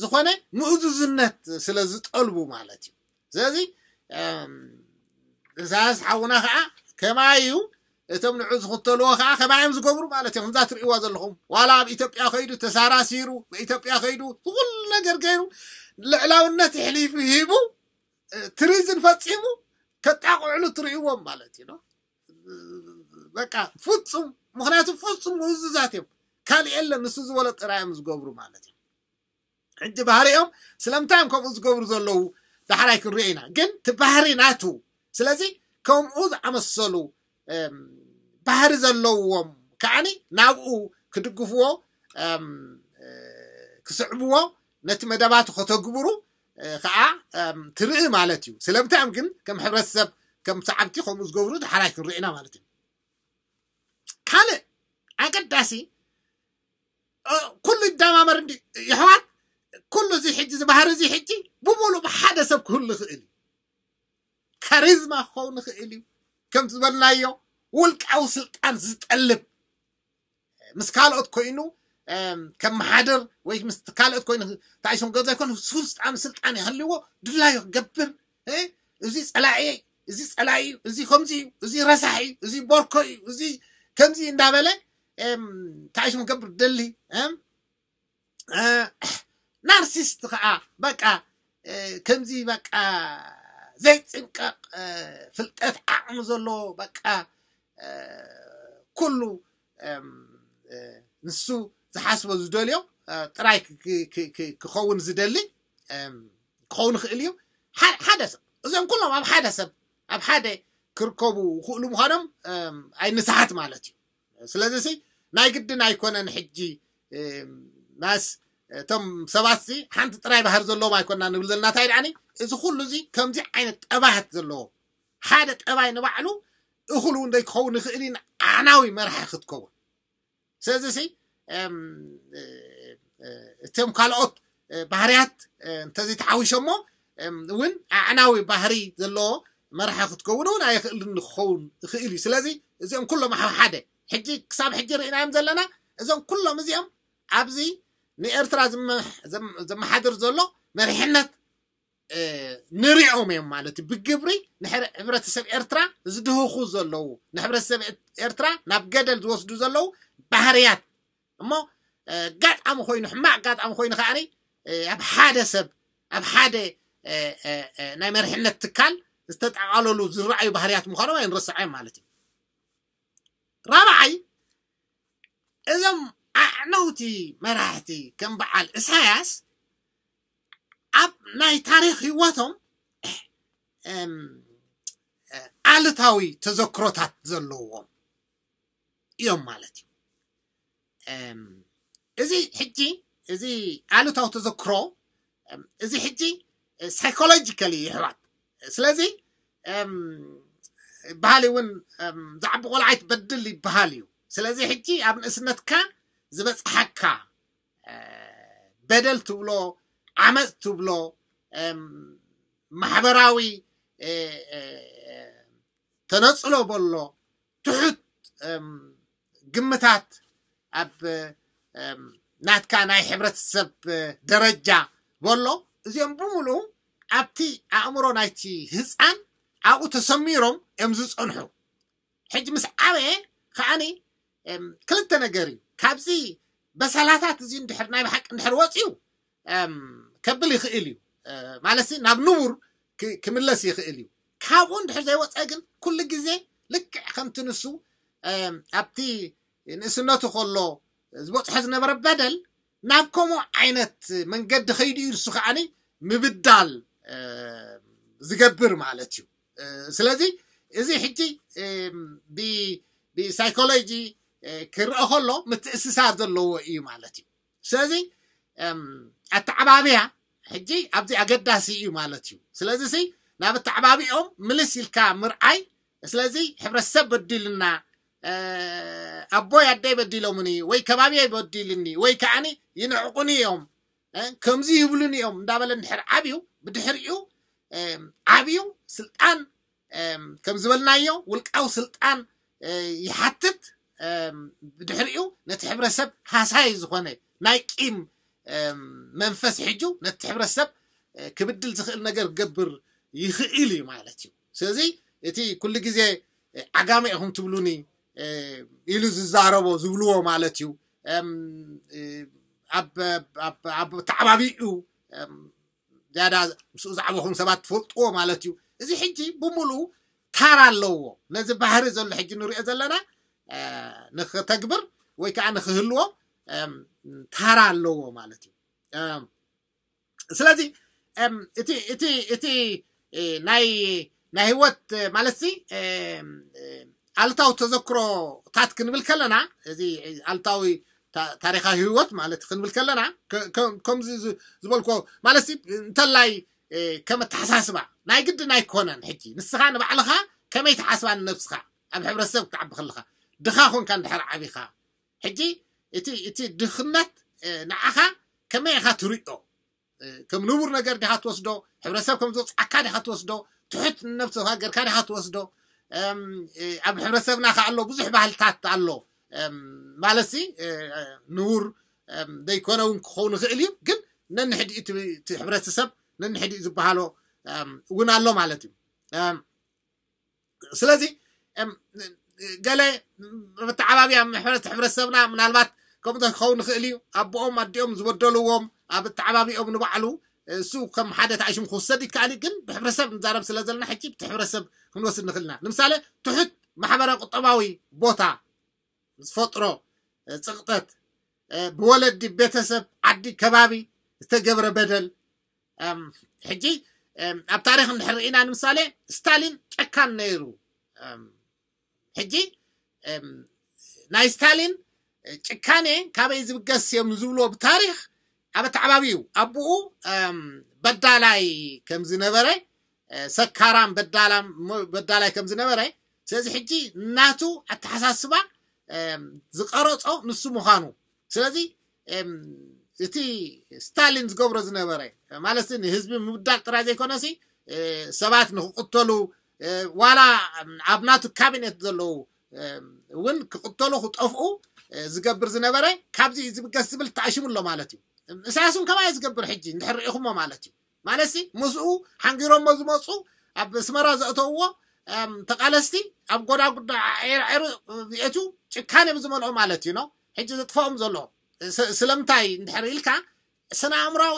ዝኾነ ምእዙዝነት ስለ ዝጠልቡ ማለት እዩ። ስለዚ ኢሳያስ ሓውና ከዓ ከማይ እዩ እቶም ንዑ ዝኽተልዎ ከዓ ከማይ እዮም ዝገብሩ ማለት እዮም። ከምዛ ትርእይዋ ዘለኹም ዋላ ኣብ ኢትዮጵያ ከይዱ ተሳራሲሩ ኢትዮጵያ ከይዱ ኩሉ ነገር ገይሩ ልዕላውነት ይሕሊፉ ሂቡ ትሪዝን ፈፂሙ ከጣቕዕሉ ትርእይዎም ማለት እዩ። በቃ ፍፁም ምክንያቱ ፍፁም ምእዙዛት እዮም። ካልእ የለን ንሱ ዝበሎ ጥራይ እዮም ዝገብሩ ማለት እዩ። ሕጂ ባህሪኦም ስለምንታይ እዮም ከምኡ ዝገብሩ ዘለዉ ዳሕራይ ክንሪኦ ኢና። ግን እቲ ባህሪ ናቱ ስለዚ ከምኡ ዝኣመሰሉ ባህሪ ዘለዎም ከዓኒ ናብኡ ክድግፍዎ ክስዕብዎ ነቲ መደባቱ ከተግብሩ ከዓ ትርኢ ማለት እዩ። ስለምንታይ እዮም ግን ከም ሕብረተሰብ ከም ሰዓብቲ ከምኡ ዝገብሩ ዳሕራይ ክንርኢ ኢና ማለት እዩ። ካልእ ኣገዳሲ ኩሉ ይደማመር እንዲ ይሕዋት ኩሉ እዚ ሕጂ ዝበሃር እዚ ሕጂ ብሙሉእ ብሓደ ሰብ ክህሉ ይኽእል እዩ። ካሪዝማ ክኸውን ይኽእል እዩ። ከም ዝበልናዮ ውልቃዊ ስልጣን ዝጠልብ ምስ ካልኦት ኮይኑ ከመሓድር ወይ ምስ ካልኦት ኮይኑ ታይሶም ገብ ዘይኮነ ስልጣን ስልጣን ይሃልዎ ድላዩ ክገብር እዚ ፀላኢ እዚ ፀላኢ እዚ ከምዚ እዩ እዚ ረሳሕ እዩ እዚ ቦርኮ እዩ እዚ ከምዚ እንዳበለ ታይሶም ክገብር ደሊ ናርሲስት ከዓ በቃ ከምዚ በቃ ዘይፅንቀቕ ፍልጠት ዓቕሚ ዘለዎ በቃ ኩሉ ንሱ ዝሓስቦ ዝደልዮ ጥራይ ክኸውን ዝደሊ ክኸውን ይኽእል እዩ። ሓደ ሰብ እዞም ኩሎም ኣብ ሓደ ሰብ ኣብ ሓደ ክርከቡ ይኽእሉ ምዃኖም ኣይንስሓት ማለት እዩ። ስለዚ ሲ ናይ ግድን ኣይኮነን ሕጂ ማስ እቶም ሰባት ሲ ሓንቲ ጥራይ ባህሪ ዘለዎም ኣይኮና ንብል ዘለና። እንታይ ደኣኒ እዚ ኩሉ እዚ ከምዚ ዓይነት ጠባያት ዘለዎ ሓደ ጠባይ ንባዕሉ እኹል እውን ዘይክኸውን ይኽእል እዩ። ኣዕናዊ መራሒ ክትከውን ስለዚ ሲ እቶም ካልኦት ባህርያት እንተዘይተሓዊሾሞ እውን ኣዕናዊ ባህሪ ዘለዎ መራሒ ክትከውን እውን ኣይኽእልን ክኸውን ይኽእል እዩ። ስለዚ እዚኦም ኩሎም ኣብ ሓደ ሕጂ ክሳብ ሕጂ ርኢናዮም ዘለና እዞም ኩሎም እዚኦም ኣብዚ ንኤርትራ ዘመሓድር ዘሎ መሪሕነት ንሪኦም እዮም ማለት እዩ። ብግብሪ ንሕብረተሰብ ኤርትራ ዝድህኹ ዘለዉ ንሕብረተሰብ ኤርትራ ናብ ገደል ዝወስዱ ዘለዉ ባህርያት እሞ ኣጋጣሚ ኮይኑ ሕማቕ ኣጋጣሚ ኮይኑ ከዓኒ ኣብ ሓደ ሰብ ኣብ ሓደ ናይ መሪሕነት ትካል ዝተጠቓለሉ ዝረኣዩ ባህርያት ምዃኖም ኣይንረስዖ ማለት እዩ። ራብዓይ እዞም ኣዕነውቲ መራሕቲ ከም በዓል እሳያስ ኣብ ናይ ታሪኽ ህይወቶም ኣሉታዊ ተዘክሮታት ዘለዎም እዮም ማለት እዩ። እዚ ሕጂ እዚ ኣሉታዊ ተዘክሮ እዚ ሕጂ ሳይኮሎጂካሊ ይሕዋት ስለዚ በሃሊ እውን ዝዓቢ ቆልዓ ይትበድል ይበሃል እዩ። ስለዚ ሕጂ ኣብ ንእስነትካ ዝበፅሓካ በደል ትብሎ ዓመፅ ትብሎ ማሕበራዊ ተነፅሎ በሎ ትሑት ግምታት ኣብ ናትካ ናይ ሕብረተሰብ ደረጃ በሎ እዚኦም ብምሉኡ ኣብቲ ኣእምሮ ናይቲ ህፃን ኣብኡ ተሰሚሮም እዮም ዝፀንሑ። ሕጂ ምስ ዓበየ ከዓኒ ክልተ ነገር እዩ። ካብዚ በሰላታት እዚ እንድሕር ናይ ብሓቂ እንድሕር ወፅዩ ከብል ይኽእል እዩ ማለት ናብ ንቡር ክምለስ ይኽእል እዩ። ካብኡ እንድሕር ዘይወፀ ግን ኩሉ ግዜ ልክዕ ከምቲ ንሱ ኣብቲ ንእስነቱ ከሎ ዝበፅሖ ዝነበረ በደል ናብ ከምኡ ዓይነት መንገዲ ከይዱ እዩ ንሱ ከዓኒ ምብዳል ዝገብር ማለት እዩ። ስለዚ እዚ ሕጂ ብሳይኮሎጂ ክርአ ከሎ ምትእስሳር ዘለዎ እዩ ማለት እዩ። ስለዚ ኣተዓባብያ ሕጂ ኣብዚ ኣገዳሲ እዩ ማለት እዩ። ስለዚ ናብ ኣተዓባቢኦም ምልስ ኢልካ ምርኣይ ስለዚ ሕብረተሰብ በዲልና ኣቦይ ኣደይ በዲሎምኒ ወይ ከባቢየይ በዲልኒ ወይ ከዓኒ ይንዕቁኒ እዮም ከምዚ ይብሉኒ እዮም እንዳበለ እንድሕር ዓብዩ ብድሕሪኡ ዓብዩ ስልጣን ከም ዝበልናዮ ውልቃዊ ስልጣን ይሓትት። ብድሕሪኡ ነቲ ሕብረተሰብ ሃሳይ ዝኾነ ናይ ቂም መንፈስ ሕጁ ነቲ ሕብረተሰብ ክብድል ዝኽእል ነገር ክገብር ይኽእል እዩ ማለት እዩ። ስለዚ እቲ ኩሉ ግዜ ዓጋመ ኢኹም ትብሉኒ ኢሉ ዝዛረቦ ዝብልዎ ማለት እዩ። ኣብ ተዓባቢኡ ዝያዳ ምስኡ ዝዓበኹም ሰባት ትፈልጥዎ ማለት እዩ። እዚ ሕጂ ብምሉኡ ታራ ኣለዎ። ነዚ ባህሪ ዘሎ ሕጂ ንሪኦ ዘለና ንክተግብር ወይ ከዓ ንክህልዎ ታራ ኣለዎ ማለት እዩ። ስለዚ እቲ እቲ እቲ ናይ ናይ ህይወት ማለት ሲ ኣሉታዊ ተዘክሮታት ክንብል ከለና እዚ ኣሉታዊ ታሪካዊ ህይወት ማለት ክንብል ከለና ከምዚ ዝበልኮ ማለት ሲ እንተላይ ከም ኣተሓሳስባ ናይ ግድን ኣይኮነን። ሕጂ ንስኻ ንባዕልኻ ከመይ ትሓስባ ንነብስኻ ኣብ ሕብረተሰብ ክትዓቢ ከለኻ ድኻ ኮንካ እንድሕር ዓቢኻ ሕጂ እቲ እቲ ድኽነት ንዓኻ ከመይ ኢኻ ትሪኦ? ከም ንቡር ነገር ዲኻ ትወስዶ? ሕብረተሰብ ከም ዘውፅዓካ ዲኻ ትወስዶ? ትሑት ንነብስኻ ገርካ ዲኻ ትወስዶ? ኣብ ሕብረተሰብና ከ ኣሎ ብዙሕ ባህልታት ኣሎ ማለት ሲ ንቡር ዘይኮነ እውን ክኸውን ይኽእል እዩ። ግን ነንሕድኡ እቲ ሕብረተሰብ ነንሕድኡ ዝበሃሎ እውን ኣሎ ማለት እዩ። ስለዚ ገለ መተዓባብያ ምሕረት ሕብረተሰብና ምናልባት ከምኡ ክኸውን ይኽእል እዩ። ኣቦኦም ኣዲኦም ዝበደልዎም ኣብ ኣተዓባቢኦም ንባዕሉ እሱ ከም ሓደ ተኣሽሙ ክውሰድ ይከኣል እዩ። ግን ብሕብረተሰብ ንዛረብ ስለ ዘለና ሕጂ ብቲ ሕብረተሰብ ክንወስድ ንኽእል ኢና። ንምሳሌ ትሑት ማሕበራዊ ቁጠባዊ ቦታ ዝፈጥሮ ጽቕጠት፣ ብወለዲ፣ ቤተሰብ፣ ዓዲ፣ ከባቢ ዝተገብረ በደል። ሕጂ ኣብ ታሪክ እንድሕር ርኢና ንምሳሌ ስታሊን ጨካን ነይሩ። ሕጂ ናይ ስታሊን ጭካኔ ካበይ ዝብገስ እዮም ዝብልዎ ብታሪክ ኣብ ኣተዓባቢኡ ኣቦኡ በዳላይ ከም ዝነበረ፣ ሰካራም በዳላም በዳላይ ከም ዝነበረ፣ ስለዚ ሕጂ ናቱ ኣተሓሳስባ ዝቀረጾ ንሱ ምዃኑ። ስለዚ እቲ ስታሊን ዝገብሮ ዝነበረ ማለት ንህዝቢ ምብዳል ጥራይ ዘይኮነሲ ሰባት ንክቅተሉ ዋላ ኣብ ናቱ ካቢኔት ዘለዉ እውን ክቅተሉ ክጠፍኡ ዝገብር ዝነበረ ካብዚ ዝብገስ ዝብል ተኣሽሙ ኣሎ ማለት እዩ። ኢሳያስ እውን ከማይ ዝገብር ሕጂ እንድሕር ርኢኹሞ ማለት እዩ። ማለት ምስኡ ሓንጊሮሞ ዝመፁ ኣብ ኣስመራ ዘእተውዎ ተቃለስቲ ኣብ ጎዳጉዳ ዒርዒሩ የእቱ ጭካኔ ብዝመልኦ ማለት እዩ ነው ሕጂ ዘጥፈኦም ዘሎ። ስለምንታይ እንድሕር ኢልካ ስነ ኣእምራዊ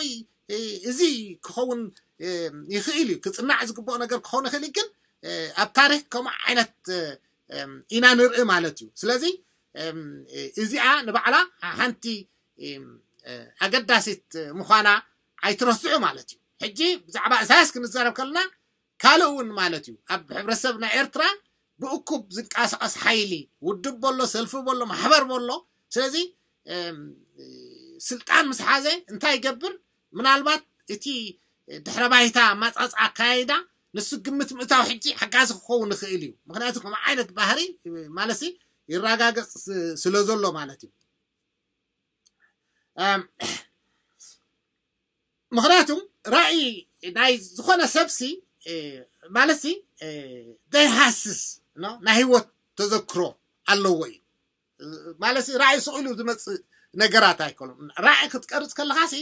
እዚ ክኸውን ይኽእል እዩ፣ ክፅናዕ ዝግብኦ ነገር ክኸውን ይኽእል እዩ። ግን ኣብ ታሪክ ከምኡ ዓይነት ኢና ንርኢ ማለት እዩ። ስለዚ እዚኣ ንባዕላ ሓንቲ ኣገዳሲት ምዃና ኣይትረስዑ ማለት እዩ። ሕጂ ብዛዕባ እሳያስ ክንዛረብ ከለና ካልእ እውን ማለት እዩ ኣብ ሕብረተሰብ ናይ ኤርትራ ብእኩብ ዝንቀሳቀስ ሓይሊ ውድብ በሎ ሰልፊ በሎ ማሕበር በሎ። ስለዚ ስልጣን ምስ ሓዘ እንታይ ይገብር? ምናልባት እቲ ድሕረ ባይታ ኣማጻጽኣ ኣካያይዳ ንሱ ግምት ምእታው ሕጂ ሓጋዚ ክኸውን ይኽእል እዩ። ምክንያቱ ከም ዓይነት ባህሪ ማለት ይረጋገጽ ስለ ዘሎ ማለት እዩ። ምክንያቱ ራእይ ናይ ዝኾነ ሰብሲ ማለት ዘይሃስስ ናይ ህይወት ተዘክሮ ኣለዎ እዩ። ማለት ራእይ ስቕ ኢሉ ዝመፅእ ነገራት ኣይኮኑን። ራእይ ክትቀርፅ ከለካ ሲ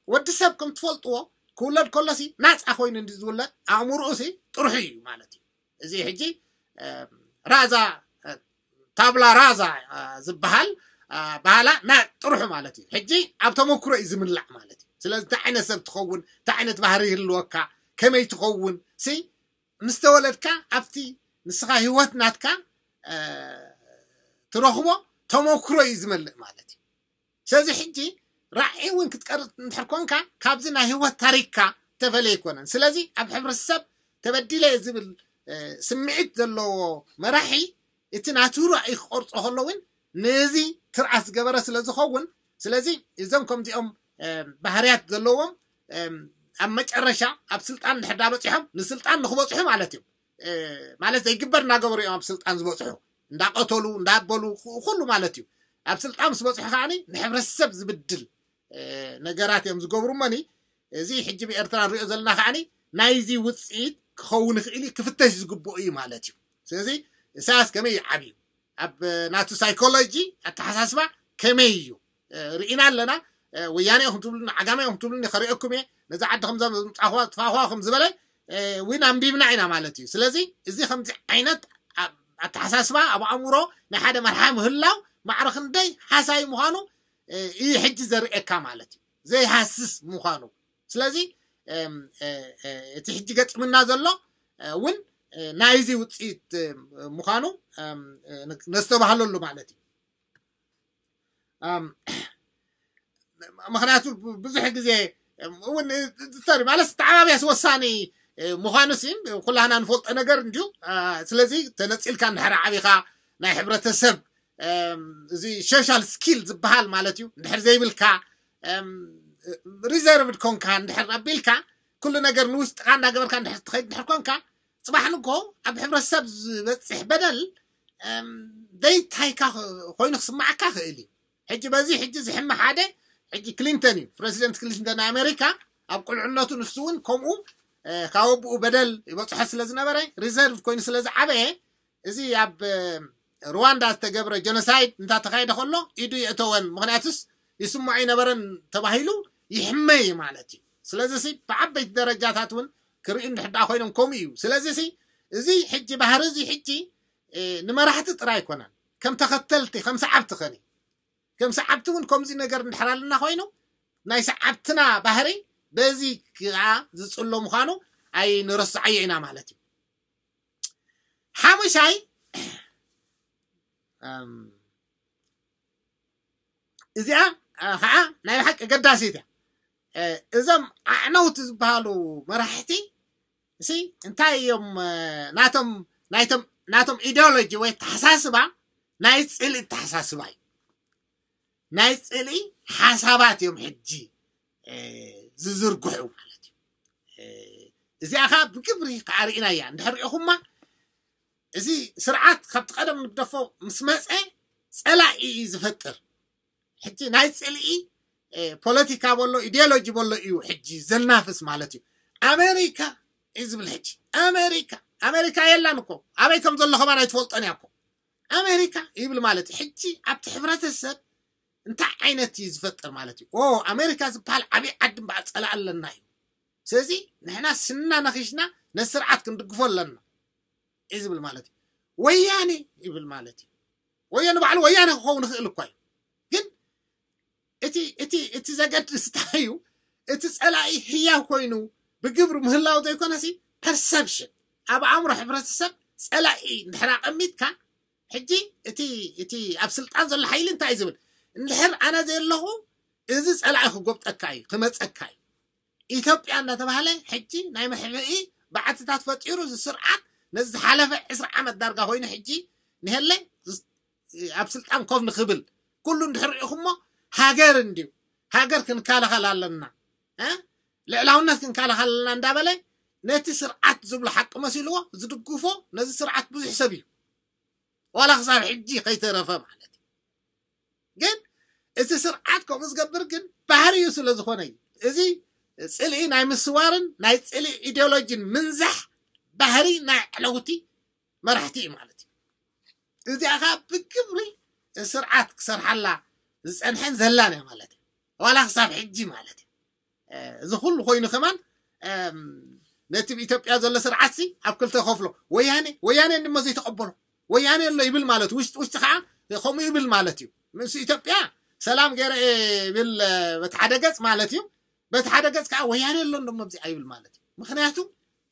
ወዲ ሰብ ከም ትፈልጥዎ ክውለድ ከሎ ሲ ናፃ ኮይኑ እንዲ ዝውለድ ኣእምርኡ ሲ ጥርሑ እዩ ማለት እዩ። እዚ ሕጂ ራዛ ታብላ ራዛ ዝበሃል ባህላ ና ጥርሑ ማለት እዩ። ሕጂ ኣብ ተመክሮ እዩ ዝምላዕ ማለት እዩ። ስለዚ እንታይ ዓይነት ሰብ ትኸውን፣ እንታይ ዓይነት ባህሪ ይህልወካ፣ ከመይ ትኸውን ሲ ምስ ተወለድካ ኣብቲ ንስኻ ህይወት ናትካ ትረኽቦ ተመክሮ እዩ ዝመልእ ማለት እዩ። ስለዚ ሕጂ ራዕይ እውን ክትቀርፅ እንድሕር ኮንካ ካብዚ ናይ ህይወት ታሪክካ ተፈለየ ኣይኮነን። ስለዚ ኣብ ሕብረተሰብ ተበዲለ ዝብል ስምዒት ዘለዎ መራሒ እቲ ናቱ ራእይ ክቆርፆ ከሎ እውን ነዚ ትርኣስ ዝገበረ ስለ ዝኸውን፣ ስለዚ እዞም ከምዚኦም ባህርያት ዘለዎም ኣብ መጨረሻ ኣብ ስልጣን እንድሕር ዳ በፂሖም ንስልጣን ንክበፅሑ ማለት እዩ። ማለት ዘይግበር እናገበሩ እዮም ኣብ ስልጣን ዝበፅሑ፣ እንዳቀተሉ እንዳበሉ ኩሉ ማለት እዩ። ኣብ ስልጣን ምስ በፅሑ ከዓኒ ንሕብረተሰብ ዝብድል ነገራት እዮም ዝገብሩ እሞኒ እዚ ሕጂ ብኤርትራ ንሪኦ ዘለና ከዓኒ ናይዚ ውፅኢት ክኸውን ይኽእል እዩ፣ ክፍተሽ ዝግብኦ እዩ ማለት እዩ። ስለዚ ኢሳያስ ከመይ እዩ ዓብዩ ኣብ ናቱ ሳይኮሎጂ ኣተሓሳስባ ከመይ እዩ ርኢና ኣለና። ወያነ ኢኹም ትብሉኒ ዓጋመ ኢኹም ትብሉኒ ከሪኦኩም እየ ነዚ ዓዲ ከምዛ ምፃኹዋ ትፋኹዋ ከም ዝበለ እውን ኣንቢብና ኢና ማለት እዩ። ስለዚ እዚ ከምዚ ዓይነት ኣተሓሳስባ ኣብ ኣእምሮ ናይ ሓደ መርሓ ምህላው ማዕረ ክንደይ ሓሳይ ምዃኑ እዩ ሕጂ ዘርእየካ ማለት እዩ፣ ዘይሃስስ ምዃኑ። ስለዚ እቲ ሕጂ ገጢምና ዘሎ እውን ናይዚ ውፅኢት ምዃኑ ነስተባህለሉ ማለት እዩ። ምክንያቱ ብዙሕ ግዜ እውን ማለት ተዓባብያስ ወሳኒ ምዃኑ ሲ ኩላህና ንፈልጦ ነገር እንድዩ። ስለዚ ተነፂልካ እንድሕር ዓቢኻ ናይ ሕብረተሰብ እዚ ሶሻል ስኪል ዝበሃል ማለት እዩ እንድሕር ዘይብልካ ሪዘርቭድ ኮንካ እንድሕር ኣቢልካ ኩሉ ነገር ንውሽጥካ እንዳገበርካ እንድሕር ትኸይድ እንድሕር ኮንካ ፅባሕ ንጎ ኣብ ሕብረተሰብ ዝበፅሕ በደል ዘይታይካ ኮይኑ ክስማዓካ ክእል እዩ። ሕጂ በዚ ሕጂ ዝሕመ ሓደ ሕጂ ክሊንተን እዩ፣ ፕረዚደንት ክሊንተን ናይ ኣሜሪካ። ኣብ ቁልዕነቱ ንሱ እውን ከምኡ ካብ ኣቦኡ በደል ይበፅሖ ስለ ዝነበረ ሪዘርቭ ኮይኑ ስለ ዝዓበየ እዚ ኣብ ሩዋንዳ ዝተገብረ ጀኖሳይድ እንታተካየደ ከሎ ኢዱ የእተወን። ምክንያቱስ ይስምዖ ይነበረን ተባሂሉ ይሕመ እዩ ማለት እዩ። ስለዚ ሲ ብዓበይቲ ደረጃታት እውን ክርእዩ እንድሕር ኮይኖም ከምኡ እዩ። ስለዚ ሲ እዚ ሕጂ ባህሪ እዚ ሕጂ ንመራሕቲ ጥራይ ኣይኮነን፣ ከም ተኸተልቲ ከም ሰዓብቲ ከኒ ከም ሰዓብቲ እውን ከምዚ ነገር እንድሕር ኣለና ኮይኑ ናይ ሰዓብትና ባህሪ በዚ ከዓ ዝፅሎ ምዃኑ ኣይንረስዓዮ ኢና ማለት እዩ። ሓሙሻይ እዚኣ ከዓ ናይ ብሓቂ ኣገዳሲት እያ። እዞም ኣዕነውቲ ዝበሃሉ መራሕቲ እሲ እንታይ እዮም? ናቶም ናቶም ናቶም ኢዲዮሎጂ ወይ ኣተሓሳስባ ናይ ፅልኢ ኣተሓሳስባ እዩ። ናይ ፅልኢ ሓሳባት እዮም ሕጂ ዝዝርግሑ ማለት እዩ። እዚኣ ከዓ ብግብሪ ከዓ ርኢናያ። እንድሕር ሪኢኹማ፣ እዚ ስርዓት ካብቲ ቀደም ንግደፎ ምስ መፀ ፀላኢ እዩ ዝፈጥር። ሕጂ ናይ ፅልኢ ፖለቲካ በሎ ኢዲዮሎጂ በሎ እዩ ሕጂ ዘናፍስ ማለት እዩ። ኣሜሪካ እዩ ዝብል ሕጂ። ኣሜሪካ ኣሜሪካ የላን እኮ፣ ኣበይ ከም ዘሎ ከማን ኣይትፈልጦን እያ እኮ። ኣሜሪካ ይብል ማለት እዩ። ሕጂ ኣብቲ ሕብረተሰብ እንታይ ዓይነት እዩ ዝፈጥር ማለት እዩ? ኦ ኣሜሪካ ዝበሃል ዓብዪ ዓዲ እምበኣር ፀላኢ ኣለና እዩ። ስለዚ ንሕና ስና ነኺሽና ነቲ ስርዓት ክንድግፎ ኣለና እዩ ዝብል ማለት እዩ። ወያኔ ይብል ማለት እዩ። ወያኔ ባዕሉ ወያኔ ክኸውን ይኽእል እኳ እዩ። ግን እቲ እቲ እቲ ዘገድስ እንታይ እዩ? እቲ ፀላኢ ህያው ኮይኑ ብግብሪ ምህላው ዘይኮነሲ ፐርሰፕሽን ኣብ ኣእምሮ ሕብረተሰብ ፀላኢ እንድሕር ኣቐሚጥካ ሕጂ እቲ እቲ ኣብ ስልጣን ዘሎ ሓይሊ እንታይ እዩ ዝብል? እንድሕር ኣነ ዘየለኹ እዚ ፀላኢ ክጎብጠካ እዩ ክመፀካ እዩ። ኢትዮጵያ እናተባህለ ሕጂ ናይ መሕብኢ በዓትታት ፈጢሩ እዚ ስርዓት ነዚ ዝሓለፈ ዕስራ ዓመት ዳርጋ ኮይኑ ሕጂ ንሄለ ኣብ ስልጣን ኮፍ ንክብል ኩሉ እንድሕር ሪኢኹሞ ሃገር እንድዩ ሃገር ክንከላኸል ኣለና ልዕላውነት ክንከላኸል ኣለና እንዳበለ ነቲ ስርዓት ዝብሎ ሓቂ መሲልዎ ዝድግፎ ነዚ ስርዓት ብዙሕ ሰብ እዩ ዋላ ክሳብ ሕጂ ከይተረፈ ማለት እዩ። ግን እቲ ስርዓት ከምኡ ዝገብር ግን ባህሪኡ ስለ ዝኾነ እዩ። እዚ ፅልኢ ናይ ምስዋርን ናይ ፅልኢ ኢዲዮሎጂን ምንዛሕ ባህሪ ናይ ዕለውቲ መራሕቲ እዩ ማለት እዩ። እዚኣ ከዓ ብግብሪ ስርዓት ክሰርሓላ ዝፀንሐን ዘላን እያ ማለት እዩ። ዋላ ክሳብ ሕጂ ማለት እዩ። እዚ ኩሉ ኮይኑ ከማን ነቲ ኢትዮጵያ ዘሎ ስርዓት ሲ ኣብ ክልተ ከፍሎ ወያኔ ወያኔ ድማ ዘይተቀበሎ ወያኔ ኣሎ ይብል ማለት ውሽጢ ውሽጢ ከዓ ከምኡ ይብል ማለት እዩ። ምስ ኢትዮጵያ ሰላም ገይረ ይብል በቲ ሓደ ገፅ ማለት እዩ። በቲ ሓደ ገፅ ከዓ ወያኔ ኣሎ እንደሞ ኣብዚ ኣይብል ማለት እዩ። ምክንያቱ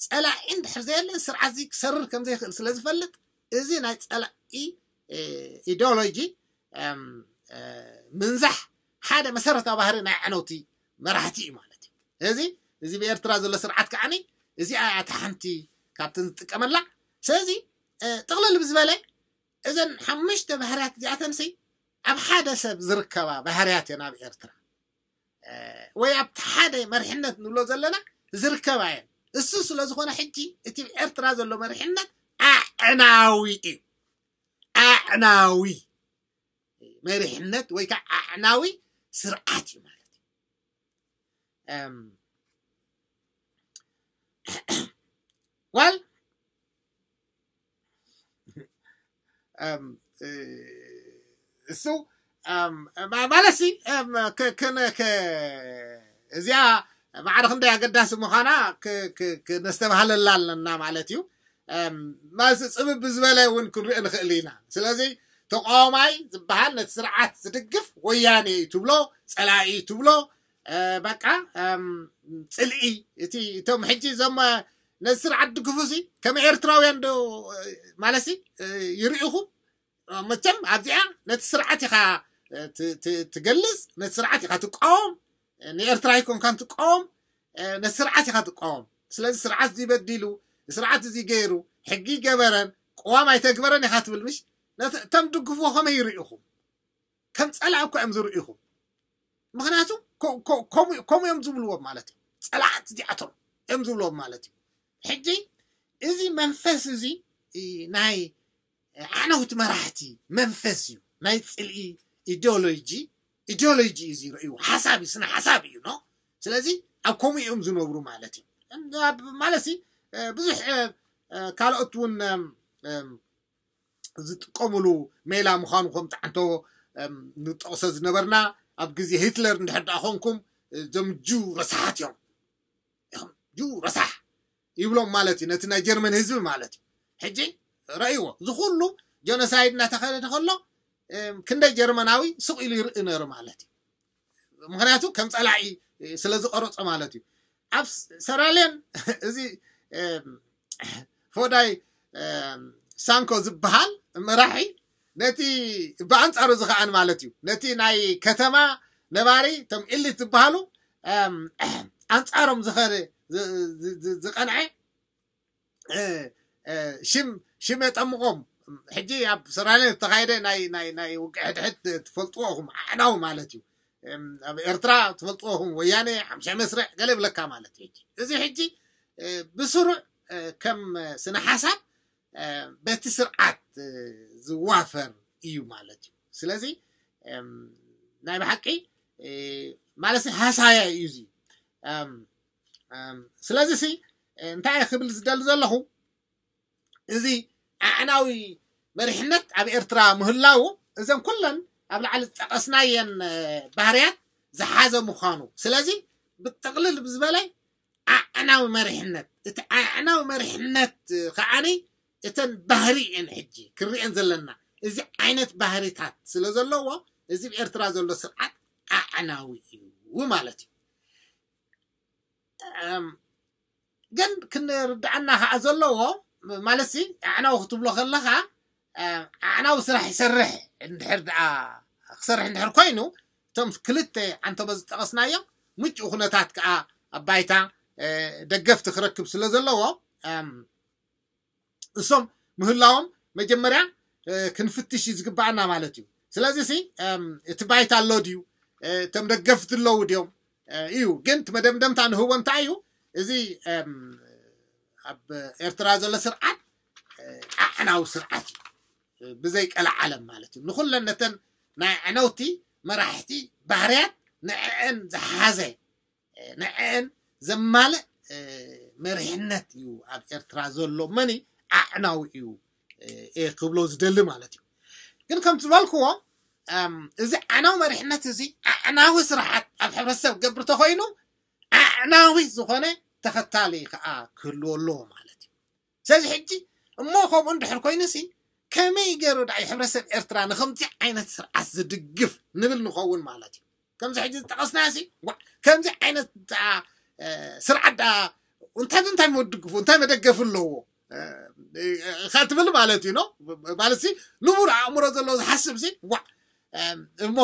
ፀላኢ እንድሕር ዘየለ ስርዓት እዚ ክሰርር ከም ዘይክእል ስለ ዝፈልጥ እዚ ናይ ፀላኢ ኢዲዮሎጂ ምንዛሕ ሓደ መሰረታዊ ባህሪ ናይ ኣዕነውቲ መራሕቲ እዩ ማለት እዩ። እዚ እዚ ብኤርትራ ዘሎ ስርዓት ከዓኒ እዚኣ እያ እታ ሓንቲ ካብተን ዝጥቀመላ። ስለዚ ጥቕልል ብዝበለ እዘን ሓሙሽተ ባህርያት እዚኣተንሲ ኣብ ሓደ ሰብ ዝርከባ ባህርያት እየን ኣብ ኤርትራ ወይ ኣብቲ ሓደ መሪሕነት ንብሎ ዘለና ዝርከባ እየን። እሱ ስለ ዝኾነ ሕጂ እቲ ኤርትራ ዘሎ መሪሕነት ኣዕናዊ እዩ። ኣዕናዊ መሪሕነት ወይ ከዓ ኣዕናዊ ስርዓት እዩ ማለት እዩ። ዋል እሱ ማለትሲ እዚኣ ማዕረ ክንደይ ኣገዳሲ ምዃና ክነስተባህለላ ኣለና ማለት እዩ። ማለት ፅብብ ዝበለ እውን ክንሪኦ ንኽእል ኢና። ስለዚ ተቃዋማይ ዝበሃል ነቲ ስርዓት ዝድግፍ ወያኔ እዩ ትብሎ፣ ፀላኢ እዩ ትብሎ። በቃ ፅልኢ እቲ እቶም ሕጂ እዞም ነዚ ስርዓት ድግፉ ሲ ከም ኤርትራውያን ዶ ማለት ሲ ይርኢኹም? መቸም ኣብዚኣ ነቲ ስርዓት ኢኻ ትገልፅ፣ ነቲ ስርዓት ኢኻ ትቃወም። ንኤርትራ ኣይኮንካን ትቃወም፣ ነቲ ስርዓት ኢኻ ትቃወም። ስለዚ ስርዓት እዚ በዲሉ፣ ስርዓት እዚ ገይሩ፣ ሕጊ ይገበረን ቅዋም ኣይተግበረን ኢኻ ትብል ምሽ? እቶም ድግፍዎ ከመይ ይርኢኹም? ከም ፀላእ እኮ እዮም ዝርኢኹም። ምክንያቱ ከምኡ እዮም ዝብልዎም ማለት እዩ። ፀላእት እዚኣቶም እዮም ዝብልዎም ማለት እዩ። ሕጂ እዚ መንፈስ እዚ ናይ ኣዕነውቲ መራሕቲ መንፈስ እዩ። ናይ ፅልኢ ኢዲዮሎጂ ኢዲዮሎጂ እዩ ዝርእዩ ሓሳብ እዩ ስነ ሓሳብ እዩ ኖ። ስለዚ ኣብ ከምኡ እዮም ዝነብሩ ማለት እዩ። ማለት ብዙሕ ካልኦት እውን ዝጥቀምሉ ሜላ ምዃኑ ከም ጣዕንቶ ንጠቕሶ ዝነበርና ኣብ ግዜ ሂትለር እንድሕር ደኣ ኮንኩም እዞም ጁ ረሳሓት እዮም። ጁ ረሳሕ ይብሎም ማለት እዩ ነቲ ናይ ጀርመን ህዝቢ ማለት እዩ። ሕጂ ረእይዎ እዚ ኩሉ ጀኖሳይድ እናተኸደ ከሎ ክንደይ ጀርመናዊ ስቕ ኢሉ ይርኢ ነሩ ማለት እዩ። ምክንያቱ ከም ፀላኢ ስለ ዝቐረፆ ማለት እዩ። ኣብ ሰራልዮን እዚ ፎዳይ ሳንኮ ዝበሃል መራሒ ነቲ ብኣንፃሩ ዝኸኣን ማለት እዩ፣ ነቲ ናይ ከተማ ነባሪ እቶም ኢሊት ዝበሃሉ ኣንፃሮም ዝኸደ ዝቀንዐ ሽም ሽም የጠምቆም። ሕጂ ኣብ ሰራለ ዝተኻየደ ናይ ናይ ናይ ውግእ ሕድሕድ ትፈልጥዎ ኢኹም፣ ኣዕናዊ ማለት እዩ። ኣብ ኤርትራ ትፈልጥዎ ኢኹም፣ ወያነ ሓምሻ መስርዕ ገለ ይብለካ ማለት እዩ። እዚ ሕጂ ብስሩዕ ከም ስነ ሓሳብ በቲ ስርዓት ዝዋፈር እዩ ማለት እዩ። ስለዚ ናይ ብሓቂ ማለት ሃሳያ እዩ እዚ። ስለዚ ሲ እንታይ ክብል ዝደሊ ዘለኹ፣ እዚ ኣዕናዊ መሪሕነት ኣብ ኤርትራ ምህላው እዘን ኩለን ኣብ ላዕሊ ዝጠቀስናየን ባህርያት ዝሓዘ ምዃኑ። ስለዚ ብጥቕልል ብዝበለ ኣዕናዊ መሪሕነት፣ እቲ ኣዕናዊ መሪሕነት ከዓኒ እተን ባህሪ እየን ሕጂ ክርኤን ዘለና። እዚ ዓይነት ባህሪታት ስለ ዘለዎ እዚ ብኤርትራ ዘሎ ስርዓት ኣዕናዊ እዩ ማለት እዩ። ግን ክንርድኣና ከዓ ዘለዎ ማለት ሲ ኣዕናዊ ክትብሎ ከለካ ኣዕናዊ ስራሕ ይሰርሕ እንድሕር ደኣ ክሰርሕ እንድሕር ኮይኑ እቶም ክልተ ዓንተቦ ዝጠቐስናዮም ምጭኡ ኩነታት ከዓ ኣብ ባይታ ደገፍቲ ክረክብ ስለ ዘለዎ እሶም ምህላዎም መጀመርያ ክንፍትሽ እዩ ዝግባኣና ማለት እዩ። ስለዚ ሲ እቲ ባይታ ኣሎ ድዩ? እቶም ደገፍቲ ኣለዉ ድዮም? እዩ ግን እቲ መደምደምታ ንህቦ እንታይ እዩ? እዚ ኣብ ኤርትራ ዘሎ ስርዓት ኣዕናዊ ስርዓት እዩ፣ ብዘይ ቀለዓለም ማለት እዩ። ንኩለን ነተን ናይ ኣዕነውቲ መራሕቲ ባህርያት ንዕአን ዝሓዘ ንዕአን ዘማልእ መሪሕነት እዩ ኣብ ኤርትራ ዘሎ። መኒ ኣዕናዊ እዩ ክብሎ ዝደሊ ማለት እዩ። ግን ከም ዝበልክዎ እዚ ኣዕናዊ መሪሕነት እዚ ኣዕናዊ ስርዓት ኣብ ሕብረተሰብ ገብር ተኮይኑ ኣዕናዊ ዝኾነ ተኸታሊ ከዓ ክህልዎ ኣለዎ ማለት እዩ። ስለዚ ሕጂ እሞ ከምኡ እንድሕር ኮይኑ ሲ ከመይ ገይሩ ዳ ሕብረተሰብ ኤርትራ ንከምዚ ዓይነት ስርዓት ዝድግፍ ንብል ንኸውን ማለት እዩ። ከምዚ ሕጂ ዝጠቐስናዮ ሲ ከምዚ ዓይነት ስርዓት ዳ እንታይ እንታይ መድግፉ እንታይ መደገፊ ኣለዎ ካ ትብል ማለት እዩ። ኖ ማለት ሲ ንቡር ኣእምሮ ዘለዎ ዝሓስብ ሲ ዋ እሞ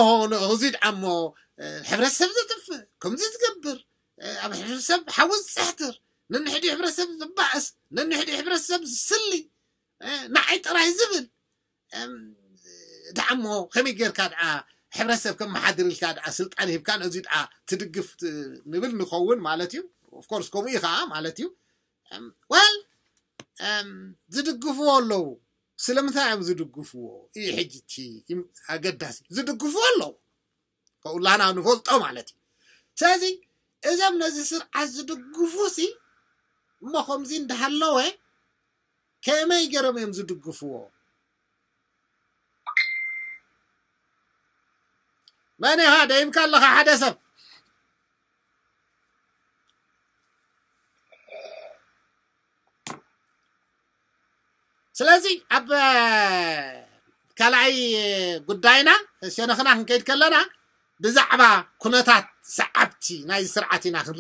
እዚ ደኣ እሞ ሕብረተሰብ ዘጥፍእ ከምዚ ዝገብር ኣብ ሕብረተሰብ ሓዊ ዝፅሕትር ነንሕዲ ሕብረተሰብ ዝባእስ ነንሕዲ ሕብረተሰብ ዝስሊ ንዓይ ጥራይ ዝብል ደኣ እሞ ከመይ ጌርካ ደኣ ሕብረተሰብ ከመሓድር ኢልካ ደኣ ስልጣን ሂብካ ነዚ ደኣ ትድግፍ ንብል ንኸውን ማለት እዩ። ኦፍኮርስ ከምኡ እዩ ከዓ ማለት እዩ። ዋል ዝድግፍዎ ኣለዉ። ስለምንታይ እዮም ዝድግፍዎ እዩ ሕጂ እቲ ኣገዳሲ። ዝድግፍዎ ኣለዉ ከኩላና ንፈልጦ ማለት እዩ። ስለዚ እዞም ነዚ ስርዓት ዝድግፉ ሲ እሞ ከምዚ እንዳሃለወ ከመይ ገይሮም እዮም ዝድግፍዎ? መን ኢኻ ደይብካ ኣለኻ ሓደ ሰብ? ስለዚ ኣብ ካልኣይ ጉዳይና ሸነኽና ክንከይድ ከለና ብዛዕባ ኩነታት ሰዓብቲ ናይዚ ስርዓት ኢና ክንርኢ።